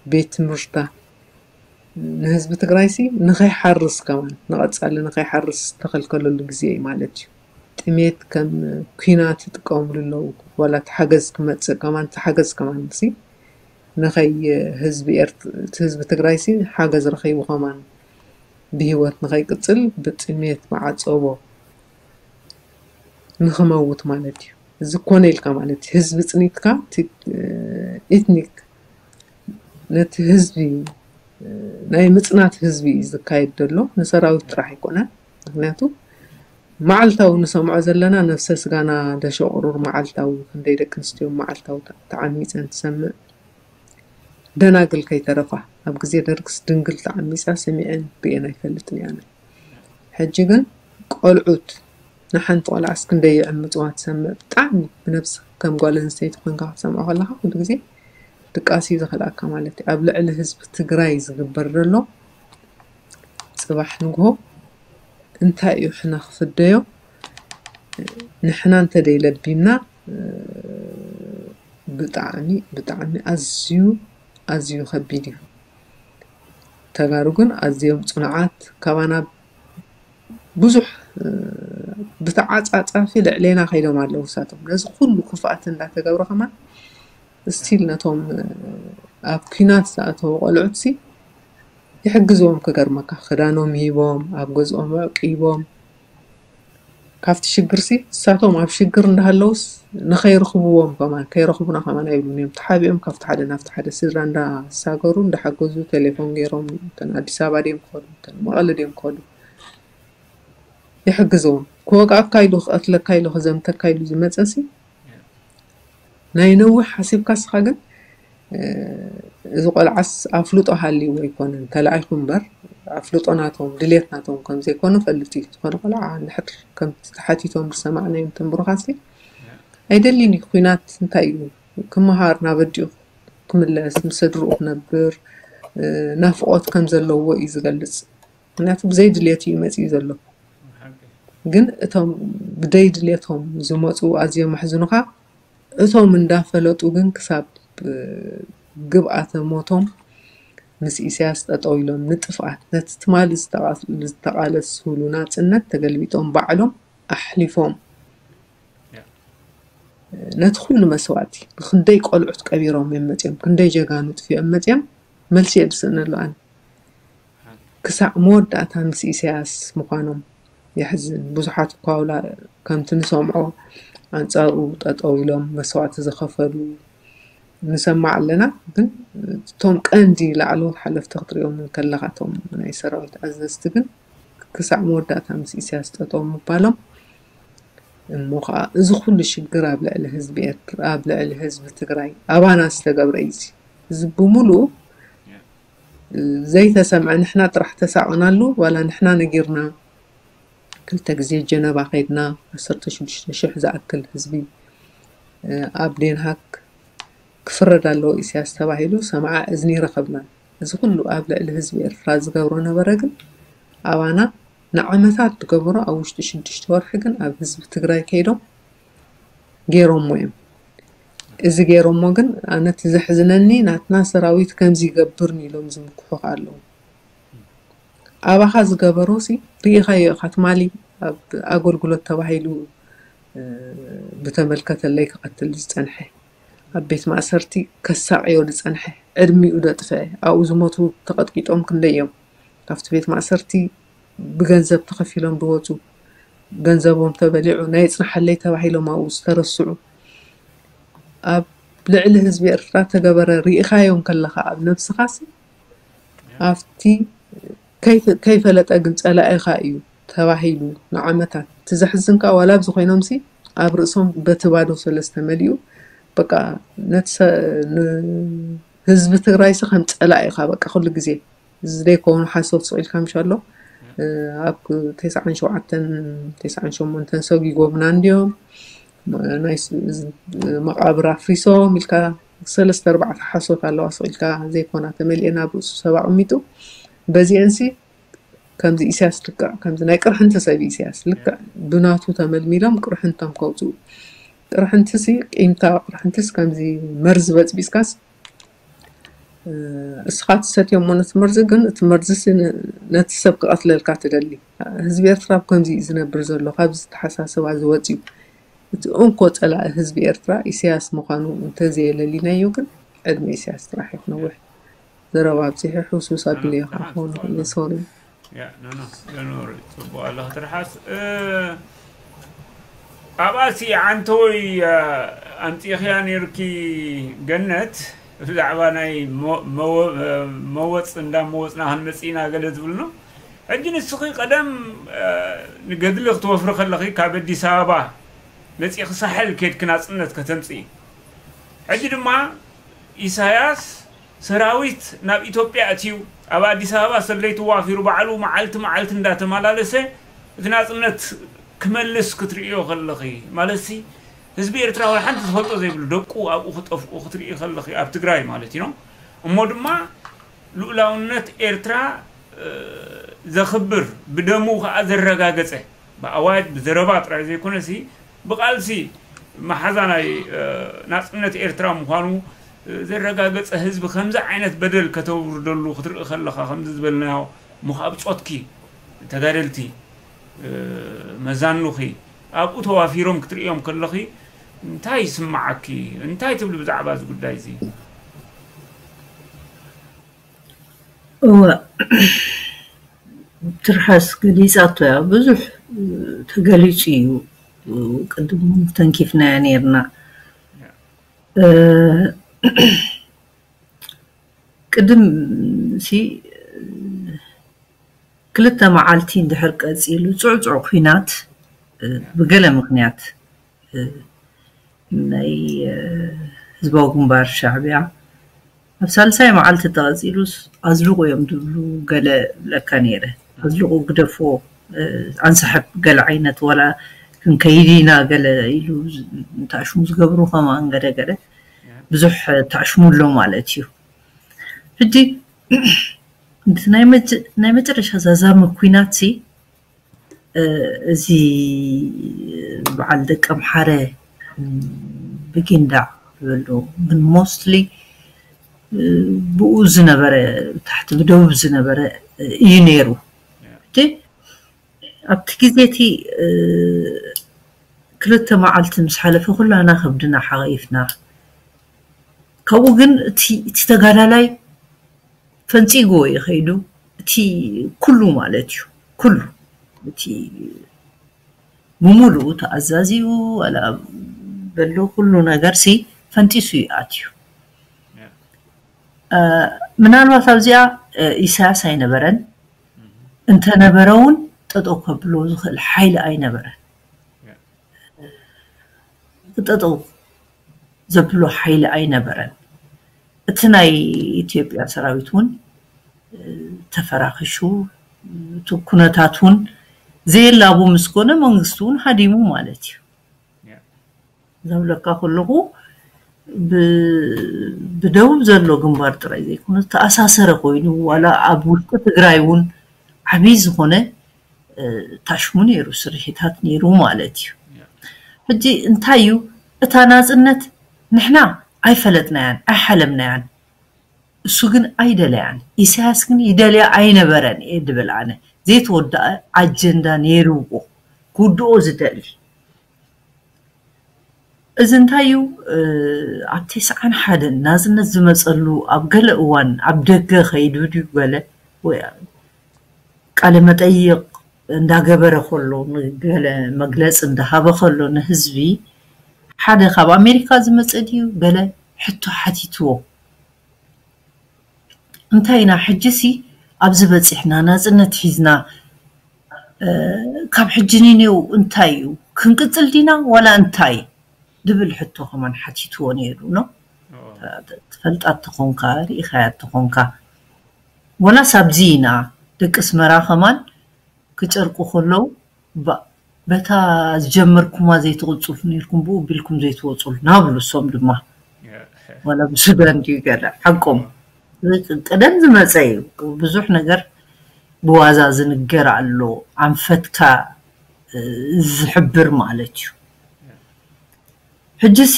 ቤት ትምህርታ፣ ንህዝቢ ትግራይሲ ንኸይሓርስ ከማን፣ ንቐጻሊ ንኸይሓርስ ዝተኸልከለሉ ግዜ እዩ ማለት እዩ። ጥሜት ከም ኲናት ይጥቀምሉ ኣለዉ። ዋላ እቲ ሓገዝ ክመጽእ ከማን፣ እቲ ሓገዝ ከማን ሲ ንኸይ ህዝቢ ኤርት-፣ እቲ ህዝቢ ትግራይሲ ሓገዝ ረኺቡ ከማን ብህይወት ንኸይቅጽል ብጥሜት ብዓጸቦ ንኽመውት ማለት እዩ። እዚ ኮነ ኢልካ ማለት እዩ። ህዝቢ ጽኒትካ፣ እቲ፣ እ፣ ኤትኒክ ነቲ ህዝቢ፣ እ፣ ናይ ምጽናት ህዝቢ እዩ ዝካየድ ዘሎ። ንሰራዊት ጥራሕ ኣይኮነን። ምክንያቱ መዓልታዊ ንሰምዖ ዘለና ነፍሰ ስጋና ደሸቑሩር መዓልታዊ፣ ክንደይ ደቂ ኣንስትዮ መዓልታዊ ተ-፣ ተዓሚፀን ትሰምዕ። ደናግል ከይተረፋ፣ ኣብ ግዜ ደርግስ ድንግል ተዓሚፃ ሰሚዐን ርእየን ኣይፈልጥን እየ ኣነ። ሕጂ ግን ቆልዑት፣ ንሓንቲ ቆልዓስ ክንደይ ይዕምፅዋ ትሰምዕ። ብጣዕሚ ብነብሲ ከም ጓል ኣንስተይቲ ኮንካ ክትሰምዖ ከለካ ኩሉ ግዜ ድቃስ እዩ ዝኸልኣካ ማለት እዩ። ኣብ ልዕሊ ህዝቢ ትግራይ ዝግበር ዘሎ ጽባሕ ንግሆ እንታይ እዩ ሕነ ክፍደዮ? ንሕና እንተደይ ለቢምና፣ እ፣ ብጣዕሚ፣ ብጣዕሚ ኣዝዩ፣ ኣዝዩ ከቢድ እዩ። ተጋሩ ግን ኣዝዮም ጽኑዓት፣ ካባና ብዙሕ፣ እ፣ ብተዓጻጻፊ ልዕሌና ከይዶም ኣለዉ። ንሳቶም ነዚ ኩሉ ክፍኣት እንዳተገብረ ከማን ስቲል ነቶም፣ እ፣ ኣብ ኲናት ዝኣተዉ ቆልዑትሲ ይሕግዝዎም። ክገርመካ፣ ክዳኖም ሂቦም፣ ኣብ ገዝኦም ኣዕቂቦም፣ ካብቲ ሽግርሲ ንሳቶም ኣብ ሽግር እንዳሃለዉስ ንኸይረኽብዎም ከማን፣ ከይረኽቡና ከማን ኣይብሉን እዮም። ተሓቢኦም ካብቲ ሓደ ናብቲ ሓደ ስድራ እንዳሳገሩ እንዳሓገዙ፣ ቴሌፎን ገይሮም፣ እተን ኣዲስ ኣበባ ድዮም ክኸዱ፣ እተን መቐለ ድዮም ክኸዱ ይሕግዝዎም። ክወግኣካ ኢሉ፣ ክቐትለካ ኢሉ፣ ክዘምተካ ኢሉ ዝመጸሲ ናይ ነዊሕ ሓሲብካ እስኻ ግን፣ እ፣ እዚ ቆልዓስ ኣፍልጦ ሃልይዎ ኣይኮነን ተላኢኹ እምበር፣ ኣፍልጦ ናቶም ድሌት ናቶም ከም ዘይኮነ ፈልጥ እዩ። ዝኾነ ቆልዓ እንድሕር ከምቲ ተሓቲቶም ዝሰማዕናዮም እቶም ብሩኻትሲ ኣይደልይን እዩ። ኲናት እንታይ እዩ? ክመሃር ናብ ኣዲኡ ክምለስ፣ ምስ ስድርኡ ክነብር፣ እ፣ ናፍቖት ከም ዘለዎ እዩ ዝገልጽ። ምክንያቱ ብዘይ ድሌት እዩ መጺኡ ዘሎ። ግን እቶም ብደይ ድሌቶም ዝመፁ ኣዝዮም ኣሕዝኑኻ። እቶም እንዳፈለጡ ግን ክሳብ፣ እ፣ ግብኣተ ሞቶም ምስ ኢሳያስ ጠጠው ኢሎም ንጥፍኣት፣ ነቲ ትማሊ ዝተቓ-፣ ዝተቓለስሉ ናፅነት ተገልቢጦም ባዕሎም ኣሕሊፎም። ያ። ነቲ ኩሉ መስዋእቲ ክንደይ ቆልዑት ቀቢሮም እዮም መፅዮም፣ ክንደይ ጀጋኑ ጥፊኦም መፅዮም፣ መልሲ እየ ዝስእነሉ ኣነ። ክሳዕ መወዳእታ ምስ ኢሳያስ ምዃኖም የሕዝን። ብዙሓት እኳ ውላ ከምቲ ንሰምዖ ኣንጻሩ ጠጠው ኢሎም መስዋእቲ ዝኸፈሉ ንሰማዕ ኣለና። ግን እቶም ቀንዲ ላዕለዎት ሓለፍቲ ክትሪኦም ከለኻ፣ እቶም ናይ ሰራዊት ኣዘዝቲ ግን ክሳዕ መወዳእታ ምስ ኢሳያስ ጠጠው ምባሎም እሞ ከዓ እዚ ኩሉ ሽግር ኣብ ልዕሊ ህዝቢ ኤርትራ፣ ኣብ ልዕሊ ህዝቢ ትግራይ ኣባና ዝተገብረ እዩ። እዚ ብምሉኡ ዘይተሰምዐ፣ ንሕና ጥራሕ ተሳቐናሉ። ዋላ ንሕና ነጊርና፣ ክልተ ግዜ ጀነባ ከይድና፣ ዓሰርተ ሽዱሽተ ሽሕ ዝኣክል ህዝቢ ኣብ ዴንሃክ ክፍረድ ኣለዎ ኢሳያስ ተባሂሉ ሰምዓ እዝኒ ረኸብናን። እዚ ኩሉ ኣብ ልዕሊ ህዝቢ ኤርትራ ዝገብሮ ነበረ፣ ግን ኣባና ንዓመታት ዝገበሮ ኣብ ውሽጢ ሽዱሽተ ወርሒ ግን ኣብ ህዝቢ ትግራይ ከይዶም ገይሮሞ እዮም። እዚ ገይሮሞ ግን ኣነ እቲ ዘሕዝነኒ ናትና ሰራዊት ከምዚ ይገብርኒ ኢሎም ዝምክሑ ኣለዉ። ኣባኻ ዝገበሮሲ ርኢኻዮ ኢኻ። ትማሊ ኣብ ኣገልግሎት ተባሂሉ ብተመልከተለይ ክቐትል ዝጸንሐ ኣብ ቤት ማእሰርቲ ከሳቕዮ ዝጸንሐ ዕድሚኡ ዘጥፍአ ኣብኡ ዝሞቱ ተቐጥቂጦም ክንደይ እዮም። ካብቲ ቤት ማእሰርቲ ብገንዘብ ተኸፊሎም ዝወፁ፣ ገንዘቦም ተበሊዑ ናይ ይጽናሓለይ ተባሂሎም ኣብኡ ዝተረስዑ ኣብ ልዕሊ ህዝቢ ኤርትራ ተገበረ ርኢኻዮም ከለኻ ኣብ ነብስኻሲ ኣብቲ ከይፈለጠ ግን ጸላኢኻ እዩ ተባሂሉ ንዓመታት። እቲ ዘሕዝንካ ዋላ ኣብዚ ኮይኖምሲ ኣብ ርእሶም በቲ ባዶ ሰለስተ መሊኡ በቃ ነቲ ህዝቢ ትግራይሲ ከም ጸላኢኻ በቃ ኩሉ ግዜ እዚ ዘይኮኑ ሓሶት ስቕ ኢልካ ምሽ ኣሎ ኣብ ተስዓን ሸውዓተን ተስዓን ሸሞንተን ሰጊጎምና እንዲዮም ናይ መቃብር ኣፍሪሶም ኢልካ ሰለስተ ኣርባዕተ ሓሶት ኣለዋ ስቕ ኢልካ ዘይኮና ተመሊኤን ኣብ ርእሱ ሰብ ኣቐሚጡ በዚአንሲ ከምዚ ኢሳያስ ልክዕ ከምዚ ናይ ቅርሕንቲ ሰብ ኢሳያስ ልክዕ ብናቱ ተመልሚሎም ቅርሕንቶም ከውፅኡ ቅርሕንትሲ ቂምታ ቅርሕንትስ ከምዚ መርዚ በፅቢስካስ እስኻ ትሰትዮ እሞ ነቲ መርዚ ግን እቲ መርዚ ነቲ ሰብ ክቐትለልካ ትደሊ ህዝቢ ኤርትራ ኣብ ከምዚ እዩ ዝነብር ዘሎ ካብዚ ተሓሳስባ ዝወፅዩ እቲ እንኮ ፀላኢ ህዝቢ ኤርትራ ኢሳያስ ምዃኑ እንተዘየለሊናዮ ግን ዕድመ ኢሳያስ ጥራሕ እዩ ክነውሕ ዘረባ ኣብፂሑ ሕውስውስ ኣቢለዮ ከዓ ክኸውን ይኽእል እየ ሶሪ ያ ኖ ኖ ኖ ኖ ጽቡቅ ኣለኺ ትርሓስ ኣብኣሲ ዓንተወይ ኣምፂእኽያ ነይርኪ ገነት ብዛዕባ ናይ መወፅ እንዳ መወፅና ክንመፅእና ገለ ዝብልኖ ሕጂ ንስኺ ቀደም ንገድሊ ክትወፍሪ ከለኺ ካብ ኣዲስ ኣበባ መፂእኺ ሳሕል ኬድኪ ናፅነት ከተምፅኢ ሕጂ ድማ ኢሳያስ ሰራዊት ናብ ኢትዮጵያ ኣትዩ ኣብ ኣዲስ ኣበባ ሰለይቲ ዋፊሩ ባዕሉ መዓልቲ መዓልቲ እንዳተመላለሰ እቲ ናፅነት ክመልስ ክትርእዮ ከለኺ ማለትሲ ህዝቢ ኤርትራ ወላ ሓንቲ ዝፈልጦ ዘይብሉ ደቁ ኣብኡ ክጠፍኡ ክትርኢ ከለኺ ኣብ ትግራይ ማለት እዩ እሞ ድማ ልኡላውነት ኤርትራ ዘኽብር ብደሙ ከዓ ዘረጋገፀ ብኣዋጅ ብዘረባ ጥራይ ዘይኮነሲ ብቃልሲ መሓዛ ናይ ናፅነት ኤርትራ ምዃኑ ዘረጋገፀ ህዝቢ ከምዚ ዓይነት በደል ከተውርደሉ ክትርኢ ከለኻ ከምዚ ዝበልናዮ ምኻብ ፆትኪ ተጋደልቲ መዛኑኺ ኣብኡ ተዋፊሮም ክትርእዮም ከለኺ እንታይ ይስምዓኪ እንታይ ትብሊ ብዛዕባ እዚ ጉዳይ እዚ እወ ትርሓስ ገሊፃቶ እያ ብዙሕ ተገሊፁ እዩ ቅድም ተንኪፍናያ ነርና ቅድም ሲ ክልተ መዓልቲ እንድሕር ቀፂሉ ፅዕፁዕ ኩናት ብገለ ምክንያት ናይ ህዝባዊ ግንባር ሻዕቢያ ኣብ ሳልሳይ መዓልቲ ተቐፂሉስ ኣዝልቑ እዮም ዝብሉ ገለ ብለካ ነይረ ኣዝልቑ ግደፎ ኣንስሕብ ገለ ዓይነት ዋላ ክንከይድ ኢና ገለ ኢሉ ተኣሽሙ ዝገብሩ ከማን ገለ ገለ ብዙሕ ተኣሽሙ ኣሎ ማለት እዩ ሕጂ ናይ መጨረሻ ዛዛሚ ኩናት እዚ በዓል ደቂ ኣምሓረ ብጊንዳዕ ዝበሉ ግን mostly ብኡ ዝነበረ ታሕቲ ብደቡብ ዝነበረ እዩ ነይሩ እቲ ኣብቲ ግዜ እቲ ክልተ መዓልቲ ምስ ሓለፈ ኩላና ከብድና ሓቒፍና ካብኡ ግን እቲ ተጋዳላይ ፈንፂግዎ እዩ ከይዱ እቲ ኩሉ ማለት እዩ። ኩሉ እቲ ብምሉኡ ተኣዛዚኡ ዋላ በሎ ኩሉ ነገር ሲ ፈንጢሱ እዩ ኣትዩ። ምናልባት ኣብዚኣ ኢሳያስ ኣይነበረን፣ እንተነበረ እውን ጠጠው ከብሎ ዝኽእል ሓይሊ ኣይነበረን። ክጠጠው ዘብሎ ሓይሊ ኣይነበረን። እቲ ናይ ኢትዮጵያ ሰራዊት እውን ተፈራኺሹ፣ እቲ ኩነታት እውን ዘየላቡ ምስ ኮነ መንግስቲ እውን ሃዲሙ ማለት እዩ። ዝብለካ ከለኹ ብደቡብ ዘሎ ግንባር ጥራይ ዘይኮነ ተኣሳሰረ ኮይኑ ዋላ ኣብ ውሽጢ ትግራይ እውን ዓብዪ ዝኾነ ታሽሙ ነይሩ፣ ስርሒታት ነይሩ ማለት እዩ። ሕጂ እንታይ እዩ እታ ናፅነት? ንሕና ኣይፈለጥናያን ኣይሓለምናያን፣ እሱ ግን ኣይደለያን። ኢሳያስ ግን ይደልያ ኣይነበረን እየ ድብል ኣነ። ዘይተወደኣ ኣጀንዳ ነይርዎ ክውድኦ ዝደሊ። እዚ እንታይ እዩ? ኣብ ተስዓን ሓደን ናፅነት ዝመፀሉ ኣብ ገለ እዋን ኣብ ደገ ከይዱ ድዩ ገለ ወይ ቃለ መጠይቕ እንዳገበረ ከሎ ንገለ መግለፂ እንዳሃበ ከሎ ንህዝቢ ሓደ ካብ ኣሜሪካ ዝመፀ ድዩ ገለ ሕቶ ሓቲትዎ። እንታይ ኢና ሕጂሲ ኣብዚ በፂሕና ናፅነት ሒዝና ካብ ሕጂ ንኔው እንታይ እዩ ክንቅፅል ዲና ዋላ እንታይ ድብል ሕቶ ከማን ሓቲትዎ ነይሩ ነው። ትፈልጣ ተኾንካ ርኢኻያ ተኾንካ ወላስ ኣብዚ ኢና ደቂ ኣስመራ ከማን ክጨርቁ ከለዉ በታ ዝጀመርኩማ ዘይትቕፅሉ ነርኩም ብኡ ቢልኩም ዘይትወፅሉ ናብሉ እሶም ድማ ዋላ ብሱዳን ድዩ ገለ ሓቆም ቀደም ዝመፀ እዩ። ብዙሕ ነገር ብዋዛ ዝንገር ኣሎ ኣንፈትካ ዝሕብር ማለት እዩ። ሕጂ ሲ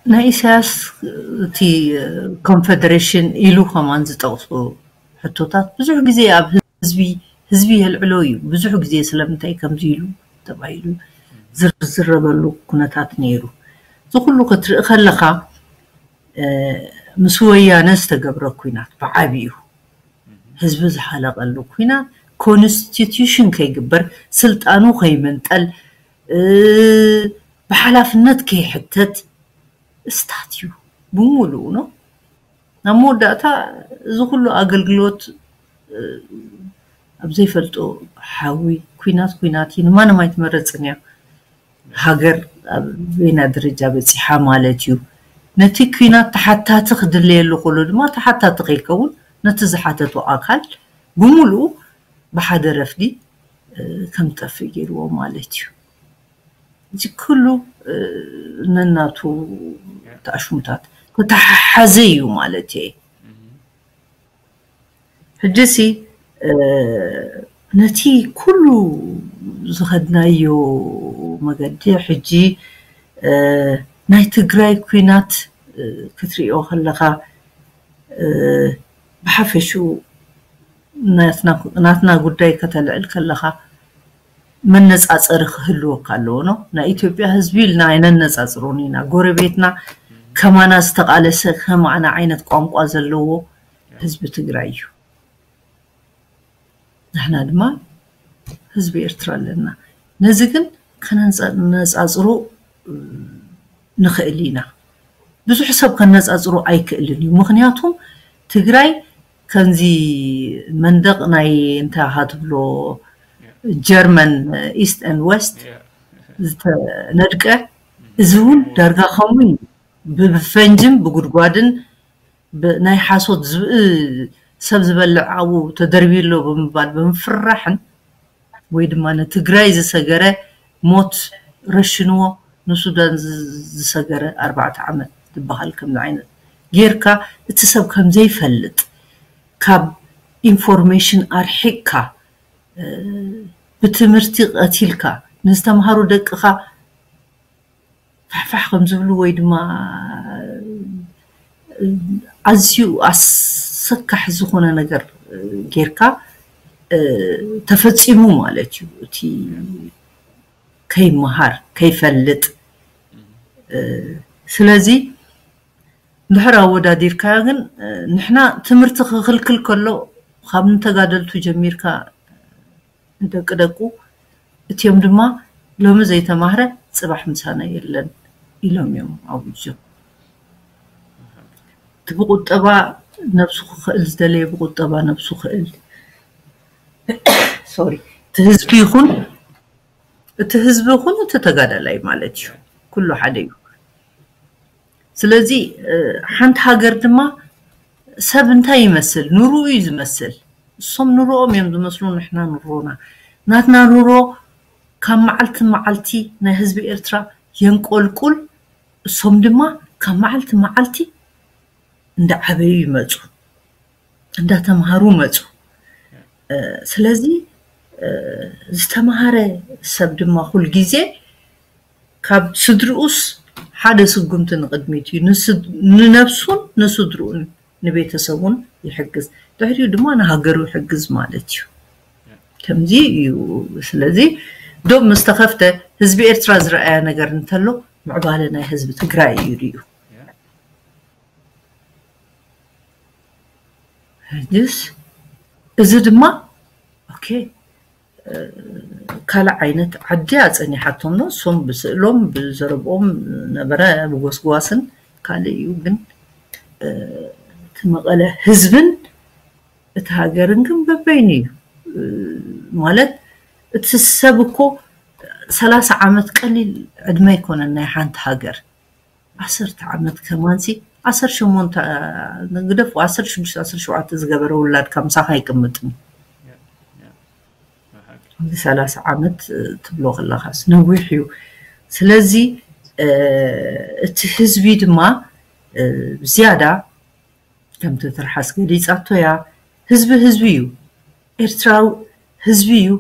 ናይ ኢሳያስ እቲ ኮንፈደሬሽን ኢሉ ከማን ዝጠቕሱ ሕቶታት ብዙሕ ግዜ ኣብ ህዝቢ ህዝቢ የልዕሎ እዩ። ብዙሕ ግዜ ስለምንታይ ከምዚ ኢሉ ተባሂሉ ዝርዝረበሉ ኩነታት ነይሩ። እዚ ኩሉ ክትርኢ ከለኻ ምስ ወያነ ዝተገብረ ኩናት ብዓብዩ ህዝቢ ዝሓለቀሉ ኩናት ኮንስቲቱሽን ከይግበር ስልጣኑ ከይምንጠል ብሓላፍነት ከይሕተት ስታት እዩ ብሙሉኡ ነው። ናብ መወዳእታ እዚ ኩሉ ኣገልግሎት ኣብ ዘይፈልጦ ሓዊ ኩናት ኩናት እዩ። ንማንም ኣይትመረፅን እያ። ሃገር ኣብ በይና ደረጃ በፂሓ ማለት እዩ። ነቲ ኩናት ተሓታቲ ክድለየሉ ከሎ ድማ ተሓታቲ ከይከውን ነቲ ዝሓተቶ ኣካል ብሙሉኡ ብሓደ ረፍዲ ከም ጠፍእ ገይርዎ ማለት እዩ። እዚ ኩሉ ነናቱ ተኣሽሙታት ተተሓሓዘ እዩ ማለት እየ። ሕጂ ሲ ነቲ ኩሉ ዝኸድናዮ መገዲ ሕጂ ናይ ትግራይ ኩናት ክትሪኦ ከለኻ ብሓፈሽኡ ናትና ጉዳይ ከተልዕል ከለኻ መነፃፀሪ ክህልወካ ኣለዎ ነው። ናይ ኢትዮጵያ ህዝቢ ኢልና ኣይነነፃፅሮን ኢና። ጎረቤትና ከማና ዝተቃለሰ ከማና ዓይነት ቋንቋ ዘለዎ ህዝቢ ትግራይ እዩ። ንሕና ድማ ህዝቢ ኤርትራ ኣለና። ነዚ ግን ከነነፃፅሮ ንኽእል ኢና። ብዙሕ ሰብ ከነፃፅሮ ኣይክእልን እዩ። ምክንያቱም ትግራይ ከምዚ መንደቕ ናይ እንታይ ሃትብሎ ጀርመን ኢስት ን ወስት ዝተነድቀ እዚ እውን ዳርጋ ከምኡ እዩ። ብፈንጅን ብጉድጓድን ናይ ሓሶት ዝብኢ ሰብ ዝበልዕ ኣብኡ ተደርብዩ ኣሎ ብምባል ብምፍርራሕን ወይ ድማ ንትግራይ ዝሰገረ ሞት ረሽንዎ ንሱዳን ዝሰገረ ኣርባዕተ ዓመት ዝበሃል ከምዚ ዓይነት ጌርካ እቲ ሰብ ከምዘይፈልጥ ካብ ኢንፎርሜሽን ኣርሒቅካ ብትምህርቲ ቀቲልካ ንዝተምሃሩ ደቅኻ ፋሕፋሕ ከም ዝብሉ ወይ ድማ ኣዝዩ ኣሰካሒ ዝኾነ ነገር ጌርካ ተፈፂሙ ማለት እዩ። እቲ ከይመሃር ከይፈልጥ ስለዚ እንድሕር ኣወዳዲርካዮ ግን፣ እ፣ ንሕና ትምህርቲ ክኽልክል ከሎ፣ ካብ ንተጋደልቱ ጀሚርካ ንደቂ ደቁ፣ እቲኦም ድማ ሎሚ ዘይተማህረ ጽባሕ ምሳና የለን ኢሎም እዮም ኣውጆም። እቲ ብቁጠባ ነብሱ ክኽእል ዝደለየ ብቁጠባ ነብሱ ክእል። ሶሪ፣ እቲ ህዝቢ ይኹን፣ እቲ ህዝቢ ይኹን፣ እቲ ተጋዳላይ ማለት እዩ። ኩሉ ሓደ እዩ። ስለዚ፣ እ፣ ሓንቲ ሃገር ድማ ሰብ እንታይ ይመስል? ኑሮኡ እዩ ዝመስል። እሶም ኑሮኦም እዮም ዝመስሉ፣ ንሕና ኑሮና። ናትና ኑሮ ካብ መዓልቲ መዓልቲ ናይ ህዝቢ ኤርትራ የንቆልቁል፣ እሶም ድማ ካብ መዓልቲ መዓልቲ እንዳዓበዩ ይመጹ፣ እንዳተምሃሩ መጹ። እ፣ ስለዚ፣ እ፣ ዝተምሃረ ሰብ ድማ ኩል ግዜ ካብ ስድርኡስ ሓደ ስጉምቲ ንቕድሚት እዩ። ንስድ-፣ ንነብሱን ንስድርኡን ንቤተሰቡን ይሕግዝ። ድሕሪኡ ድማ ንሃገሩ ይሕግዝ ማለት እዩ። ከምዚ እዩ። ስለዚ ዶብ ምስ ተኸፍተ ህዝቢ ኤርትራ ዝረኣያ ነገር እንተሎ ምዕባለ ናይ ህዝቢ ትግራይ እዩ ሪኡ። ሕጅስ እዚ ድማ ኦኬ፣ እ፣ ካልእ ዓይነት ዓዲ ኣጸኒሓቶም ነው። እሶም ብስእሎም ብዘረብኦም ነበረ፣ ብጎስጓስን ካልእ እዩ። ግን፣ እ፣ እቲ መቐለ ህዝብን እቲ ሃገርን ግን በበይኑ እዩ። እ፣ ማለት እቲ ሰብ እኮ ሰላሳ ዓመት ቀሊል ዕድመ ኣይኮነን ናይ ሓንቲ ሃገር። ዓሰርተ ዓመት ከማንሲ፣ ዓሰርተ ሸሞንተ፣ ንግደፎ፣ ዓሰርተ ሽዱሽተ፣ ዓሰርተ ሸውዓተ ዝገበረ ውላድካ ምሳኻ ኣይቅምጥን። እዚ ሰላሳ ዓመት፣ እ፣ ትብሎ ከለኻስ ነዊሕ እዩ። ስለዚ፣ እ፣ እቲ ህዝቢ ድማ፣ እ፣ ዝያዳ ከምቲ ትርሓስ ገሊጻቶ እያ፣ ህዝቢ ህዝቢ እዩ። ኤርትራዊ ህዝቢ እዩ።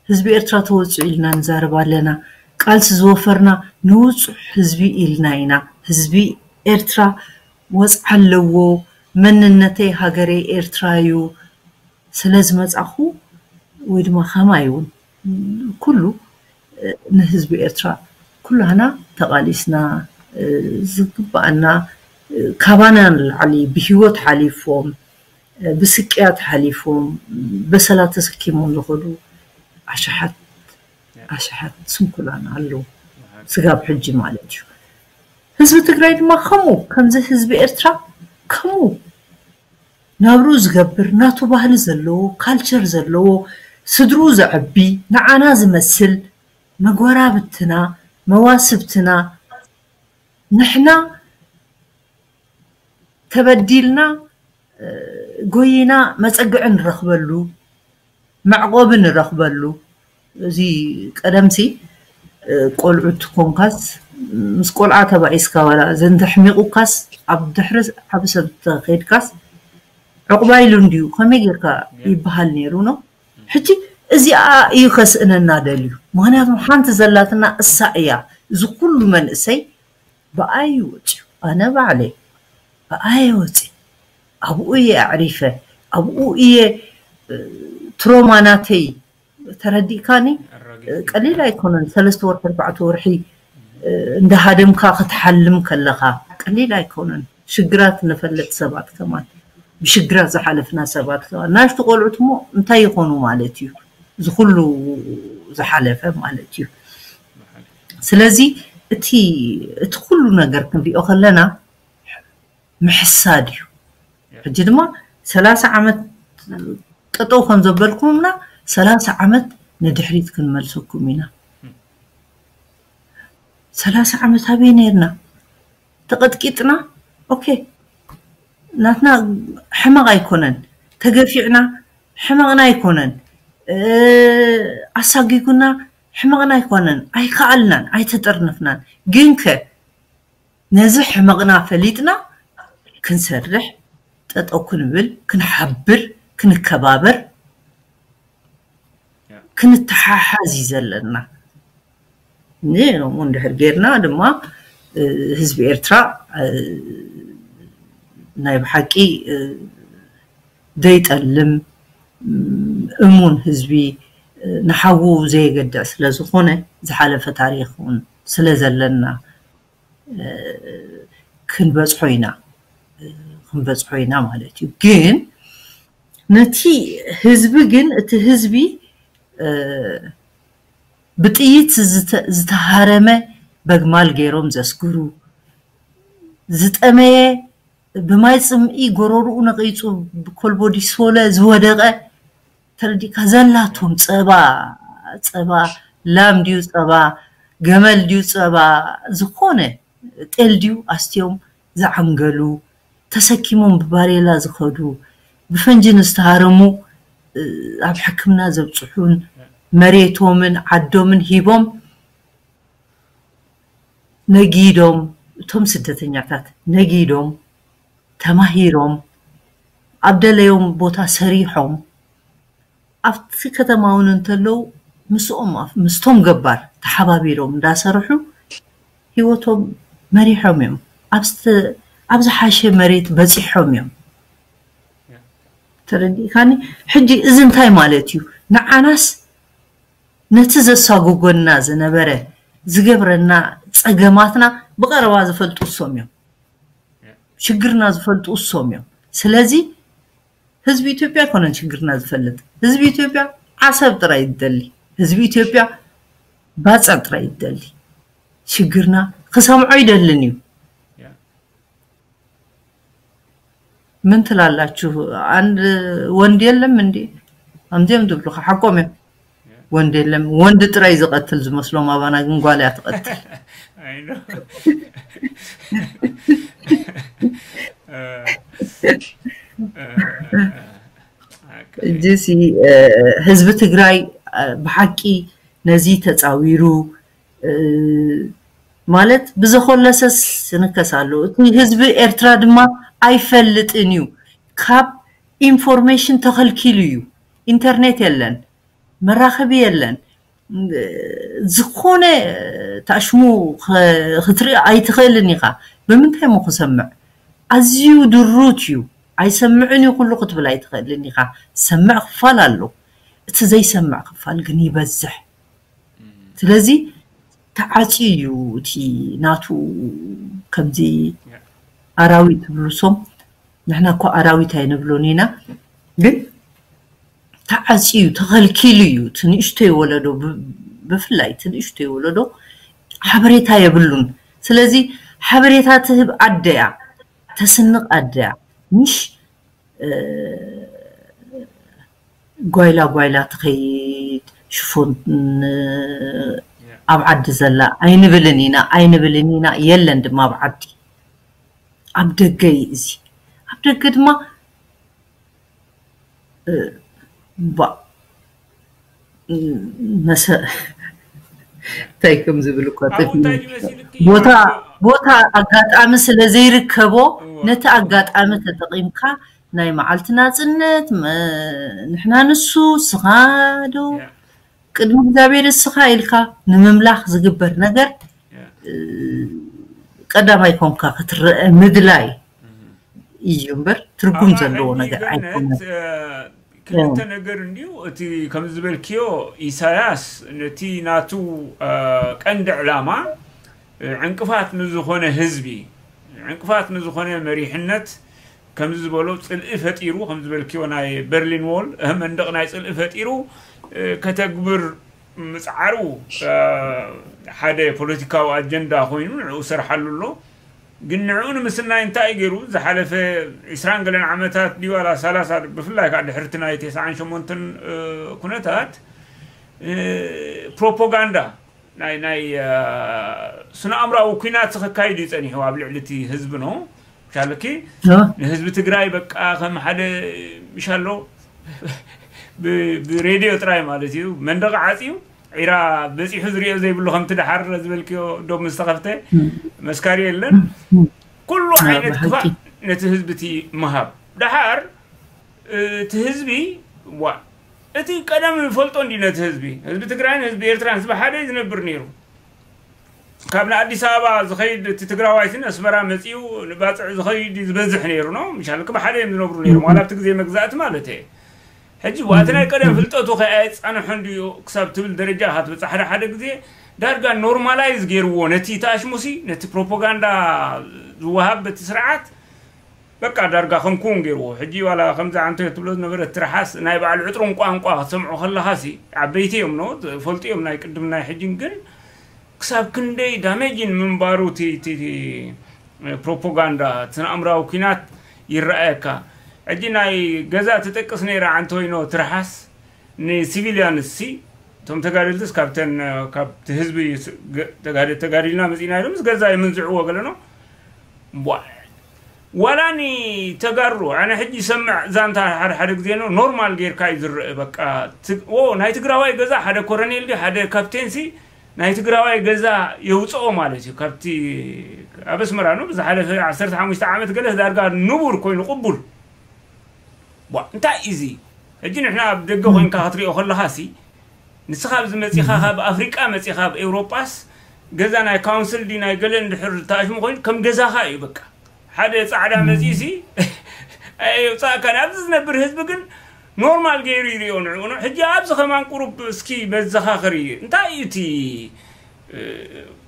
ህዝቢ ኤርትራ ተወጽኡ ኢልና ንዛረብ ኣለና። ቃልሲ ዝወፈርና ንውጹዕ ህዝቢ ኢልና ኢና። ህዝቢ ኤርትራ ወጽዓ ኣለዎ። መንነተይ ሃገረይ ኤርትራ እዩ። ስለ ዝመጻኹ ወይ ድማ ከማይ እውን ኩሉ፣ እ፣ ንህዝቢ ኤርትራ ኩላህና ተቓሊስና፣ እ፣ ዝግባኣና፣ እ፣ ካባና ንላዕሊ ብህይወት ሓሊፎም፣ እ፣ ብስቅያት ሓሊፎም፣ በሰላ ተሰኪሞም ዝኸዱ ኣሽሓት፣ ኣሽሓት ስንኩላን ኣለዉ። ስጋብ ሕጂ ማለት እዩ። ህዝቢ ትግራይ ድማ ከምኡ፣ ከምዚ ህዝቢ ኤርትራ ከምኡ ናብርኡ ዝገብር፣ ናቱ ባህሊ ዘለዎ፣ ካልቸር ዘለዎ፣ ስድርኡ ዘዕቢ፣ ንዓና ዝመስል፣ መጎራብትና፣ መዋስብትና፣ ንሕና ተበዲልና፣ እ፣ ጎይና መጸግዒ ንረኽበሉ፣ መዕቆቢ ንረኽበሉ። እዚ ቀደምሲ፣ እ፣ ቆልዑት ኮንካስ፣ ምስ ቆልዓ ተባኢስካ ዋላ ዘንተሕሚቑካስ፣ ኣብ ድሕሪ ዓቢ ሰብ ተኸይድካስ፣ ዕቑባ ኢሉ እንድዩ፣ ከመይ ጌርካ ይበሃል ነይሩ ነው። ሕጂ እዚኣ እዩ ከስእነና ደልዩ። ምኽንያቱ ሓንቲ ዘላትና እሳ እያ። እዚ ኩሉ መንእሰይ ብኣይ እዩ ወፂኡ። ኣነ ባዕለይ ብኣየ ወፂ፣ ኣብኡ እየ ኣዕሪፈ፣ ኣብኡ እየ፣ እ፣ ትሮማ ናተይ ተረዲእካኒ። ኣራጊፍ። እ፣ ቀሊል ኣይኮነን። ሰለስተ ወርሒ፣ ኣርባዕተ ወርሒ፣ እ፣ እንዳሃደምካ ክትሓልም ከለኻ ቀሊል ኣይኮነን። ሽግራት ንፈልጥ ሰባት ከማን፣ ብሽግራት ዝሓለፍና ሰባት ከማን፣ ናሽቱ ቆልዑት እሞ እንታይ ይኾኑ ማለት እዩ? እዚ ኩሉ ዝሓለፈ ማለት እዩ። ስለዚ እቲ፣ እቲ ኩሉ ነገር ክንሪኦ ከለና ምሕሳድ እዩ። ሕጂ ድማ ሰላሳ ዓመት ጠጠው ከም ዘበልኩምና፣ ሰላሳ ዓመት ንድሕሪት ክንመልሰኩም ኢና። ሰላሳ ዓመት ኣበይ ነርና? ተቐጥቂጥና፣ ኦኬ፣ ናትና ሕመቕ ኣይኮነን። ተገፊዕና፣ ሕመቕና ኣይኮነን። እ፣ ኣሳጊጉና፣ ሕመቕና ኣይኮነን። ኣይከኣልናን፣ ኣይተጠርነፍናን። ግንከ ነዚ ሕመቕና ፈሊጥና ክንሰርሕ፣ ጠጠው ክንብል፣ ክንሓብር፣ ክንከባበር፣ ያ። ክንተሓሓዝ እዩ ዘለና። ን-፣ እንድሕር ጌርና ድማ፣ እ፣ ህዝቢ ኤርትራ፣ እ፣ ናይ ብሓቂ፣ እ፣ ዘይጠልም፣ ም-፣ እሙን ህዝቢ፣ እ፣ ንሓዉ ዘየገድዕ ስለ ዝኾነ፣ ዝሓለፈ ታሪኽ እውን ስለ ዘለና፣ እ፣ ክንበጽሖ ኢና። ክንበፅሖ ኢና ማለት እዩ። ግን ነቲ ህዝቢ ግን እቲ ህዝቢ ብጥይት ዝተሃረመ በግማል ገይሮም ዘስግሩ፣ ዝጠመየ ብማይ ፅምኢ ጎረርኡ ነቒፁ ብኮልቦ ዲሶለ ዝወደቐ፣ ተረዲእካ፣ ዘላቶም ጸባ፣ ጸባ ላም ድዩ፣ ጸባ ገመል ድዩ፣ ጸባ ዝኾነ ጤል ድዩ ኣስትዮም ዝዓንገሉ፣ ተሰኪሞም ብባሬላ ዝኸዱ፣ ብፈንጂ ንዝተሃረሙ ኣብ ሕክምና ዘብፅሑን፣ መሬቶምን ዓዶምን ሂቦም ነጊዶም፣ እቶም ስደተኛታት ነጊዶም፣ ተማሂሮም፣ ኣብ ደለዮም ቦታ ሰሪሖም፣ ኣብቲ ከተማ እውን እንተለዉ ምስኦም ምስቶም ገባር ተሓባቢሮም እንዳሰርሑ ህይወቶም መሪሖም እዮም። ኣብ ዝሓሸ መሬት በፂሖም እዮም። ተረዲእካኒ? ሕጂ እዚ እንታይ ማለት እዩ? ንዓናስ ነቲ ዘሳጉጎና ዝነበረ ዝገብረና ፀገማትና ብቐረባ ዝፈልጡ እሶም እዮም። ሽግርና ዝፈልጡ እሶም እዮም። ስለዚ ህዝቢ ኢትዮጵያ ኣይኮነን ሽግርና ዝፈልጥ። ህዝቢ ኢትዮጵያ ዓሰብ ጥራይ ይደሊ። ህዝቢ ኢትዮጵያ ባፅዕ ጥራይ ይደሊ። ሽግርና ክሰምዖ ይደልን እዩ። ምን ትላላችሁ? አንድ ወንድ የለም እንዴ? ከምዚኦም ዝብሉኻ ሓቆም እዮም። ወንድ የለም። ወንድ ጥራይ ዝቐትል ዝመስሎም ኣባና ግን ጓል እያ ትቐትል። I know. እጅሲ ህዝቢ ትግራይ ብሓቂ ነዚ ተፃዊሩ ማለት ብዘኾለሰስ ንከስ ኣሎ። እቲ ህዝቢ ኤርትራ ድማ ኣይፈልጥን እዩ። ካብ ኢንፎርሜሽን ተኸልኪሉ እዩ። ኢንተርኔት የለን፣ መራኸቢ የለን። ዝኾነ ታሽሙ ክትርኢ ኣይትኽእልን ኢኻ። ብምንታይ ሞ ክሰምዕ? ኣዝዩ ድሩት እዩ። ኣይሰምዕን እዩ ኩሉ ክትብል ኣይትኽእልን ኢኻ። ዝሰምዕ ክፋል ኣሎ። እቲ ዘይሰምዕ ክፋል ግን ይበዝሕ። ስለዚ ተዓፅዩ እዩ እቲ ናቱ ከምዚ ኣራዊት ትብሉ ሶም፣ ንሕና እኮ ኣራዊት ኣይንብሎን ኢና፣ ግን ተዓፅዩ ተኸልኪሉ እዩ። እቲ ንእሽቶይ ወለዶ ብ- ብፍላይ እቲ ንእሽቶይ ወለዶ ሓበሬታ የብሉን። ስለዚ ሓበሬታ ትህብ ኣደያ፣ ተስንቕ ኣደያ፣ ምሽ እ፣ ጓይላ ጓይላ ትኸይድ ሽፎን ኣብ ዓዲ ዘላ ኣይንብልን ኢና ኣይንብልን ኢና። የለን ድማ ኣብ ዓዲ፣ ኣብ ደገ እዩ እዚ። ኣብ ደገ ድማ እ፣ ባ- መሰ እንታይ ከም ዝብል እኳ ኣብኡ ጠፊእኒ። እንታይ ድመሲልኪ? ቦታ ቦታ ኣጋጣሚ ስለ ዘይርከቦ እወ። ነቲ ኣጋጣሚ ተጠቒምካ ናይ መዓልቲ ናጽነት መ- ንሕና ንሱ ስኻ ዶ ያ፣ ቅድሚ እግዚኣብሔር እስኻ ኢልካ ንምምላኽ ዝግበር ነገር ያ። ቀዳማይ ኮንካ ክትረአ ምድላይ እዩ እምበር ትርጉም ኣባ ዘለዎ ሕጂ ነገር ገነት ኣይኮነን። እ፣ ክልተ ነገር እንድዩ። እቲ ከም ዝበልክዮ ኢሳያስ ነቲ ናቱ እ፣ ቀንዲ ዕላማ እ፣ ዕንቅፋት ንዝኾነ ህዝቢ፣ ዕንቅፋት ንዝኾነ መሪሕነት ከምዚ ዝበሎ ጽልኢ ፈጢሩ፣ ከም ዝበልክዮ ናይ በርሊን ዎል እ፣ መንደቕ ናይ ጽልኢ ፈጢሩ እ፣ ከተግብር ምጽዓሩ እ፣ ሓደ ፖለቲካዊ ኣጀንዳ ኮይኑ ንዕኡ ሰርሓሉ ኣሎ። ግን ንዕኡ ንምስናይ እንታይ እዩ ገይሩ? ዝሓለፈ ዒስራን ገለን ዓመታት ድዩ ዋላ ሰላሳ፣ ብፍላይ ከዓ ድሕርቲ ናይ ተስዓን ሸሞንተን እ፣ ኩነታት እ፣ ፕሮፓጋንዳ ናይ ናይ እ፣ ስነ ኣእምራዊ ኩናት ከካይድ እዩ ጸኒሑ ኣብ ልዕሊ እቲ ህዝቢ ነው። ሻለኪ እ፣ ንህዝቢ ትግራይ በቃ ከም ሓደ ምሻሎ ብ- ብሬድዮ ጥራይ ማለት እዩ መንደቕ ዓፅዩ ዒራ በፂሑ ዝሪኦ ዘይብሉ ከምቲ ደሓር ዝበልክዮ ዶብ ምስ ተኸፍተ መስካሪ የለን። ኩሉ እ፣ ዓይነት ብሓቂ። ክፋእ ነቲ ህዝቢ እቲ ምሃብ ደሓር እቲ ህዝቢ ዋ እቲ ቀደም ፈልጦ እንዲ ነቲ ህዝቢ ህዝቢ ትግራይን ህዝቢ ኤርትራን ህዝቢ ሓደ እዩ ዝነብር ነይሩ። ካብ ንኣዲስ ኣበባ ዝኸይድ እቲ ትግራዋይትን ኣስመራ መፂኡ ንባፅዕ ዝኸይድ እዩ ዝበዝሕ ነይሩ ነው ምሻል ክብ ሓደ እዮም ዝነብሩ ነይሮም ዋላ ኣብቲ ግዜ መግዛእቲ ማለት እየ። ሕጂ ዋቲ ናይ ቀደም ፍልጠቱ ከኣየፃንሖ እንድዩ ክሳብ ትብል ደረጃ ኢኻ ትበፅሕ። ሓደ ሓደ ግዜ ዳርጋ ኖርማላይዝ ገይርዎ ነቲ ተኣሽሙሲ ነቲ ፕሮፓጋንዳ ዝወሃብ በቲ ስርዓት በቃ ዳርጋ ከም ክውን ገይርዎ። ሕጂ ዋላ ከምዚ ኣንተ ትብሎ ዝነበረ ትርሓስ ናይ ባዕሉ ዕጥሮም ቋንቋ ክትሰምዖ ከለኻ ሲ ዓበይቲ እዮም ኖ ፈልጡ እዮም ናይ ቅድም ናይ ሕጂን ግን ክሳብ ክንደይ ዳሜጅን ምንባሩ እቲ ፕሮፓጋንዳ ስነ ኣእምራዊ ኩናት ይረኣየካ። ሕጂ ናይ ገዛ ትጠቅስ ነይራ ኣንቶይኖ ትርሓስ ንሲቪልያንስ ሲ እቶም ተጋደልትስ ካብተን ካብቲ ህዝቢ ተጋዲልና መፂና ኢሎም ምስ ገዛ ይምንዝዕዎ ገለኖ ዋላ ንተጋሩ ኣነ ሕጂ ይሰምዕ ዛንታ ሓደ ሓደ ግዜ ኖ ኖርማል ጌርካ እዩ ዝረአ። በቃ ናይ ትግራዋይ ገዛ ሓደ ኮረኔል ድዩ ሓደ ካፕቴን ሲ ናይ ትግራዋይ ገዛ የውፅኦ ማለት እዩ። ካብቲ ኣብ ኣስመራ ኖ ብዝሓለፈ ዓሰርተ ሓሙሽተ ዓመት ገለ ዳርጋ ንቡር ኮይኑ ቅቡል ቧ እንታይ እዚ ሕጂ ንሕና ኣብ ደገ ኮይንካ ክትሪኦ ከለኻ ሲ ንስኻ ኣብዚ መፂኻ ካብ ኣፍሪቃ መፂኻ ኣብ ኤውሮጳስ ገዛ ናይ ካውንስል ዲ ናይ ገለ እንድሕር ተኣሽሙ ኮይኑ ከም ገዛኻ እዩ በቃ ሓደ ፃዕዳ መፂኡ ሲ የውፃእካ ኣብዚ ዝነብር ህዝቢ ግን ኖርማል ገይሩ ይሪኦ ንዕኡ ነው ሕጂ ኣብዚ ከማን ቁሩብ እስኪ መዘኻኽር እዩ እንታይ እዩ እቲ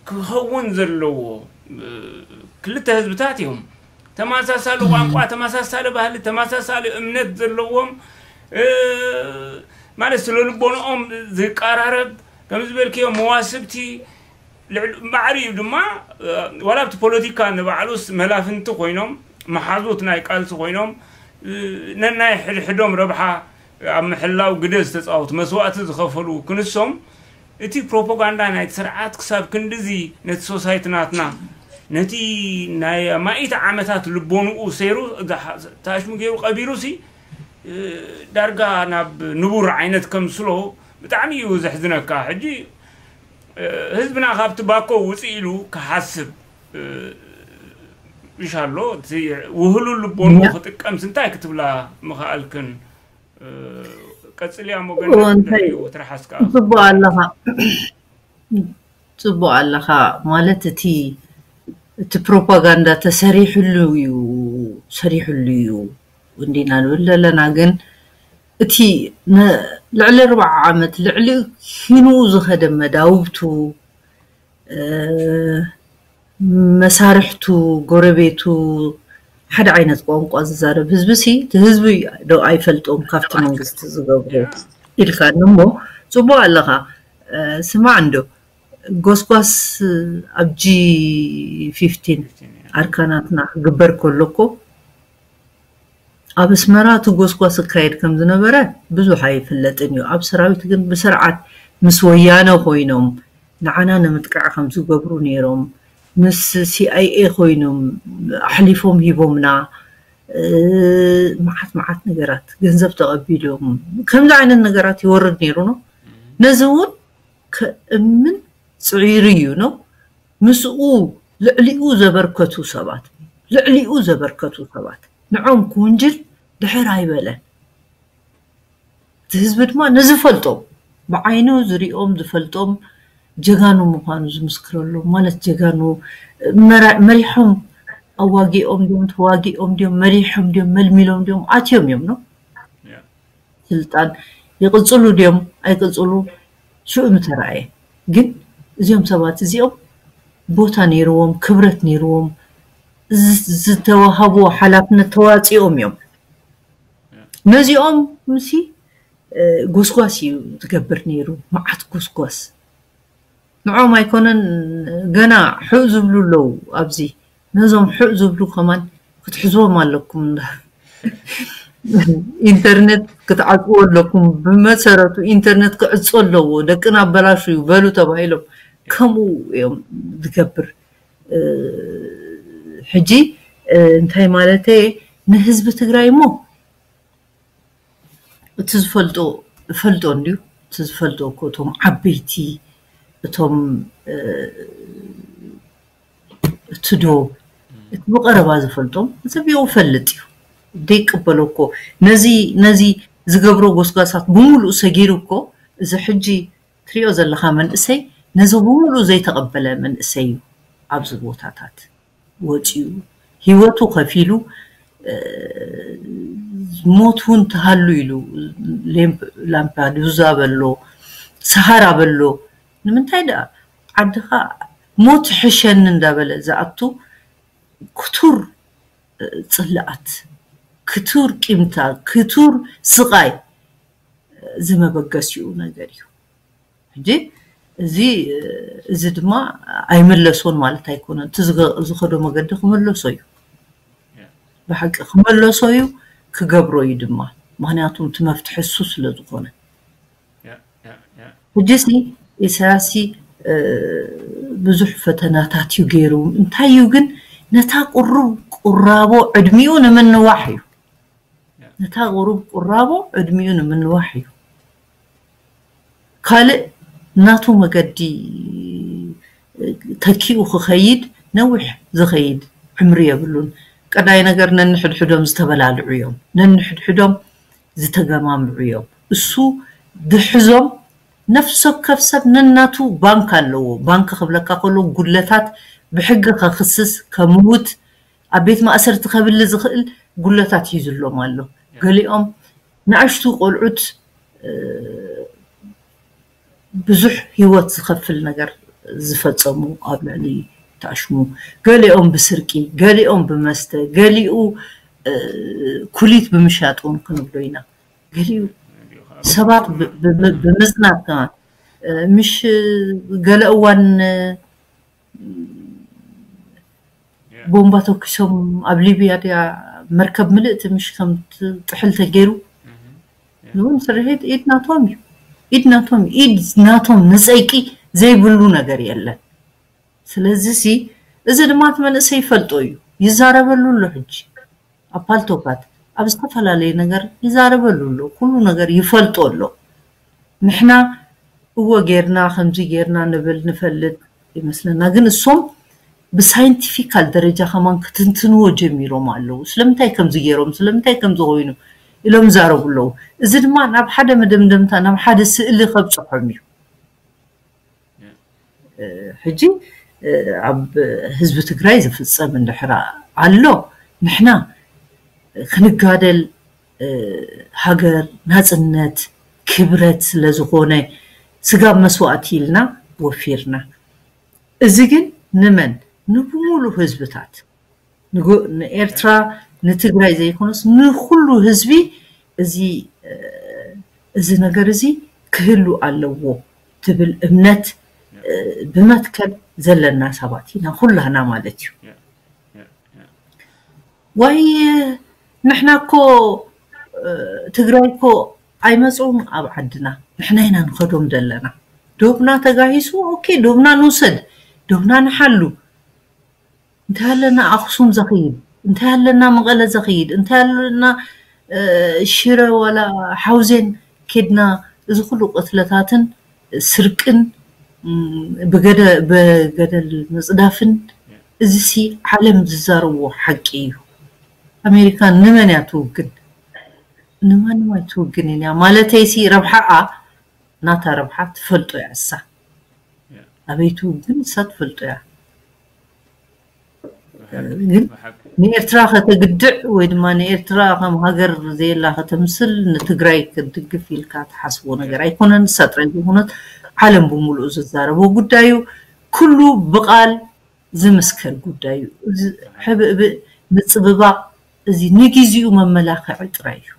ክኸውን ዘለዎ ክልተ ህዝብታት እዮም ተመሳሳሊ ቋንቋ ተመሳሳሊ ባህሊ ተመሳሳሊ እምነት ዘለዎም ማለት ስለ ልቦንኦም ዝቀራረብ ከም ዝበልክዮ መዋስብቲ ማዕሪ እዩ ድማ ዋላ ኣብቲ ፖለቲካ ንባዕሉስ መላፍንቲ ኮይኖም መሓዙት ናይ ቃልሲ ኮይኖም ነናይ ሕድሕዶም ረብሓ ኣብ ምሕላው ግደ ዝተፃወቱ መስዋእቲ ዝኸፈሉ ክንሶም እቲ ፕሮፓጋንዳ ናይቲ ስርዓት ክሳብ ክንድዚ ነቲ ሶሳይቲ ናትና ነቲ ናይ ማኢት ዓመታት ልቦንኡ ሰይሩ ተኣሽሙ ገይሩ ቀቢሩ ሲ ዳርጋ ናብ ንቡር ዓይነት ከምስሎ ብጣዕሚ እዩ ዘሕዝነካ ሕጂ ህዝብና ካብቲ ባኮ ውፅእ ኢሉ ክሓስብ ይሻሎ ውህሉ ልቦኑ ክጥቀምስ እንታይ ክትብላ ምኽኣልክን ቀፅልያ ሞገንእንታይ ትፅቡቅ ኣለኻ ማለት እቲ እቲ ፕሮፓጋንዳ ተሰሪሕሉ እዩ ሰሪሕሉ እዩ እንዲና ንብል ዘለና ግን እቲ ልዕሊ ኣርባዓ ዓመት ልዕሊ ኪንኡ ዝኸደ መዳውብቱ መሳርሕቱ ጎረቤቱ ሓደ ዓይነት ቋንቋ ዝዛረብ ህዝቢ ሲ እቲ ህዝቢ ዶ ኣይፈልጦም ካብቲ መንግስቲ ዝገብሩ ኢልካ እሞ ፅቡቅ ኣለኻ ስማዕ እንዶ ጎስጓስ ኣብ ጂ ፊፍቲን ኣርካናትና ክግበር ከሎ እኮ ኣብ ኣስመራ እቲ ጎስጓስ ክካየድ ከም ዝነበረ ብዙሕ ኣይፍለጥን እዩ። ኣብ ሰራዊት ግን ብስርዓት ምስ ወያነ ኮይኖም ንዓና ንምጥቃዕ ከም ዝገብሩ ነይሮም ምስ ሲኣይኤ ኮይኖም ኣሕሊፎም ሂቦምና መዓት መዓት ነገራት ገንዘብ ተቐቢሎም ከምዚ ዓይነት ነገራት ይወርድ ነይሩ ነው። ነዚ እውን ከእምን ፅዒሩ እዩ ነው። ምስኡ ልዕሊኡ ዘበርከቱ ሰባት ልዕሊኡ ዘበርከቱ ሰባት ንዖም ክውንጅል ድሕር ኣይበለን። እቲ ህዝቢ ድማ ንዝፈልጦም ብዓይኑ ዝሪኦም ዝፈልጦም ጀጋኑ ምዃኑ ዝምስክረሎም ማለት ጀጋኑ መሪሖም ኣዋጊኦም ድዮም ተዋጊኦም ድዮም መሪሖም ድዮም መልሚሎም ድዮም ኣትዮም እዮም ነው ስልጣን ይቕፅሉ ድዮም ኣይቅፅሉ ሽኡ ምተረኣየ ግን እዚኦም ሰባት እዚኦም ቦታ ነይርዎም ክብረት ነይርዎም ዝተዋሃብዎ ሓላፍነት ተዋፂኦም እዮም ነዚኦም ምሲ ጎስጓስ እዩ ዝገብር ነይሩ መዓት ጎስጓስ ንዖም ኣይኮነን ገና ሕእ ዝብሉ ኣለዉ ኣብዚ ነዞም ሕእ ዝብሉ ከማን ክትሕዝዎም ኣለኩም ኢንተርነት ክትዓፅዎ ኣለኩም ብመሰረቱ ኢንተርነት ክዕፆ ኣለዎ ደቅና ኣበላሹ እዩ በሉ ተባሂሎም ከምኡ እዮም ዝገብር ሕጂ እንታይ ማለት ንህዝቢ ትግራይ እሞ እቲ ዝፈልጦ እፈልጦ እንድዩ እቲ ዝፈልጦ እኮ እቶም ዓበይቲ እቶም እቲ ዶ እቲ ብቐረባ ዝፈልጦም ዘቢቑ ፈልጥ እዩ ዘይቅበሎ እኮ ነዚ ነዚ ዝገብሮ ጎስጓሳት ብምሉእ ሰጊሩ እኮ እዚ ሕጂ ትሪኦ ዘለኻ መንእሰይ ነዚ ብምሉእ ዘይተቐበለ መንእሰይ እዩ ኣብዚ ቦታታት ወፂኡ ሂወቱ ከፊሉ ሞት እውን ተሃሉ ኢሉ ላምፓዱዛ በሎ ሰሃራ በሎ ንምንታይ ደኣ ዓድኻ ሞት ሕሸኒ እንዳበለ ዝኣቱ ክቱር ጽልኣት፣ ክቱር ቂምታ፣ ክቱር ስቓይ ዝመበገሲኡ ነገር እዩ። ሕጂ እዚ እዚ ድማ ኣይመለሶን ማለት ኣይኮነን። እቲ ዝኸዶ መገዲ ክመለሶ እዩ። ብሓቂ ክመለሶ እዩ፣ ክገብሮ እዩ ድማ። ምክንያቱ እቲ መፍትሒ እሱ ስለ ዝኾነ። ሕጂ ሲ ኢሳያስ ሲ ብዙሕ ፈተናታት እዩ ገይሩ። እንታይ እዩ ግን ነታ ቁሩብ ቁራቦ ዕድሚኡ ንምንዋሕ እዩ። ነታ ቁሩብ ቁራቦ ዕድሚኡ ንምንዋሕ እዩ። ካልእ ናቱ መገዲ ተኪኡ ክኸይድ ነዊሕ ዝኸይድ ዕምሪ የብሉን። ቀዳይ ነገር ነንሕድሕዶም ዝተበላልዑ እዮም። ነንሕድሕዶም ዝተገማምዑ እዮም። እሱ ድሕዞም ነፍሲ ወከፍ ሰብ ነናቱ ባንክ ኣለዎ። ባንክ ክብለካ ከሎ ጉድለታት ብሕጊ ከኽስስ ከምውት ኣብ ቤት ማእሰርቲ ከብል ዝኽእል ጉድለታት ሒዙሎም ኣሎ። ገሊኦም ንኣሽቱ ቆልዑት ብዙሕ ህይወት ዝኸፍል ነገር ዝፈጸሙ ኣብ ልዕሊ ተኣሽሙ፣ ገሊኦም ብስርቂ፣ ገሊኦም ብመስተ፣ ገሊኡ ኩሊት ብምሻጥ እውን ክንብሎ ኢና። ገሊኡ ሰባት ብምጽናት ከማን ምሽ ገለ እዋን ቦምባ ተኩሶም ኣብ ሊብያ ድያ መርከብ ምልእቲ ምሽ ከም ጥሕል ተገይሩ እውን ስርሒት ኢድ ናቶም እዩ። ኢድ ናቶም ኢድ ናቶም ንጸይቂ ዘይብሉ ነገር የለን። ስለዚ ሲ እዚ ድማ እቲ መንእሰይ ይፈልጦ እዩ፣ ይዛረበሉ ኣሎ። ሕጂ ኣብ ፓልቶካት ኣብ ዝተፈላለየ ነገር ይዛረበሉ ኣሎ። ኩሉ ነገር ይፈልጦ ኣሎ። ንሕና እወ ጌርና ከምዚ ጌርና ንብል ንፈልጥ ይመስለና፣ ግን እሶም ብሳይንቲፊካል ደረጃ ከማን ክትንትንዎ ጀሚሮም ኣለዉ። ስለምንታይ ከምዚ ገይሮም ስለምንታይ ከምዚ ኮይኑ ኢሎም ይዛረቡ ኣለዉ። እዚ ድማ ናብ ሓደ መደምደምታ ናብ ሓደ ስእሊ ከብፅሖም እዩ። ሕጂ ኣብ ህዝቢ ትግራይ ዝፍፀም እንድሕር ኣሎ ንሕና ክንጋደል ሃገር ናፅነት ክብረት ስለዝኾነ ስጋብ መስዋእቲ ኢልና ወፊርና። እዚ ግን ንመን ንብሙሉ ህዝብታት ንኤርትራ ንትግራይ ዘይኮነስ ንኩሉ ህዝቢ እዚ እዚ ነገር እዚ ክህሉ ኣለዎ ትብል እምነት ብመትከል ዘለና ሰባት ኢና ኩላህና ማለት እዩ። ዋይ ንሕና እኮ ትግራይ እኮ ኣይመፁን ኣብ ዓድና፣ ንሕና ኢና ንኸዶም ዘለና። ዶብና ተጋሂሱ፣ ኦኬ ዶብና ንውሰድ፣ ዶብና ንሓሉ። እንታይ ኣለና ኣኽሱም ዘኽይድ፣ እንታይ ኣለና መቐለ ዘኽይድ፣ እንታይ ኣለና ሽረ ዋላ ሓውዜን ኬድና እዚ ኩሉ ቅትለታትን ስርቅን ብገደል ምፅዳፍን እዚሲ ዓለም ዝዛረብዎ ሓቂ እዩ። ኣሜሪካ ንመን እያ ትውግን? ንማንም ኣይትውግንን እያ። ማለተይሲ ረብሓኣ ናታ ረብሓ ትፈልጦ እያ እሳ። ኣበይ ትውግን እሳ ትፈልጦ እያ። ግን ንኤርትራ ከተግድዕ ወይ ድማ ንኤርትራ ከም ሃገር ዘየላ ከተምስል ንትግራይ ክትድግፍ ኢልካ ትሓስቦ ነገር ኣይኮነን። እሳ ጥራይ ዘይኮነት ዓለም ብምሉኡ ዝዛረቦ ጉዳይ እዩ። ኩሉ ብቓል ዝምስከር ጉዳይ እዩ። እዚ ሕብእብእ ምጽብባቕ እዚ ንግዚኡ መመላኽዒ ጥራይ እዩ።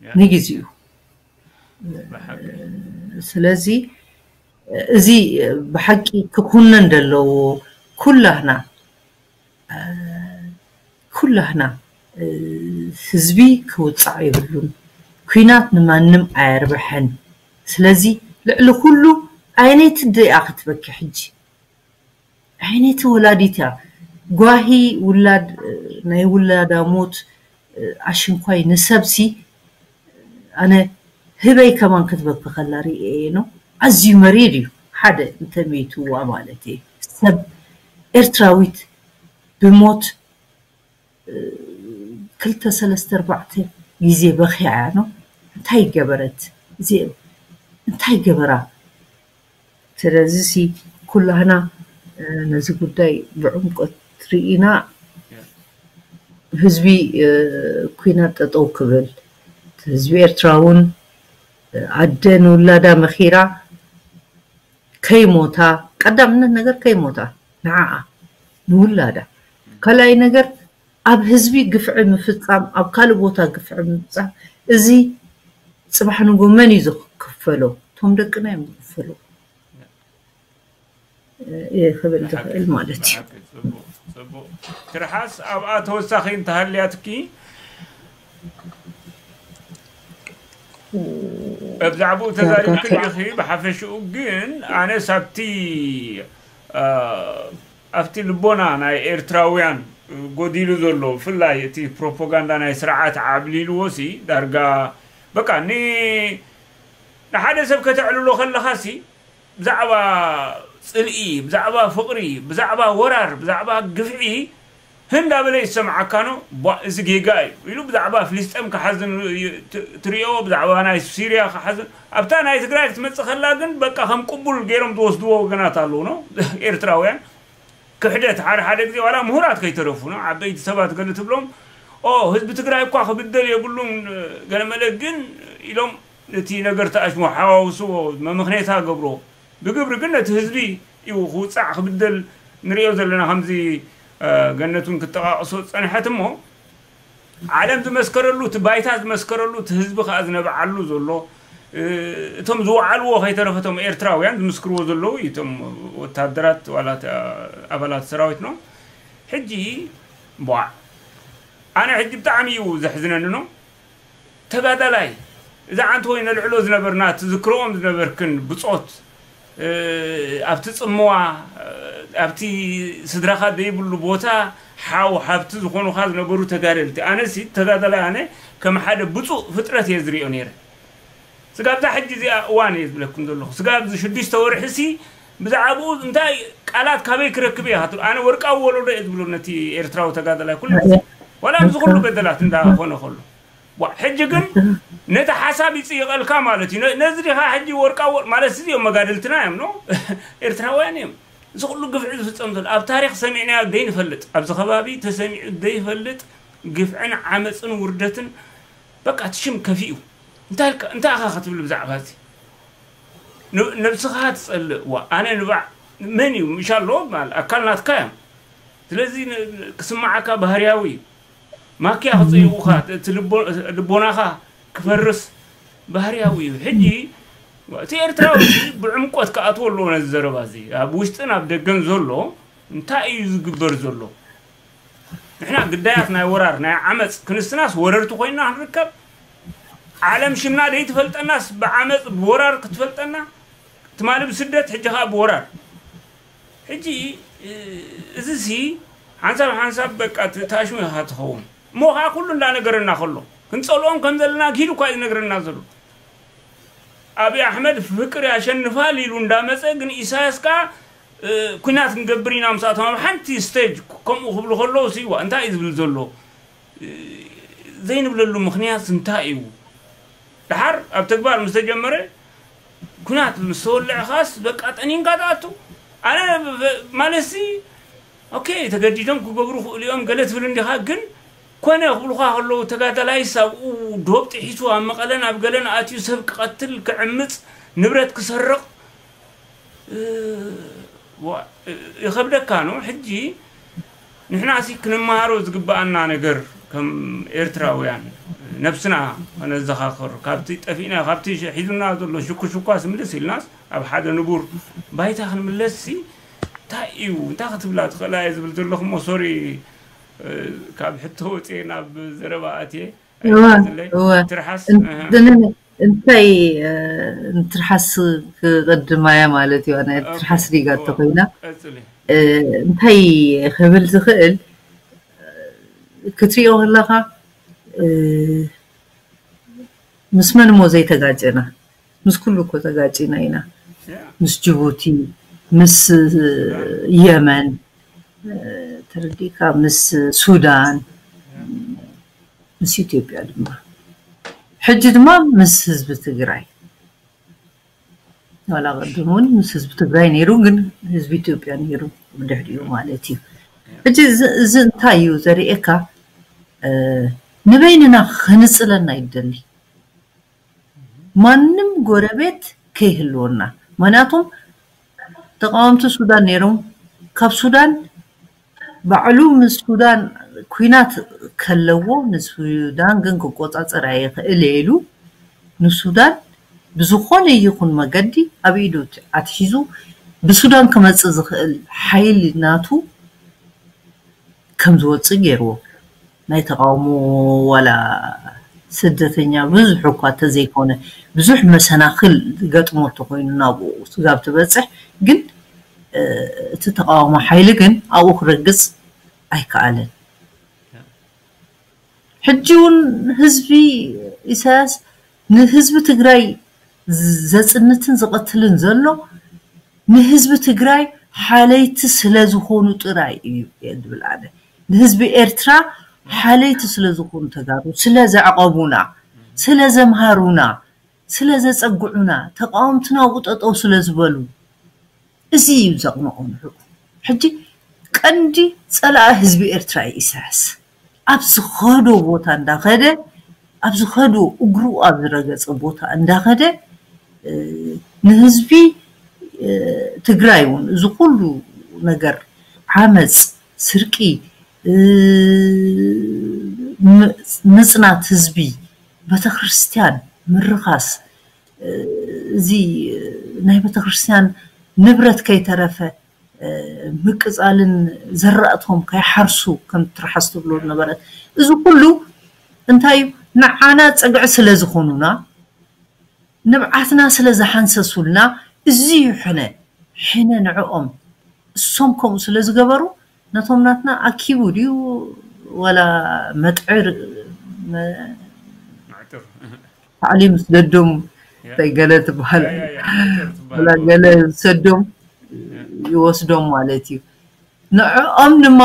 ንግዚኡ ስለዚ እዚ ብሓቂ ክኹነን ዘለዎ ኩላህና ኩላህና ህዝቢ ክውፃዕ የብሉን። ኩናት ንማንም ኣየርብሐን። ስለዚ ልዕሊ ኩሉ ኣየነይቲ ድኣ ክትበኪ ሕጂ? ኣየነይቲ ወላዲት እያ ጓሂ ውላድ ናይ ውላዳ ሞት ኣሽንኳይ ንሰብሲ ኣነ ህበይ ከማን ክትበኪ ከላ ርእየ ነው። ኣዝዩ መሪር እዩ። ሓደ እንተመይትዋ ማለት እዩ ሰብ ኤርትራዊት ብሞት ክልተ ሰለስተ ኣርባዕተ ግዜ በኺያ እያ ነው። እንታይ ገበረት እዚኦም እንታይ ገበራ? ስለዚ ሲ ኩላህና ነዚ ጉዳይ ብዕምቆት ርኢና ህዝቢ ኩናት ጠጠው ክብል ህዝቢ ኤርትራ እውን ኣደ ንውላዳ መኺራ ከይሞታ ቀዳምነት ነገር ከይሞታ ንዓኣ ንውላዳ ካልኣይ ነገር ኣብ ህዝቢ ግፍዒ ምፍጻም፣ ኣብ ካልእ ቦታ ግፍዒ ምፍጻም፣ እዚ ጽባሕ ንጎ መን እዩ ዝክፈሎ? እቶም ደቅና እዮም ዝክፈሎ። እየ ክብል ዝኽእል ማለት እዩ። ትርሓስ ኣብኣ ተወሳኺ እንተሃልያትኪ ብዛዕባኡ ተዛሪብክ ዲኺ? ብሓፈሽኡ ግን ኣነስ ኣብቲ ኣብቲ ልቦና ናይ ኤርትራውያን ጎዲሉ ዘሎ፣ ብፍላይ እቲ ፕሮፓጋንዳ ናይ ስርዓት ዓብሊልዎ ሲ ዳርጋ በቃ ን ንሓደ ሰብ ከተዕልሎ ከለኻ ሲ ብዛዕባ ጽልኢ፣ ብዛዕባ ፍቕሪ፣ ብዛዕባ ወራር፣ ብዛዕባ ግፍዒ ህንዳ በለ ይሰምዓካ ነው። ቧ፣ እዚ ጌጋ እዩ ኢሉ ብዛዕባ ፍልስጤም ክሓዝን ዩ-፣ ት-፣ ትሪኦ፣ ብዛዕባ ናይ ሲርያ ክሓዝን። ኣብታ ናይ ትግራይ ክትመጽእ ከላ ግን በቃ ከም ቅቡል ገይሮም ዝወስድዎ ወገናት ኣለዉ ነው ኤርትራውያን። ክሕደት ሓደ ሓደ ግዜ ዋላ ምሁራት ከይተረፉ ነው፣ ዓበይቲ ሰባት ገለ ትብሎም፣ ኦ ህዝቢ ትግራይ እኳ ክብደል የብሉን ገለመለ ግን ኢሎም ነቲ ነገር ተኣሽሞ ሓዋውስዎ፣ መምኽኔታ ገብሮ። ብግብሪ ግን ነቲ ህዝቢ እዩ ክውፃዕ ክብደል ንሪኦ ዘለና። ከምዚ ገነቱን ክጠቃቅሶ ፀንሐት እሞ ዓለም ዝመስከረሉ፣ እቲ ባይታ ዝመስከረሉ፣ እቲ ህዝቢ ከዓ ዝነብዓሉ ዘሎ፣ እቶም ዝወዓልዎ ከይተረፈ እቶም ኤርትራውያን ዝምስክርዎ ዘለዉ እዩ። እቶም ወታደራት ዋላ ኣባላት ሰራዊት ነው። ሕጂ ቧዕ ኣነ ሕጂ ብጣዕሚ እዩ ዘሕዝነኒ ነው። ተጋዳላይ እዛ ዓንተ ወይ ነልዕሎ ዝነበርና ትዝክረኦም ዝነበርክን ብጾት፣ ኣብቲ ጽምዋ፣ ኣብቲ ስድራኻ ዘይብሉ ቦታ ሓው ሓብቲ ዝኾኑኻ ዝነበሩ ተጋደልቲ። ኣነሲ ተጋዳላይ ኣነ ከም ሓደ ብፁእ ፍጥረት እየ ዝሪኦ ነይረ። ስጋብ እዛ ሕጂ እዚኣ እዋን እየ ዝብለኩም ዘለኹ። ስጋብ እዚ ሽዱሽተ ወርሒ ሲ ብዛዕባኡ እንታይ ቃላት ካበይ ክረክብ እየ? ኣነ ወርቃዊ ወለዶ እየ ዝብሎ ነቲ ኤርትራዊ ተጋዳላይ ኩሉ ግዜ። ዋላ ኣብዚ ኩሉ በደላት እንዳኾነ ከሎ። ዋ፣ ሕጂ ግን ነቲ ሓሳብ ይጽይቐልካ ማለት እዩ። ነዚ ዲኻ ሕጂ ወርቃዊ ወር-፣ ማለት እዚኦም መጋድልትና እዮም፣ ኖ? ኤርትራውያን እዮም። እዚ ኩሉ ግፍዒ ዝፍጸም ዘሎ ኣብ ታሪኽ ሰሚዕናዮ ዘይንፈልጥ፣ ኣብዚ ከባቢ ተሰሚዑ ዘይፈልጥ ግፍዕን ዓመጽን ውርደትን በቃ እቲ ሽም ከፊኡ። እንታይ ኢልካ፣ እንታይ ኢኻ ክትብል ብዛዕባ እዚ? ን-፣ ነብስኻ ትጸልእ። ዋ፣ ኣነ ንባዕ መን እዩ? ምሻሎ ማለት ኣካል ናትካ እዮም። ስለዚ ን-፣ ክስምዓካ ባህርያዊ እዩ። ማክያ ክጽይቑኻ፣ እቲ ልቦ-፣ ልቦናኻ ክፈርስ ባህርያዊ እዩ። ሕጂ እቲ ኤርትራዊ እዚ ብዕምቆት ክኣትዎ ኣለዎ ነዚ ዘረባ እዚ። ኣብ ውሽጥን ኣብ ደገን ዘሎ እንታይ እዩ ዝግበር ዘሎ? ንሕና ግዳያት ናይ ወራር፣ ናይ ዓመጽ ክንስትናስ ወረርቲ ኮይንና ክንርከብ፣ ዓለም ሽምና ደይትፈልጠናስ ብዓመጽ ብወራር ክትፈልጠና፣ ትማሊ ብስደት ሕጂ ከዓ ብወራር። ሕጂ እዚ ሲ ሓንሳብ ሓንሳብ በቃ ት-፣ ታሽሙ ኢኻ ትኸውን። እሞ ከዓ ኩሉ እንዳነገረና ከሎ ክንጸልኦም ከም ዘለና ኪዱ እኳ እዩ ዝነግረና ዘሎ። ኣብይ ኣሕመድ ፍቅር ያሸንፋል ኢሉ እንዳመጸ ግን ኢሳያስ ከዓ እ፣ ኩናት ክንገብር ኢና ምስኣቶም ኣብ ሓንቲ ስቴጅ ከምኡ ክብሉ ከለዉ ሲ ዋ እንታይ እዩ ዝብል ዘሎ? እ፣ ዘይንብለሉ ምኽንያት እንታይ እዩ? ድሓር ኣብ ተግባር ምስ ተጀመረ ኩናት ምስ ተወልዐ ኻስ በቃ ጠኒንካ ትኣቱ። ኣነ ብ-፣ ማለት ሲ ኦኬ ተገዲዶም ክገብሩ ክእሉ እዮም ገለ ትብል እንዲኻ፣ ግን ኮነ ክብሉኻ ከለዉ ተጋዳላይስ ኣብኡ ዶብ ጥሒሱ ኣብ መቐለን ኣብ ገለን ኣትዩ ሰብ ክቐትል ክዕምፅ ንብረት ክሰርቕ እ፣ ዋ-፣ እ፣ ይኸብደካ ነው። ሕጂ ንሕና ሲ ክንመሃሮ ዝግብኣና ነገር ከም ኤርትራውያን ነብስና ከነዘኻኽር፣ ካብቲ ጠፊእና፣ ካብቲ ሽ-፣ ሒዙና ዘሎ ሽኩሽኳስ ምልስ ኢልናስ ኣብ ሓደ ንቡር ባይታ ክንምለስ ሲ እንታይ እዩ፣ እንታይ ክትብላ ትኽእላ እየ ዝብል ዘለኹ እሞ ሶሪ፣ እ፣ ካብ ሕቶ ወፅየ ናብ ዘረባ ኣትየ። እወ፣ ኣይትሓዝለይ። እወ። ትርሓስ፣ እን-፣ እህ። እን-፣ እንታይ፣ እ፣ ንትርሓስ ክቕድማ እያ ማለት እዩ። ኣነ ኦኬ፣ ትርሓስ ሪጋ እወ፣ ተኾይና፣ ቀጽሊ። እ፣ እንታይ ክብል ዝኽእል፣ እ፣ ክትሪኦ ከለኻ፣ እ፣ ምስ መን እሞ ዘይተጋጨና? ምስ ኩሉ እኮ ተጋጭና ኢና። ያ። ምስ ጅቡቲ፣ ምስ፣ እ፣ የመን፣ እ፣ ተረዲእካ፣ ምስ ሱዳን፣ ምስ ኢትዮጵያ ድማ። ሕጂ ድማ ምስ ህዝቢ ትግራይ። ዋላ ቅድም እውን ምስ ህዝቢ ትግራይ ነይሩ፣ ግን ህዝቢ ኢትዮጵያ ነይሩ ብድሕሪኡ ማለት እዩ። ሕጂ እዚ፣ እዚ እንታይ እዩ ዘርእየካ? እ፣ ንበይንና ክንጽለና ይደሊ። ማንም ጎረቤት ከይህልወና። ምኽንያቱም ተቃወምቲ ሱዳን ነይሮም። ካብ ሱዳን ባዕሉ ምስ ሱዳን ኲናት ከለዎ ንሱዳን ግን ክቆጻጸር ኣይኽእል ኢሉ ንሱዳን ብዝኾነ ይኹን መገዲ ኣብ ኢዱ ኣትሒዙ ብሱዳን ክመጽእ ዝኽእል ሓይሊ ናቱ ከም ዝወጽእ ገይርዎ። ናይ ተቃውሞ ዋላ ስደተኛ ብዙሕ እኳ ተዘይኮነ ብዙሕ መሰናኽል ገጥሞ ተኮይኑ ናብኡ ስጋብ ትበጽሕ ግን እቲ ተቃውሞ ሓይሊ ግን ኣብኡ ክረግጽ ኣይከኣለን። ሕጂ እውን ህዝቢ ኢሳያስ ንህዝቢ ትግራይ ዘጽንትን ዝቐትልን ዘሎ ንህዝቢ ትግራይ ሓለይቲ ስለ ዝኾኑ ጥራይ እዩ እየ ዝብል ኣነ። ንህዝቢ ኤርትራ ሓለይቲ ስለ ዝኾኑ ተጋሩ ስለ ዘዕቐቡና፣ ስለ ዘምሃሩና፣ ስለ ዘጸግዑና፣ ተቃወምትና ኣብኡ ጠጠው ስለ ዝበሉ እዚ እዩ ዘቕንቖ ንዕኡ። ሕጂ ቀንዲ ጸላኢ ህዝቢ ኤርትራ እዩ ኢሳያስ። ኣብ ዝኸዶ ቦታ እንዳኸደ ኣብ ዝኸዶ እግሩ ኣብ ዝረገጸ ቦታ እንዳኸደ ንህዝቢ ትግራይ እውን እዚ ኩሉ ነገር ዓመፅ፣ ስርቂ፣ ምፅናት ህዝቢ፣ ቤተክርስትያን ምርኻስ፣ እዚ ናይ ቤተክርስትያን ንብረት ከይተረፈ ምቅፃልን ዘራእቶም ከይሓርሱ ከም ትርሓስ ትብሎ ዝነበረት እዚ ኩሉ እንታይ እዩ ንዓና ፀግዒ ስለ ዝኾኑና ንብዓትና ስለ ዝሓንሰሱልና እዚ እዩ ሕነ ሕነ ንዕኦም እሶም ከምኡ ስለ ዝገበሩ ነቶም ናትና ኣኪቡ ድዩ ዋላ መጥዕር ታዕሊም ስደዶም እንታይ ገለ ትበሃል ኣላ ገለ ዝሰዶም ይወስዶም ማለት እዩ። ንዕኦም ድማ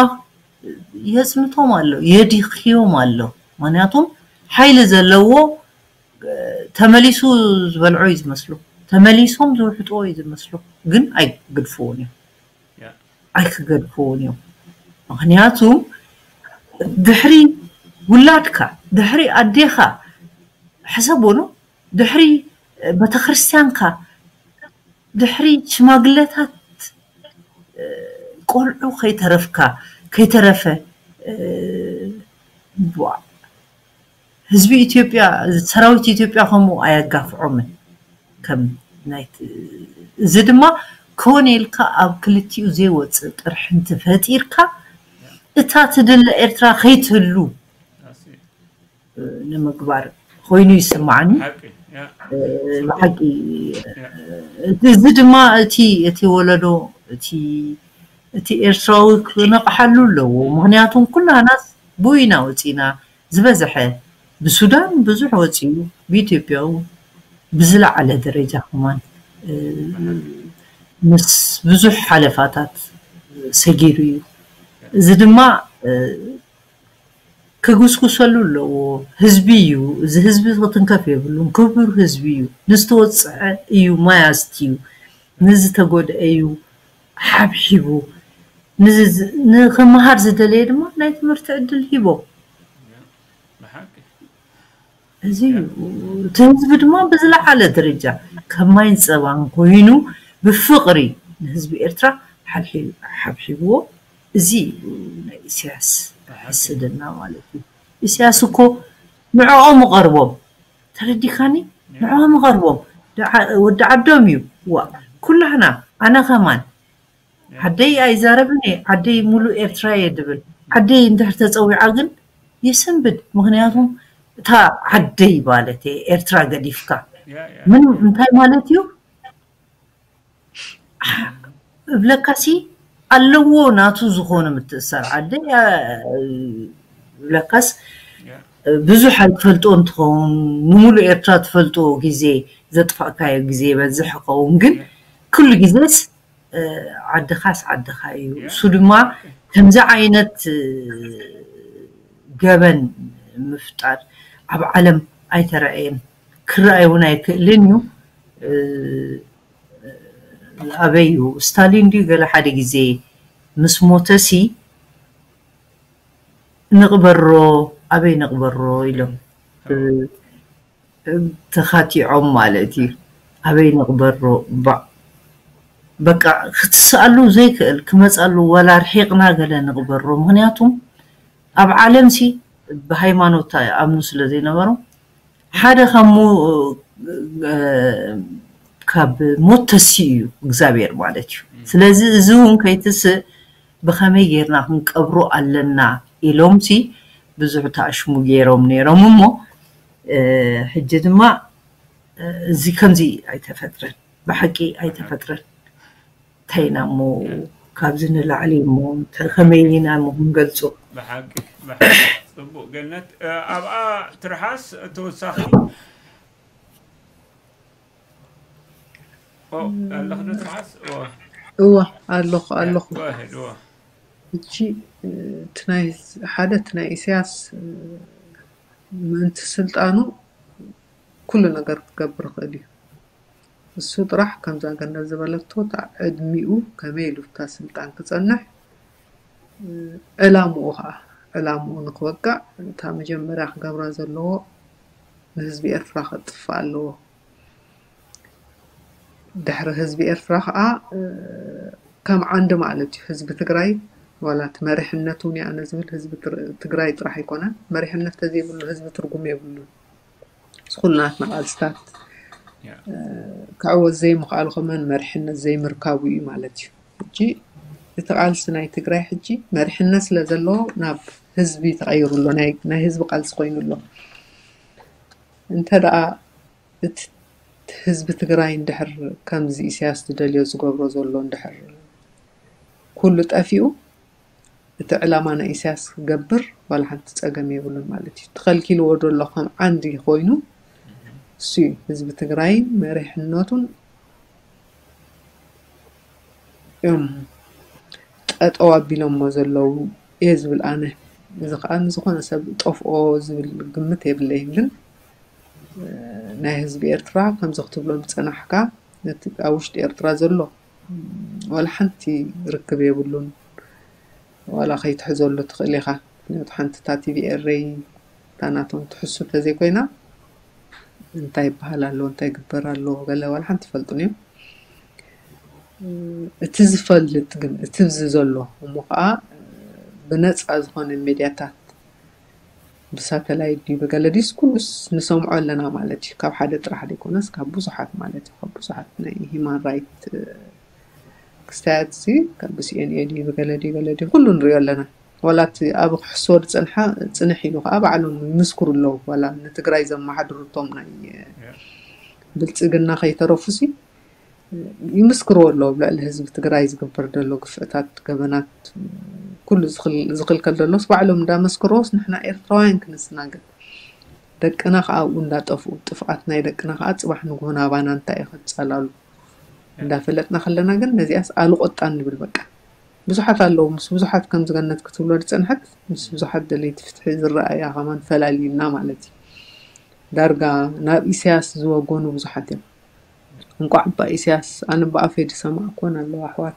የፅንቶም ኣሎ፣ የድኽዮም ኣሎ። ምክንያቱም ሓይሊ ዘለዎ ተመሊሱ ዝበልዖ እዩ ዝመስሉ፣ ተመሊሶም ዝውሕጥዎ እዩ ዝመስሉ፣ ግን ኣይግድፍዎን እዮም፣ ኣይክገድፍዎን እዮም። ምክንያቱም ድሕሪ ውላድካ ድሕሪ ኣዴኻ ሕሰቦ ነው ድሕሪ ቤተክርስትያንካ ድሕሪ ሽማግለታት ቆልዑ ከይተረፍካ ከይተረፈ ህዝቢ ኢትዮጵያ ሰራዊት ኢትዮጵያ ከምኡ ኣየጋፍዖምን ከም እዚ ድማ ኮነ ኢልካ ኣብ ክልቲኡ ዘይወፅእ ጥርሕንቲ ፈጢርካ እታ ትድለ ኤርትራ ከይትህሉ ንምግባር ኮይኑ ይስማዓኒ። ብሓቂ እዚ ድማ እቲ እቲ ወለዶ እቲ እቲ ኤርትራዊ ክነቕሓሉ ኣለዎ። ምክንያቱም ኩላናስ ብኡ ኢና ወፂና ዝበዝሐ ብሱዳን ብዙሕ ወፂኡ ብኢትዮጵያ እውን ብዝለዓለ ደረጃ ከማን ምስ ብዙሕ ሓለፋታት ሰጊሩ እዩ። እዚ ድማ ክጉስጉሰሉ ኣለዎ። ህዝቢ እዩ። እዚ ህዝቢ ክትንከፍ የብሉን። ክቡር ህዝቢ እዩ። ንዝተወፅዐ እዩ ማይ ኣስትዩ። ንዝተጎድአ እዩ ሓብሒቡ። ንክመሃር ዝደለየ ድማ ናይ ትምህርቲ ዕድል ሂቦ። እዚ እዩ። እቲ ህዝቢ ድማ ብዝለዓለ ደረጃ ከም ማይን ፀባን ኮይኑ ብፍቕሪ ንህዝቢ ኤርትራ ሓብሒብዎ። እዚ እዩ ናይ ኢሳያስ ሕስድና ማለት እዩ። ኢሳያስ እኮ ንዕኦም እቐርቦም ተረዲካኒ ንዕኦም እቐርቦም ወዲ ዓዶም እዩ። ዋ ኩላህና ኣነ ከማን ዓደይ ኣይዛረብን እየ ዓደይ ሙሉእ ኤርትራ እየ ድብል ዓደይ እንድሕር ተፀዊዓ ግን ይስንብድ ምክንያቱም እታ ዓደይ ማለት እየ ኤርትራ ገዲፍካ ምንም እንታይ ማለት እዩ እብለካሲ ኣለዎ ናቱ ዝኾነ ምትእሳር ዓደይ እብለካስ ብዙሕ ኣይትፈልጦ እንትኸውን ንሙሉእ ኤርትራ ትፈልጦ ግዜ ዘጥፋእካዮ ግዜ ይበዝሕ ይኸውን ግን ኩሉ ግዜስ ዓድኻስ ዓድኻ እዩ እሱ ድማ ከምዚ ዓይነት ገበን ምፍጣር ኣብ ዓለም ኣይተረኣየን ክረኣይ እውን ኣይክእልን እዩ ኣበይ እዩ ስታሊን ድዩ ገለ ሓደ ግዜ ምስ ሞተሲ ንቕበሮ ኣበይ ንቕበሮ ኢሎም ተኻቲዖም ማለት እዩ ኣበይ ንቕበሮ በቃ ክትስኣሉ ዘይክእል ክመፃሉ ወላ ርሒቕና ገለ ንቕበሮ ምክንያቱም ኣብ ዓለም ሲ ብሃይማኖት ኣምኑ ስለ ዘይነበሮም ሓደ ካብ ሞ- ካብ ሞት ተሲኡ እዩ እግዚኣብሔር ማለት እዩ። ስለዚ እዚ እውን ከይትስእ ብኸመይ ጌርና ክንቀብሮ ኣለና ኢሎም ሲ ብዙሕ ተኣሽሙ ገይሮም ነይሮም እሞ ሕጂ ድማ እዚ ከምዚ ኣይተፈጥረን፣ ብሓቂ ኣይተፈጥረን። እንታይ ኢና እሞ ካብዚ ንላዕሊ እሞ ከመይ ኢና እሞ ክንገልጾ? ብሓቂ ብሓቂ ጽቡቅ ገነት። ኣብኣ ትርሓስ ተወሳኺ ኣለኽዶ ትርሓስ? እወ ኣለኹ ኣለኹ። ሄድዎ እቺ ሓደ እቲ ናይ ኢሳያስ ምእንቲ ስልጣኑ ኩሉ ነገር ክገብር ይኽእል እዩ። እሱ ጥራሕ ከምዛ ገነት ዝበለቶ እታ ዕድሚኡ ከመይ ኢሉ እታ ስልጣን ክጸንሕ ዕላምኡ ከዓ ዕላምኡ ንክወቅዕ እታ መጀመርያ ክገብራ ዘለዎ ንህዝቢ ኤርትራ ከጥፍእ ኣለዎ። ድሕሪ ህዝቢ ኤርትራ ከዓ ከም ዓንዲ ማለት እዩ ህዝቢ ትግራይ ዋላ እቲ መሪሕነት እውን ኣነ ዝብል ህዝቢ ትግራይ ጥራሕ ኣይኮነን። መሪሕነት ተዘይብሉ ህዝቢ ትርጉም የብሉን። እዚ ኩሉ ናትና ቃልስታት ክዕወት ዘይምኽኣሉ ከመን መሪሕነት ዘይምርካቡ እዩ ማለት እዩ። ሕጂ እቲ ቃልሲ ናይ ትግራይ ሕጂ መሪሕነት ስለ ዘለዎ ናብ ህዝቢ ተቐይሩ ኣሎ። ናይ ህዝቢ ቃልሲ ኮይኑ ኣሎ። እንተ ደኣ እቲ ህዝቢ ትግራይ እንድሕር ከምዚ ኢሳያስ ዝደልዮ ዝገብሮ ዘሎ እንድሕር ኩሉ ጠፊኡ እቲ ዕላማ ናይ ኢሳያስ ክገብር ዋላ ሓንቲ ጸገም የብሉን ማለት እዩ። ተኸልኪልዎ ዘሎ ከም ዓንዲ ኮይኑ እሱ እዩ ህዝቢ ትግራይን መሪሕነቱን እዮም ጠጠው ኣቢሎሞ ዘለዉ እየ ዝብል ኣነ። እዚ ከዓ ንዝኾነ ሰብ ጠፍኦ ዝብል ግምት የብለይን። ግን ናይ ህዝቢ ኤርትራ ከምዚ ክትብሎ ዝጸናሕካ ነቲ ኣብ ውሽጢ ኤርትራ ዘሎ ዋላ ሓንቲ ርክብ የብሉን። ዋላ ከይትሕዘሉ ትኽእል ኢኻ። ምክንያቱ ሓንቲ እታ ቲቪ ኤረይ እታ ናቶም ትሕሱ ተዘይኮይና እንታይ ይበሃል ኣሎ እንታይ ይግበር ኣሎ ገለ ዋላ ሓንቲ ይፈልጡን እዮም። እቲ ዝፈልጥ ግን እቲ ብዚ ዘሎ እሞ ከዓ ብነፃ ዝኾነ ሜድያታት ብሳተላይት ድዩ ብገለ ድዩስ ኩሉስ ንሰምዖ ኣለና ማለት እዩ። ካብ ሓደ ጥራሕ ዘይኮነስ ካብ ብዙሓት ማለት እዩ። ካብ ብዙሓት ናይ ሂማን ራይት ክስታያት ሲ ካብ ብሲኤንኤ ድዩ ብገለ ድዩ ገለ ድዩ ኩሉ ንሪኦ ኣለና። ዋላ እቲ ኣብ ክሕስዎ ዝፀንሓ ፅንሕ ኢሉ ከዓ ባዕሎም ይምስክሩ ኣለዉ። ዋላ ንትግራይ ዘመሓድሩ እቶም ናይ ብልፅግና ከይተረፉ ሲ ይምስክርዎ ኣለዉ። ኣብ ልዕሊ ህዝቢ ትግራይ ዝግበር ዘሎ ግፍዕታት፣ ገበናት፣ ኩሉ ዝኽልከል ዘሎስ ባዕሎም እንዳመስከርዎስ ንሕና ኤርትራውያን ክንስናገድ ደቅና ከዓ ኣብኡ እንዳጠፍኡ ጥፍኣት ናይ ደቅና ከዓ ፅባሕ ንግሆ ናባና እንታይ እዩ ከፃላሉ እንዳፈለጥና ከለና ግን ነዚኣስ ኣልቆጣን ንብል በቃ። ብዙሓት ኣለዉ ምስ ብዙሓት ከምዚ ገነት ክትብሎ ዝፀንሐት ምስ ብዙሓት ደለይቲ ፍትሒ ዝረኣያ ከማን ፈላልዩና ማለት እዩ። ዳርጋ ናብ ኢሳያስ ዝወገኑ ብዙሓት እዮም። እንቋዕ እባ ኢሳያስ ኣነ ብኣፈይ ዝሰማዕኩወን ኣለዋ ኣሕዋት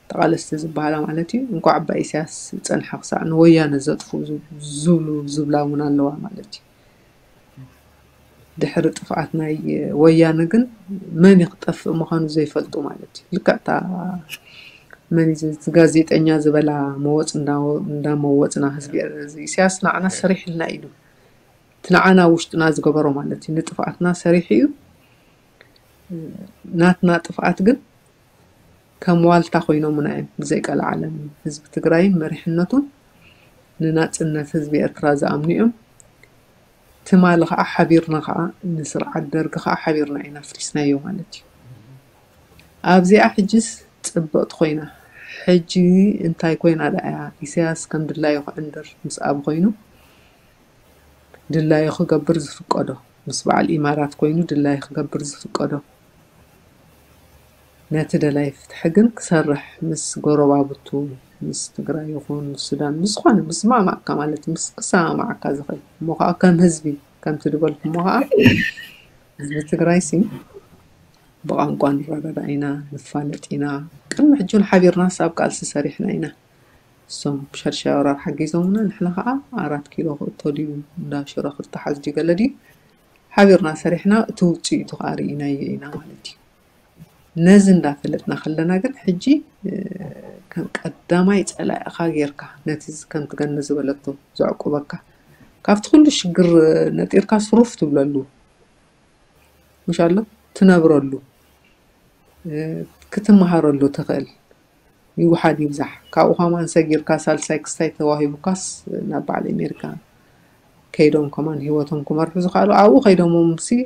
ተቓለስቲ ዝበሃላ ማለት እዩ። እንቋዕ እባ ኢሳያስ ዝፀንሐ ክሳዕ ንወያነ ዘጥፍኡ ዝብሉ ዝብላ እውን ኣለዋ ማለት እዩ። ድሕሪ ጥፍኣት ናይ ወያነ ግን መን እዩ ክጠፍእ ምዃኑ ዘይፈልጡ ማለት እዩ። ልክዕ እታ መን እዩ እዚ ጋዜጠኛ ዝበላ መወፅ እንዳመወፅና ህዝቢ ኢሳያስ ንዓና ሰሪሕልና ኢሉ እቲ ንዓና ውሽጥና ዝገበሮ ማለት እዩ ንጥፍኣትና ሰሪሑ እዩ። ናትና ጥፍኣት ግን ከም ዋልታ ኮይኖምና እዮም ብዘይቀልዓለም ህዝቢ ትግራይን መሪሕነቱን ንናፅነት ህዝቢ ኤርትራ ዝኣምኑ እዮም። ትማሊ ከዓ ሓቢርና ከዓ ንስርዓት ደርጊ ከዓ ሓቢርና ኢና ኣፍሪስናዮ ማለት እዩ። ኣብዚኣ ሕጅስ ፅብቕቲ ኮይና ሕጂ እንታይ ኮይና ደኣ እያ ኢሳያስ ከም ድላዩ ክዕንድር ምስኣብ ኮይኑ ድላዩ ክገብር ዝፍቀዶ ምስ በዓል ኢማራት ኮይኑ ድላዩ ክገብር ዝፍቀዶ ነቲ ደላይ ፍትሒ ግን ክሰርሕ ምስ ጎረባብቱ ምስ ትግራይ ይኹን ምስ ሱዳን ምስ ዝኾነ ምስ ዝማማዕካ ማለት ምስ ክሰማማዓካ ዝኽእል እሞ ከዓ ከም ህዝቢ ከምቲ ዝበልኩሞ ከዓ ህዝቢ ትግራይ ሲ ብቋንቋ ንረዳዳ ኢና ንፋለጥ ኢና። ቅድሚ ሕጂ እውን ሓቢርናስ ኣብ ቃልሲ ሰሪሕና ኢና። እሶም ሸርሻይ ወራር ሓጊዞምና ንሕና ከዓ ኣራት ኪሎ ክእቶ ድዩ እንዳ ሽሮ ክተሓዝ ድዩ ገለ ድዩ ሓቢርና ሰሪሕና እቲ ውፅኢቱ ከዓ ርኢናዮ ኢና ማለት እዩ። ነዚ እንዳፈለጥና ከለና ግን ሕጂ ከም ቀዳማይ ጸላኢኻ ጌርካ ነቲ ከምቲ ገኒ ዝበለቶ ዘዕቁበካ ካብቲ ኩሉ ሽግር ነጢርካ ስሩፍ ትብለሉ ምሽ ኣሎ ትነብረሉ ክትመሃረሉ ትኽእል ይውሓድ ይብዛሕ ካብኡ ከማን ሰጊርካ ሳልሳይ ክስታይ ተዋሂቡካስ ናብ በዓል ኣሜሪካ ከይዶም ከማን ህይወቶም ክመርሑ ዝኽኣሉ ኣብኡ ከይዶም ሲ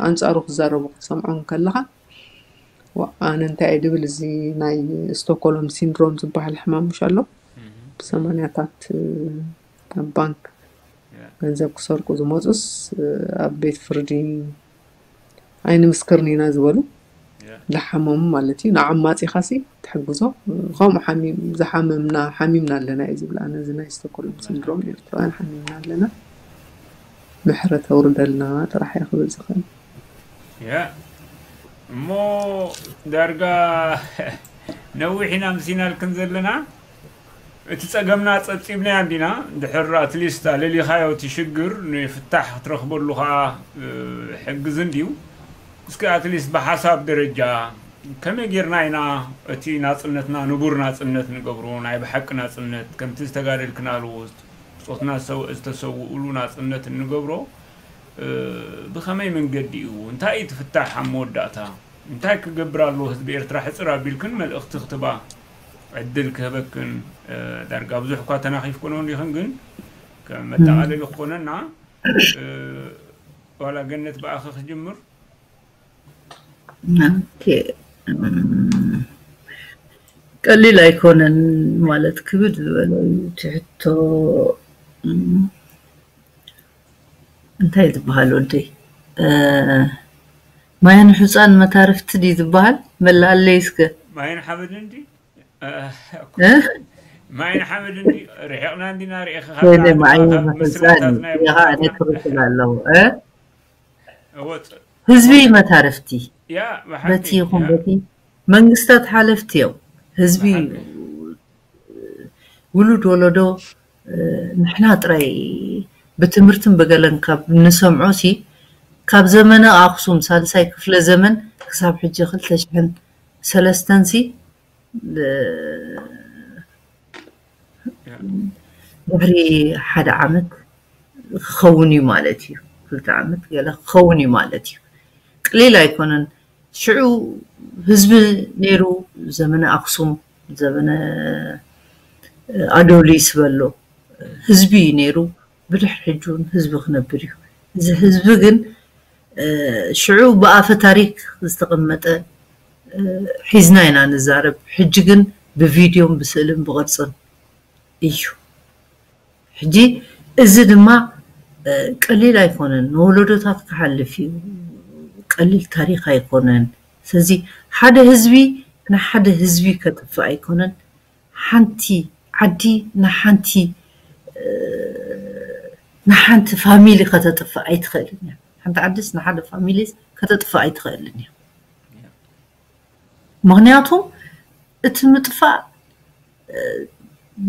ኣንፃሩ ክዛረቡ ክትሰምዖም ከለኻ ኣነ እንታይ እየ ድብል እዚ ናይ ስቶኮሎም ሲንድሮም ዝበሃል ሕማም ምሽ ኣሎ ብሰማንያታት ኣብ ባንክ ገንዘብ ክሰርቁ ዝመፁስ ኣብ ቤት ፍርዲ ኣይንምስክርን ኢና ዝበሉ ዝሓመሙ ማለት እዩ ንዓም ማፂኻሲ ትሕግዞ ከምኡ ዝሓመምና ሓሚምና ኣለና እዩ ዝብል ኣነ እዚ ናይ ስቶኮሎም ሲንድሮም ኤርትራውያን ሓሚምና ኣለና ምሕረት ኣውርደልና ጥራሕ እየ ክብል ዝኽእል እሞ ዳርጋ ነዊሕ ኢና ምሲናልክን ዘለና እቲ ጸገምና ጸብጺብናዮ እንዲና ድሕር ኣትሊስት ኣለሊኻዮ እቲ ሽግር ንፍታሕ ክትረኽበሉ ከዓ ሕግዝ እንድዩ እስኪ ኣትሊስት ብሓሳብ ደረጃ ከመይ ጌርና ኢና እቲ ናጽነትና ንቡር ናጽነት ንገብሮ ናይ ብሓቂ ናጽነት ከምቲ ዝተጋደልክናሉ ብጾትና ዝተሰውእሉ ናጽነት እንገብሮ ብኸመይ መንገዲ እዩ እንታይ እዩ ትፍታሕ ኣብ መወዳእታ እንታይ ክገብር ኣለዎ ህዝቢ ኤርትራ ሕፅር ኣቢልክን መልእኽቲ ክትባ ዕድል ክህበክን ዳርጋ ብዙሕ እኳ ተናኺፍክኖ እንዲኽን ግን ከም መጠቓለሊ ክኾነና ዋላ ገነት ብኣኸ ክጅምር ቀሊል ኣይኮነን ማለት ክብድ ዝበለ እዩ ትሕቶ እንታይ ዝበሃል ወደይ ማያን ሕፃን መታርፍቲ ድዩ ዝበሃል መላኣለይ እስከ ማይን ሓመድን ድዩ እ? ማይን ሓመድን ድዩ ርሒቕና እንዲና ርኢኻ ወይኔ ማዓይ መፈፃን ይኻ ነትርክል ኣለዉ እ? ወፅ ህዝቢ መታርፍቲ ያ በቲ ይኹን በቲ መንግስታት ሓለፍቲ እዮም ህዝቢ ውሉድ ወለዶ ንሕና ጥራይ ብትምህርትን ብገለን ካብ ንሰምዖ ሲ ካብ ዘመነ ኣክሱም ሳልሳይ ክፍለ ዘመን ክሳብ ሕጂ ክልተ ሽሕን ሰለስተን ሲ ድሕሪ ሓደ ዓመት ክኸውን እዩ ማለት እዩ ክልተ ዓመት ገለ ክኸውን እዩ ማለት እዩ ቅሊል ኣይኮነን ሽዑ ህዝቢ ነይሩ ዘመነ ኣክሱም ዘመነ ኣዶሊስ በሎ ህዝቢ እዩ ነይሩ ብድሕሪ ሕጂ እውን ህዝቢ ክነብር እዩ እዚ ህዝቢ ግን ሽዑ ብኣፈ ታሪክ ዝተቐመጠ ሒዝና ኢና ንዛረብ ሕጂ ግን ብቪድዮን ብስእልን ብቅርፅን እዩ ሕጂ እዚ ድማ ቀሊል ኣይኮነን ንወለዶታት ክሓልፍ እዩ ቀሊል ታሪክ ኣይኮነን ስለዚ ሓደ ህዝቢ ንሓደ ህዝቢ ከጥፍእ ኣይኮነን ሓንቲ ዓዲ ንሓንቲ ንሓንቲ ፋሚሊ ከተጥፍእ ኣይትኽእልን እያ ሓንቲ ዓዲስ ንሓደ ፋሚሊ ከተጥፍእ ኣይትኽእልን እያ ምክንያቱ እቲ ምጥፋእ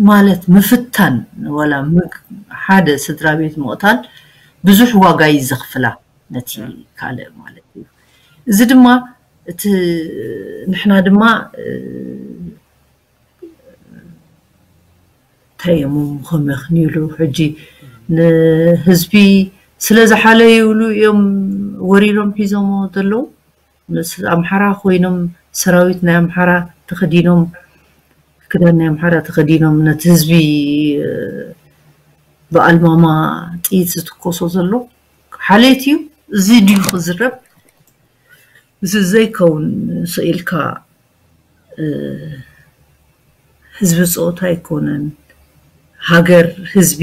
ማለት ምፍታን ወላ ሓደ ስድራ ቤት ምቕታል ብዙሕ ዋጋ እዩ ዘኽፍላ ነቲ ካልእ ማለት እዩ እዚ ድማ እቲ ንሕና ድማ እንታይ እዮም ከመኽንዩሉ ሕጂ ንህዝቢ ስለ ዝሓለዩሉ እዮም ወሪሮም ሒዞሞ ዘለዉ ምስ ኣምሓራ ኮይኖም ሰራዊት ናይ ኣምሓራ ተኸዲኖም ክዳን ናይ ኣምሓራ ተኸዲኖም ነቲ ህዝቢ ብኣልማማ ጥይት ዝትኮሶ ዘሎ ሓሌት እዩ እዚ ድዩ ክዝረብ እዚ ዘይከውን ስኢልካ ህዝቢ ፆታ ኣይኮነን ሃገር ህዝቢ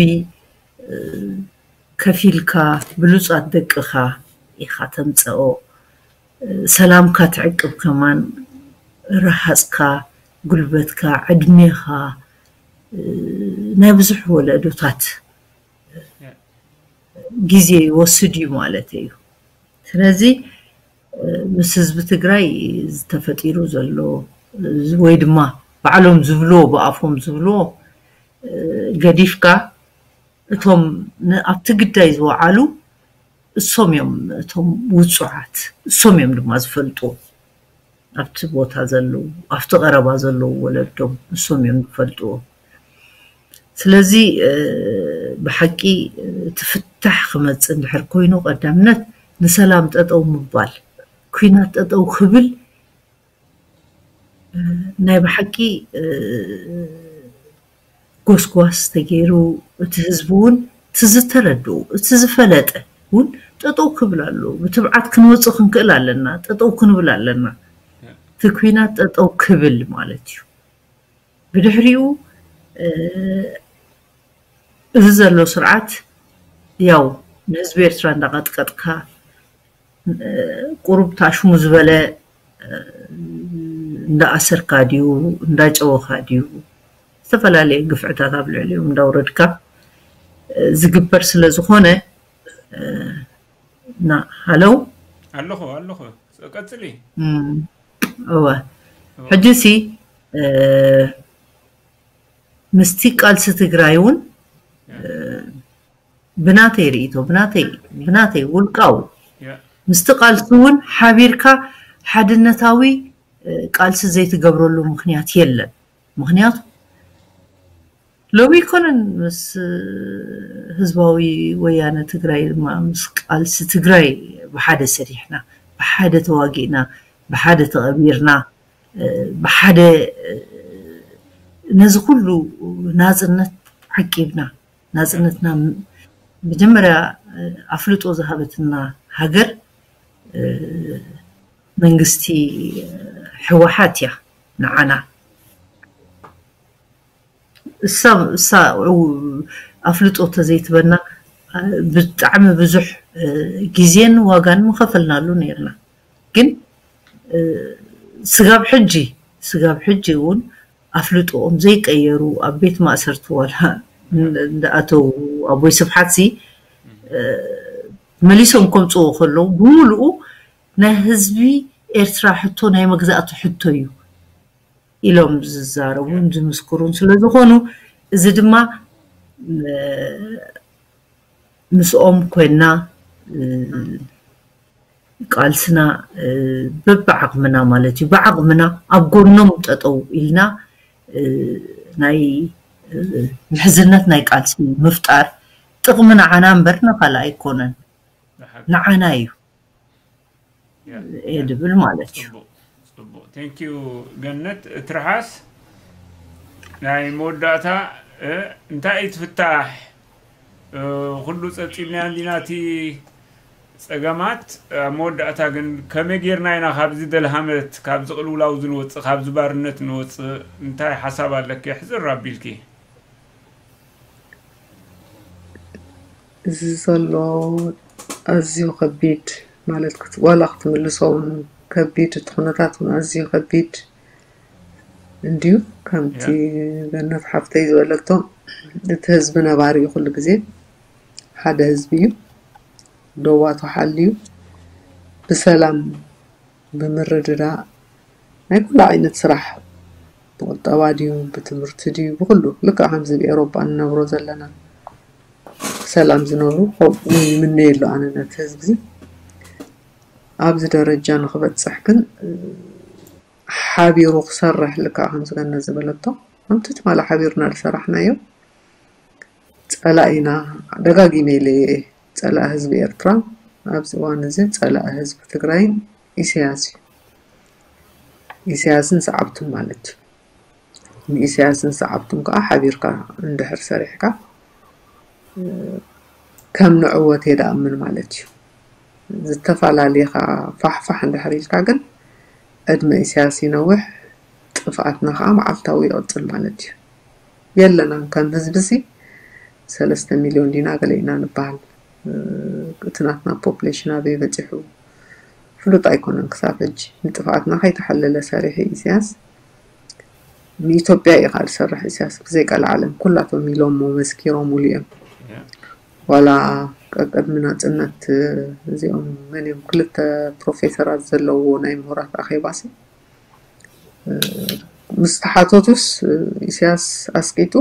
ከፊልካ ብሉፃት ደቅኻ ኢኻ ተምፀኦ ሰላምካ ትዕቅብ ከማን ረሃፅካ ጉልበትካ ዕድሜኻ ናይ ብዙሕ ወለዶታት ግዜ ይወስድ እዩ ማለት እዩ ስለዚ ምስ ህዝቢ ትግራይ ዝተፈጢሩ ዘሎ ወይ ድማ ባዕሎም ዝብልዎ ብኣፎም ዝብልዎ ገዲፍካ እቶም ኣብቲ ግዳይ ዝወዓሉ እሶም እዮም እቶም ውፁዓት እሶም እዮም ድማ ዝፈልጡ ኣብቲ ቦታ ዘለዉ ኣብቲ ቀረባ ዘለዉ ወለዶም ንሶም እዮም ዝፈልጥዎ። ስለዚ ብሓቂ እቲ ፍታሕ ክመፅእ እንድሕር ኮይኑ ቀዳምነት ንሰላም ጠጠው ምባል፣ ኩናት ጠጠው ክብል ናይ ብሓቂ ጎስጓስ ተገይሩ እቲ ህዝቢ እውን እቲ ዝተረድኡ እቲ ዝፈለጠ እውን ጠጠው ክብል ኣለዎ። ብትብዓት ክንወፅእ ክንክእል ኣለና። ጠጠው ክንብል ኣለና። እቲ ኩናት ጠጠው ክብል ማለት እዩ። ብድሕሪኡ እዚ ዘሎ ስርዓት ያው ንህዝቢ ኤርትራ እንዳቐጥቀጥካ ቁሩብ ታሽሙ ዝበለ እንዳኣሰርካ ድዩ እንዳጨወኻ ድዩ ዝተፈላለየ ግፍዕታት ኣብ ልዕሊኦም እንዳውረድካ ዝግበር ስለ ዝኾነ ና ሃለው ኣለኹ ኣለኹ ቀፅሊ እወ ሕጂ ሲ ምስቲ ቃልሲ ትግራይ እውን ብናተይ ርእይቶ ብናተይ ብናተይ ውልቃዊ ምስቲ ቃልሲ እውን ሓቢርካ ሓድነታዊ ቃልሲ ዘይትገብረሉ ምክንያት የለን። ምክንያቱ ሎሚ ኣይኮነን ምስ ህዝባዊ ወያነ ትግራይ ድማ ምስ ቃልሲ ትግራይ ብሓደ ሰሪሕና ብሓደ ተዋጊእና ብሓደ ተቐቢርና ብሓደ ነዚ ኩሉ ናፅነት ዓቂብና ናፅነትና መጀመርያ ኣፍልጦ ዝሃበትና ሃገር መንግስቲ ህወሓት እያ ንዓና እሳ እሳ ኣፍልጦ ተዘይትበና ብጣዕሚ ብዙሕ ግዜን ዋጋን ምኸፈልናሉ ነርና ግን ስጋብ ሕጂ ስጋብ ሕጂ እውን ኣፍልጦኦም ዘይቀየሩ ኣብ ቤት ማእሰርቲ ዋላ እንዳኣተው ኣቦይ ስብሓት ሲ መሊሶም ከምፅዎ ከለዉ ብምሉኡ ናይ ህዝቢ ኤርትራ ሕቶ ናይ መግዛእቲ ሕቶ እዩ ኢሎም ዝዛረቡን ዝምስክሩን ስለዝኾኑ እዚ ድማ ምስኦም ኮይና ቃልስና በብዓቕምና ማለት እዩ ብዓቕምና ኣብ ጎኖም ጠጠው ኢልና ናይ ምሕዝነት ናይ ቃልሲ ምፍጣር ጥቕሚ ንዓና እምበር ንካልእ ኣይኮነን ንዓና እዩ እየ ድብል ማለት እዩ ፅቡቅ thank you ገነት ትርሓስ ናይ መወዳእታ እንታይ እዩ ትፍታሕ ኩሉ ፀብፂብናዮ እንዲና እቲ ፀገማት ኣብ መወዳእታ ግን ከመይ ጌርና ኢና ካብዚ ደልሃመት ካብዚ ቅልውላው ዝንወፅእ ካብዚ ባርነት ንወፅእ እንታይ ሓሳብ ኣለኪ ሕፅር ኣቢልኪ እዚ ዘሎ ኣዝዩ ከቢድ ማለት ዋላ ክትምልሶ እውን ከቢድ እቲ ኩነታት እውን ኣዝዩ ከቢድ እንድዩ ከምቲ ገነት ሓፍተይ ዝበለቶ እቲ ህዝቢ ነባሪ እዩ ኩሉ ግዜ ሓደ ህዝቢ እዩ ደዋቱ ሓልዩ ብሰላም ብምርድዳእ ናይ ኩሉ ዓይነት ስራሕ ብቁጠባ ድዩ ብትምህርቲ ድዩ ብኩሉ ልክዕ ከምዚ ኣብ ኤሮጳ ንነብሮ ዘለና ሰላም ዝነብሩ ከምኡ ይምነየሉ ኣነ ነቲ ህዝቢ ኣብዚ ደረጃ ንክበፅሕ ግን ሓቢሩ ክሰርሕ ልክዕ ከምዚ ገነት ዝበለቶ ከምቲ ትማሊ ሓቢርና ዝሰራሕናዮ ፀላኢና ደጋጊመ ኢለ እየ ፀላኢ ህዝቢ ኤርትራ ኣብዚ እዋን እዚ ፀላኢ ህዝቢ ትግራይን ኢሳያስ እዩ ኢሳያስን ሰዓብቱን ማለት እዩ ንኢሳያስን ሰዓብቱን ከዓ ሓቢርካ እንድሕር ሰሪሕካ ከም ንዕወት እየ ደኣምን ማለት እዩ ዝተፈላለየ ከዓ ፋሕፋሕ እንድሕር ኢልካ ግን ዕድመ ኢሳያስ ይነውሕ ጥፍኣትና ከዓ መዓልታዊ ይቕፅል ማለት እዩ የለናን ከም ህዝቢ ሲ ሰለስተ ሚልዮን ዲና ገለ ኢና ንበሃል እቲ ናትና ፖፕሌሽን ኣበይ በፂሑ ፍሉጥ ኣይኮነን ክሳብ ሕጂ ንጥፍኣትና ከይተሓለለ ሰሪሑ ኢሳያስ ንኢትዮጵያ እዩ ከዓ ዝሰርሕ ኢሳያስ ብዘይ ቀልዓለም ኩላቶም ኢሎሞ መስኪሮምሉ እዮም ዋላ ቀቅድሚ ናፅነት እዚኦም መን እዮም ክልተ ፕሮፌሰራት ዘለዎ ናይ ምሁራት ኣኼባሲ ምስ ተሓተቱስ ኢሳያስ ኣስቂጡ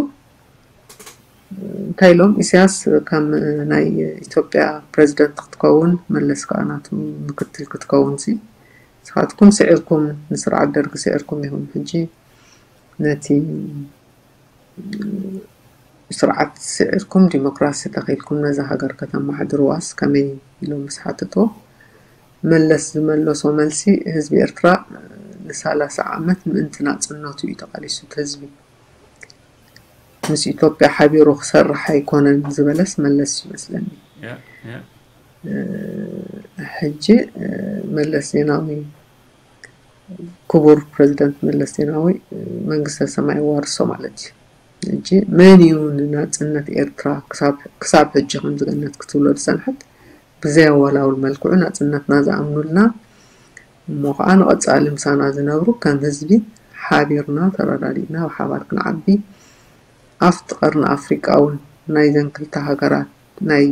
እንታይ ኢሎም ኢሳያስ ከም ናይ ኢትዮጵያ ፕሬዚደንት ክትከውን መለስ ከዓ ናቱ ምክትል ክትከውን ሲ ንስኻትኩም ስዒርኩም፣ ንስርዓት ደርጊ ስዒርኩም ኢኹም። ሕጂ ነቲ ስርዓት ስዒርኩም ዲሞክራሲ ተኺልኩም ነዛ ሃገር ከተመሓድርዋስ ከመይ ኢሎም ምስ ሓተትዎ፣ መለስ ዝመለሶ መልሲ፣ ህዝቢ ኤርትራ ንሳላሳ ዓመት ምእንቲ ናጽነቱ እዩ ተቓሊሱ። እቲ ህዝቢ ምስ ኢትዮጵያ ሓቢሩ ክሰርሕ ኣይኮነን ዝበለስ መለስ ይመስለኒ። ሕጂ መለስ ዜናዊ፣ ክቡር ፕረዚደንት መለስ ዜናዊ መንግስተ ሰማይ ዋርሶ ማለት እዩ። ሕጂ መን እዩ ንናጽነት ኤርትራ ክሳብ ሕጂ ከምዚ ገነት ክትብሎ ዝጸንሐት? ብዘየወላውል መልክዑ ናጽነትና ዝኣምኑልና እሞ ከዓ ንቐጻሊ ምሳና ዝነብሩ ከም ህዝቢ ሓቢርና ተረዳዲእና ብሓባር ክንዓቢ፣ ኣብቲ ቀርኒ ኣፍሪቃ እውን ናይዘን ክልተ ሃገራት ናይ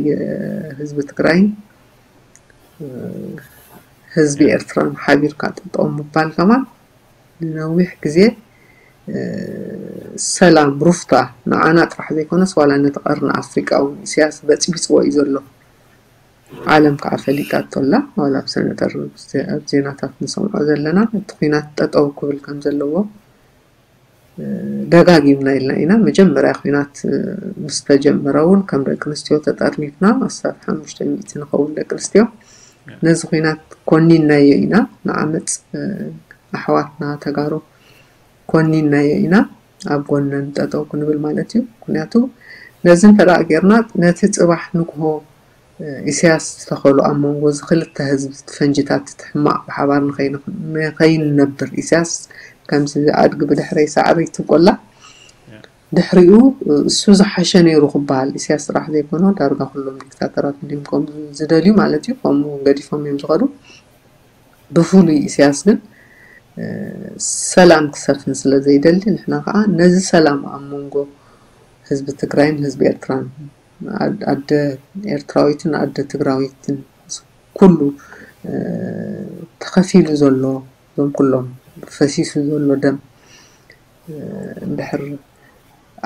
ህዝቢ ትግራይን ህዝቢ ኤርትራን ሓቢርካ ጠጠው ምባል ከማን ንነዊሕ ግዜ ሰላም ሩፍታ ንዓና ጥራሕ ዘይኮነስ ዋላ ነቲ ቀርኒ ኣፍሪቃ እውን ኢሳያስ በፅቢፅዎ እዩ ዘሎ። ዓለም ከዓ ፈሊጣቶ ኣላ። ዋላ ኣብ ሰነጠር ኣብ ዜናታት ንሰምዖ ዘለና እቲ ኩናት ጠጠው ክብል ከም ዘለዎ ደጋጊምና ኢልና ኢና። መጀመርያ ኩናት ምስ ተጀመረ እውን ከም ደቂ ኣንስትዮ ተጠርኒፍና ኣስታት ሓሙሽተ ሚእቲ ንኸውን ደቂ ኣንስትዮ ነዚ ኩናት ኮኒናዮ ኢና። ንዓመፅ ኣሕዋትና ተጋሩ ኮኒናዮ ኢና ኣብ ጎነን ጠጠው ክንብል ማለት እዩ። ምክንያቱ ነዚ እንተ ደኣ ጌርና ነቲ ጽባሕ ንግሆ ኢሳያስ ዝተኸሉ ኣብ መንጎ እዚ ክልተ ህዝቢ እቲ ፈንጅታት እቲ ሕማቕ ብሓባር ንኸይንነብር ኢሳያስ ከምዚ ኣድጊ ብድሕረይ ሳዕሪ ትብቆላ ድሕሪኡ እሱ ዝሓሸ ነይሩ ክበሃል ኢሳያስ ጥራሕ ዘይኮነ ዳርጋ ኩሎም ዲክታተራት እንዲም ከም ዝደልዩ ማለት እዩ። ከምኡ ገዲፎም እዮም ዝኸዱ። ብፍሉይ ኢሳያስ ግን ሰላም ክሰፍን ስለ ዘይደሊ ንሕና ከዓ ነዚ ሰላም ኣብ መንጎ ህዝቢ ትግራይን ህዝቢ ኤርትራን ኣደ ኤርትራዊትን ኣደ ትግራዊትን ኩሉ ተኸፊሉ ዘሎ እዞም ኩሎም ፈሲሱ ዘሎ ደም እንድሕር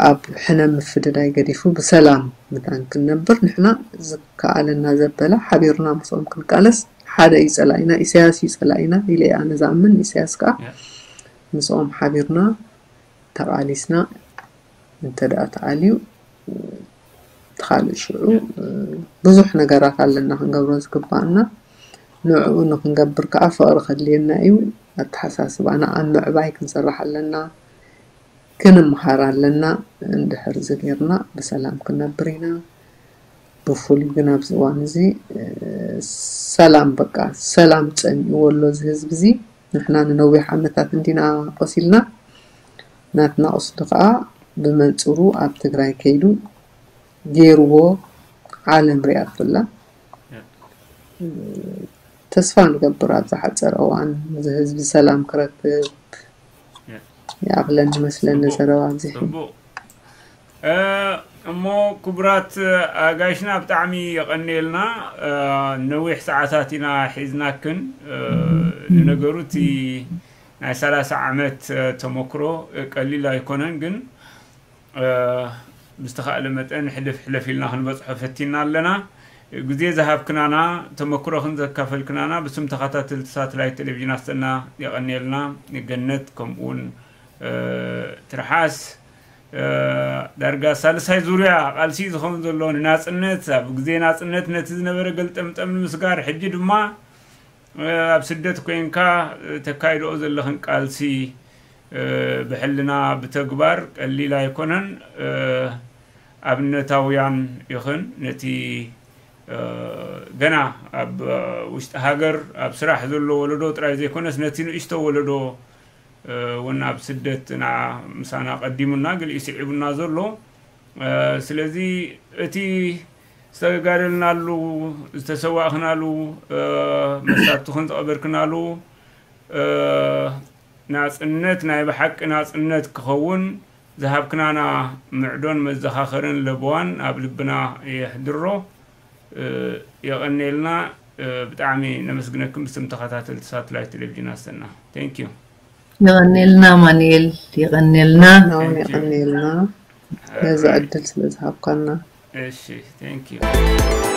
ኣብ ሕነ ምፍድዳይ ገዲፉ ብሰላም ምታን ክንነብር ንሕና ዝከኣለና ዘበለ ሓቢርና ምስኦም ክንቃለስ ሓደ እዩ ጸላኢና፣ ኢሳያስ እዩ ጸላኢና ኢለ እየ ኣነ ዝኣምን። ኢሳያስ ከዓ ምስኦም ሓቢርና ተቓሊስና እንተ ደኣ ተኣልዩ እቲ ካልእ ሽዑ ብዙሕ ነገራት ኣለና ክንገብሮ ዝግባኣና። ንዕኡ ንክንገብር ከዓ ፍቕሪ ከድልየና እዩ። ኣተሓሳስባና ኣብ ምዕባይ ክንሰርሕ ኣለና። ክንምሃር ኣለና። እንድሕር እዚ ጌርና ብሰላም ክንነብር ኢና። ብፍሉይ ግን ኣብዚ እዋን እዚ ሰላም በቃ ሰላም ጸሚእዎ ኣሎ እዚ ህዝቢ እዚ። ንሕና ንነዊሕ ዓመታት እንዲና ቆሲልና ናትና ቁስሊ ከዓ ብመንፅሩ ኣብ ትግራይ ከይዱ ገይርዎ ዓለም ሪኣቶ ኣላ። ተስፋ ንገብር ኣብ ዝሓፀረ እዋን እዚ ህዝቢ ሰላም ክረክብ። ይኣኽለኒ መስለኒ ዘረባ ኣብዚሑ። እሞ ክቡራት ኣጋይሽና ብጣዕሚ የቐንየልና። ነዊሕ ሰዓታት ኢና ሒዝናክን። ንነገሩ እቲ ናይ ሰላሳ ዓመት ተመክሮ ቀሊል ኣይኮነን፣ ግን ብዝተኻእለ መጠን ሕልፍ ሕልፍ ኢልና ክንበፅሖ ፈቲና ኣለና። ግዜ ዝሃብክናና፣ ተመክሮኽን ዘካፈልክናና ብስም ተኸታተልቲ ሳተላይት ቴሌቪዥን ኣሰና የቐንየልና። ገነት ከምኡውን ትርሓስ ዳርጋ ሳልሳይ ዙርያ ቃልሲ ዝኸውን ዘሎ ንናፅነት፣ ኣብ ግዜ ናፅነት ነቲ ዝነበረ ገልጠምጠም ንምስጋር፣ ሕጂ ድማ ኣብ ስደት ኮይንካ ተካይድኦ ዘለኽን ቃልሲ ብሕልና ብተግባር ቀሊል ኣይኮነን። ኣብነታውያን ኢኽን። ነቲ ገና ኣብ ውሽጢ ሃገር ኣብ ስራሕ ዘሎ ወለዶ ጥራይ ዘይኮነስ ነቲ ንእሽቶ ወለዶ እውን ኣብ ስደት ንዓ ምሳና ቀዲሙና ገሊኡ ስዒቡና ዘሎ። ስለዚ እቲ ዝተጋደልናሉ ዝተሰዋእኽናሉ መሳትኹን ዝቐበርክናሉ ናፅነት ናይ ብሓቂ ናፅነት ክኸውን ዝሃብክናና ምዕዶን መዘኻኸርን ለበዋን ኣብ ልብና የሕድሮ። የቐንየልና። ብጣዕሚ ነመስግነክም ብስም ተኸታተልቲ ሳተላይት ቴሌቪዥን ኣሰና። Thank you። የቐንየልና ኣማኑኤል፣ የቐንየልና። ናውን የቐንየልና ነዚ ዕድል ስለ ዝሃብካና። እሺ፣ thank you።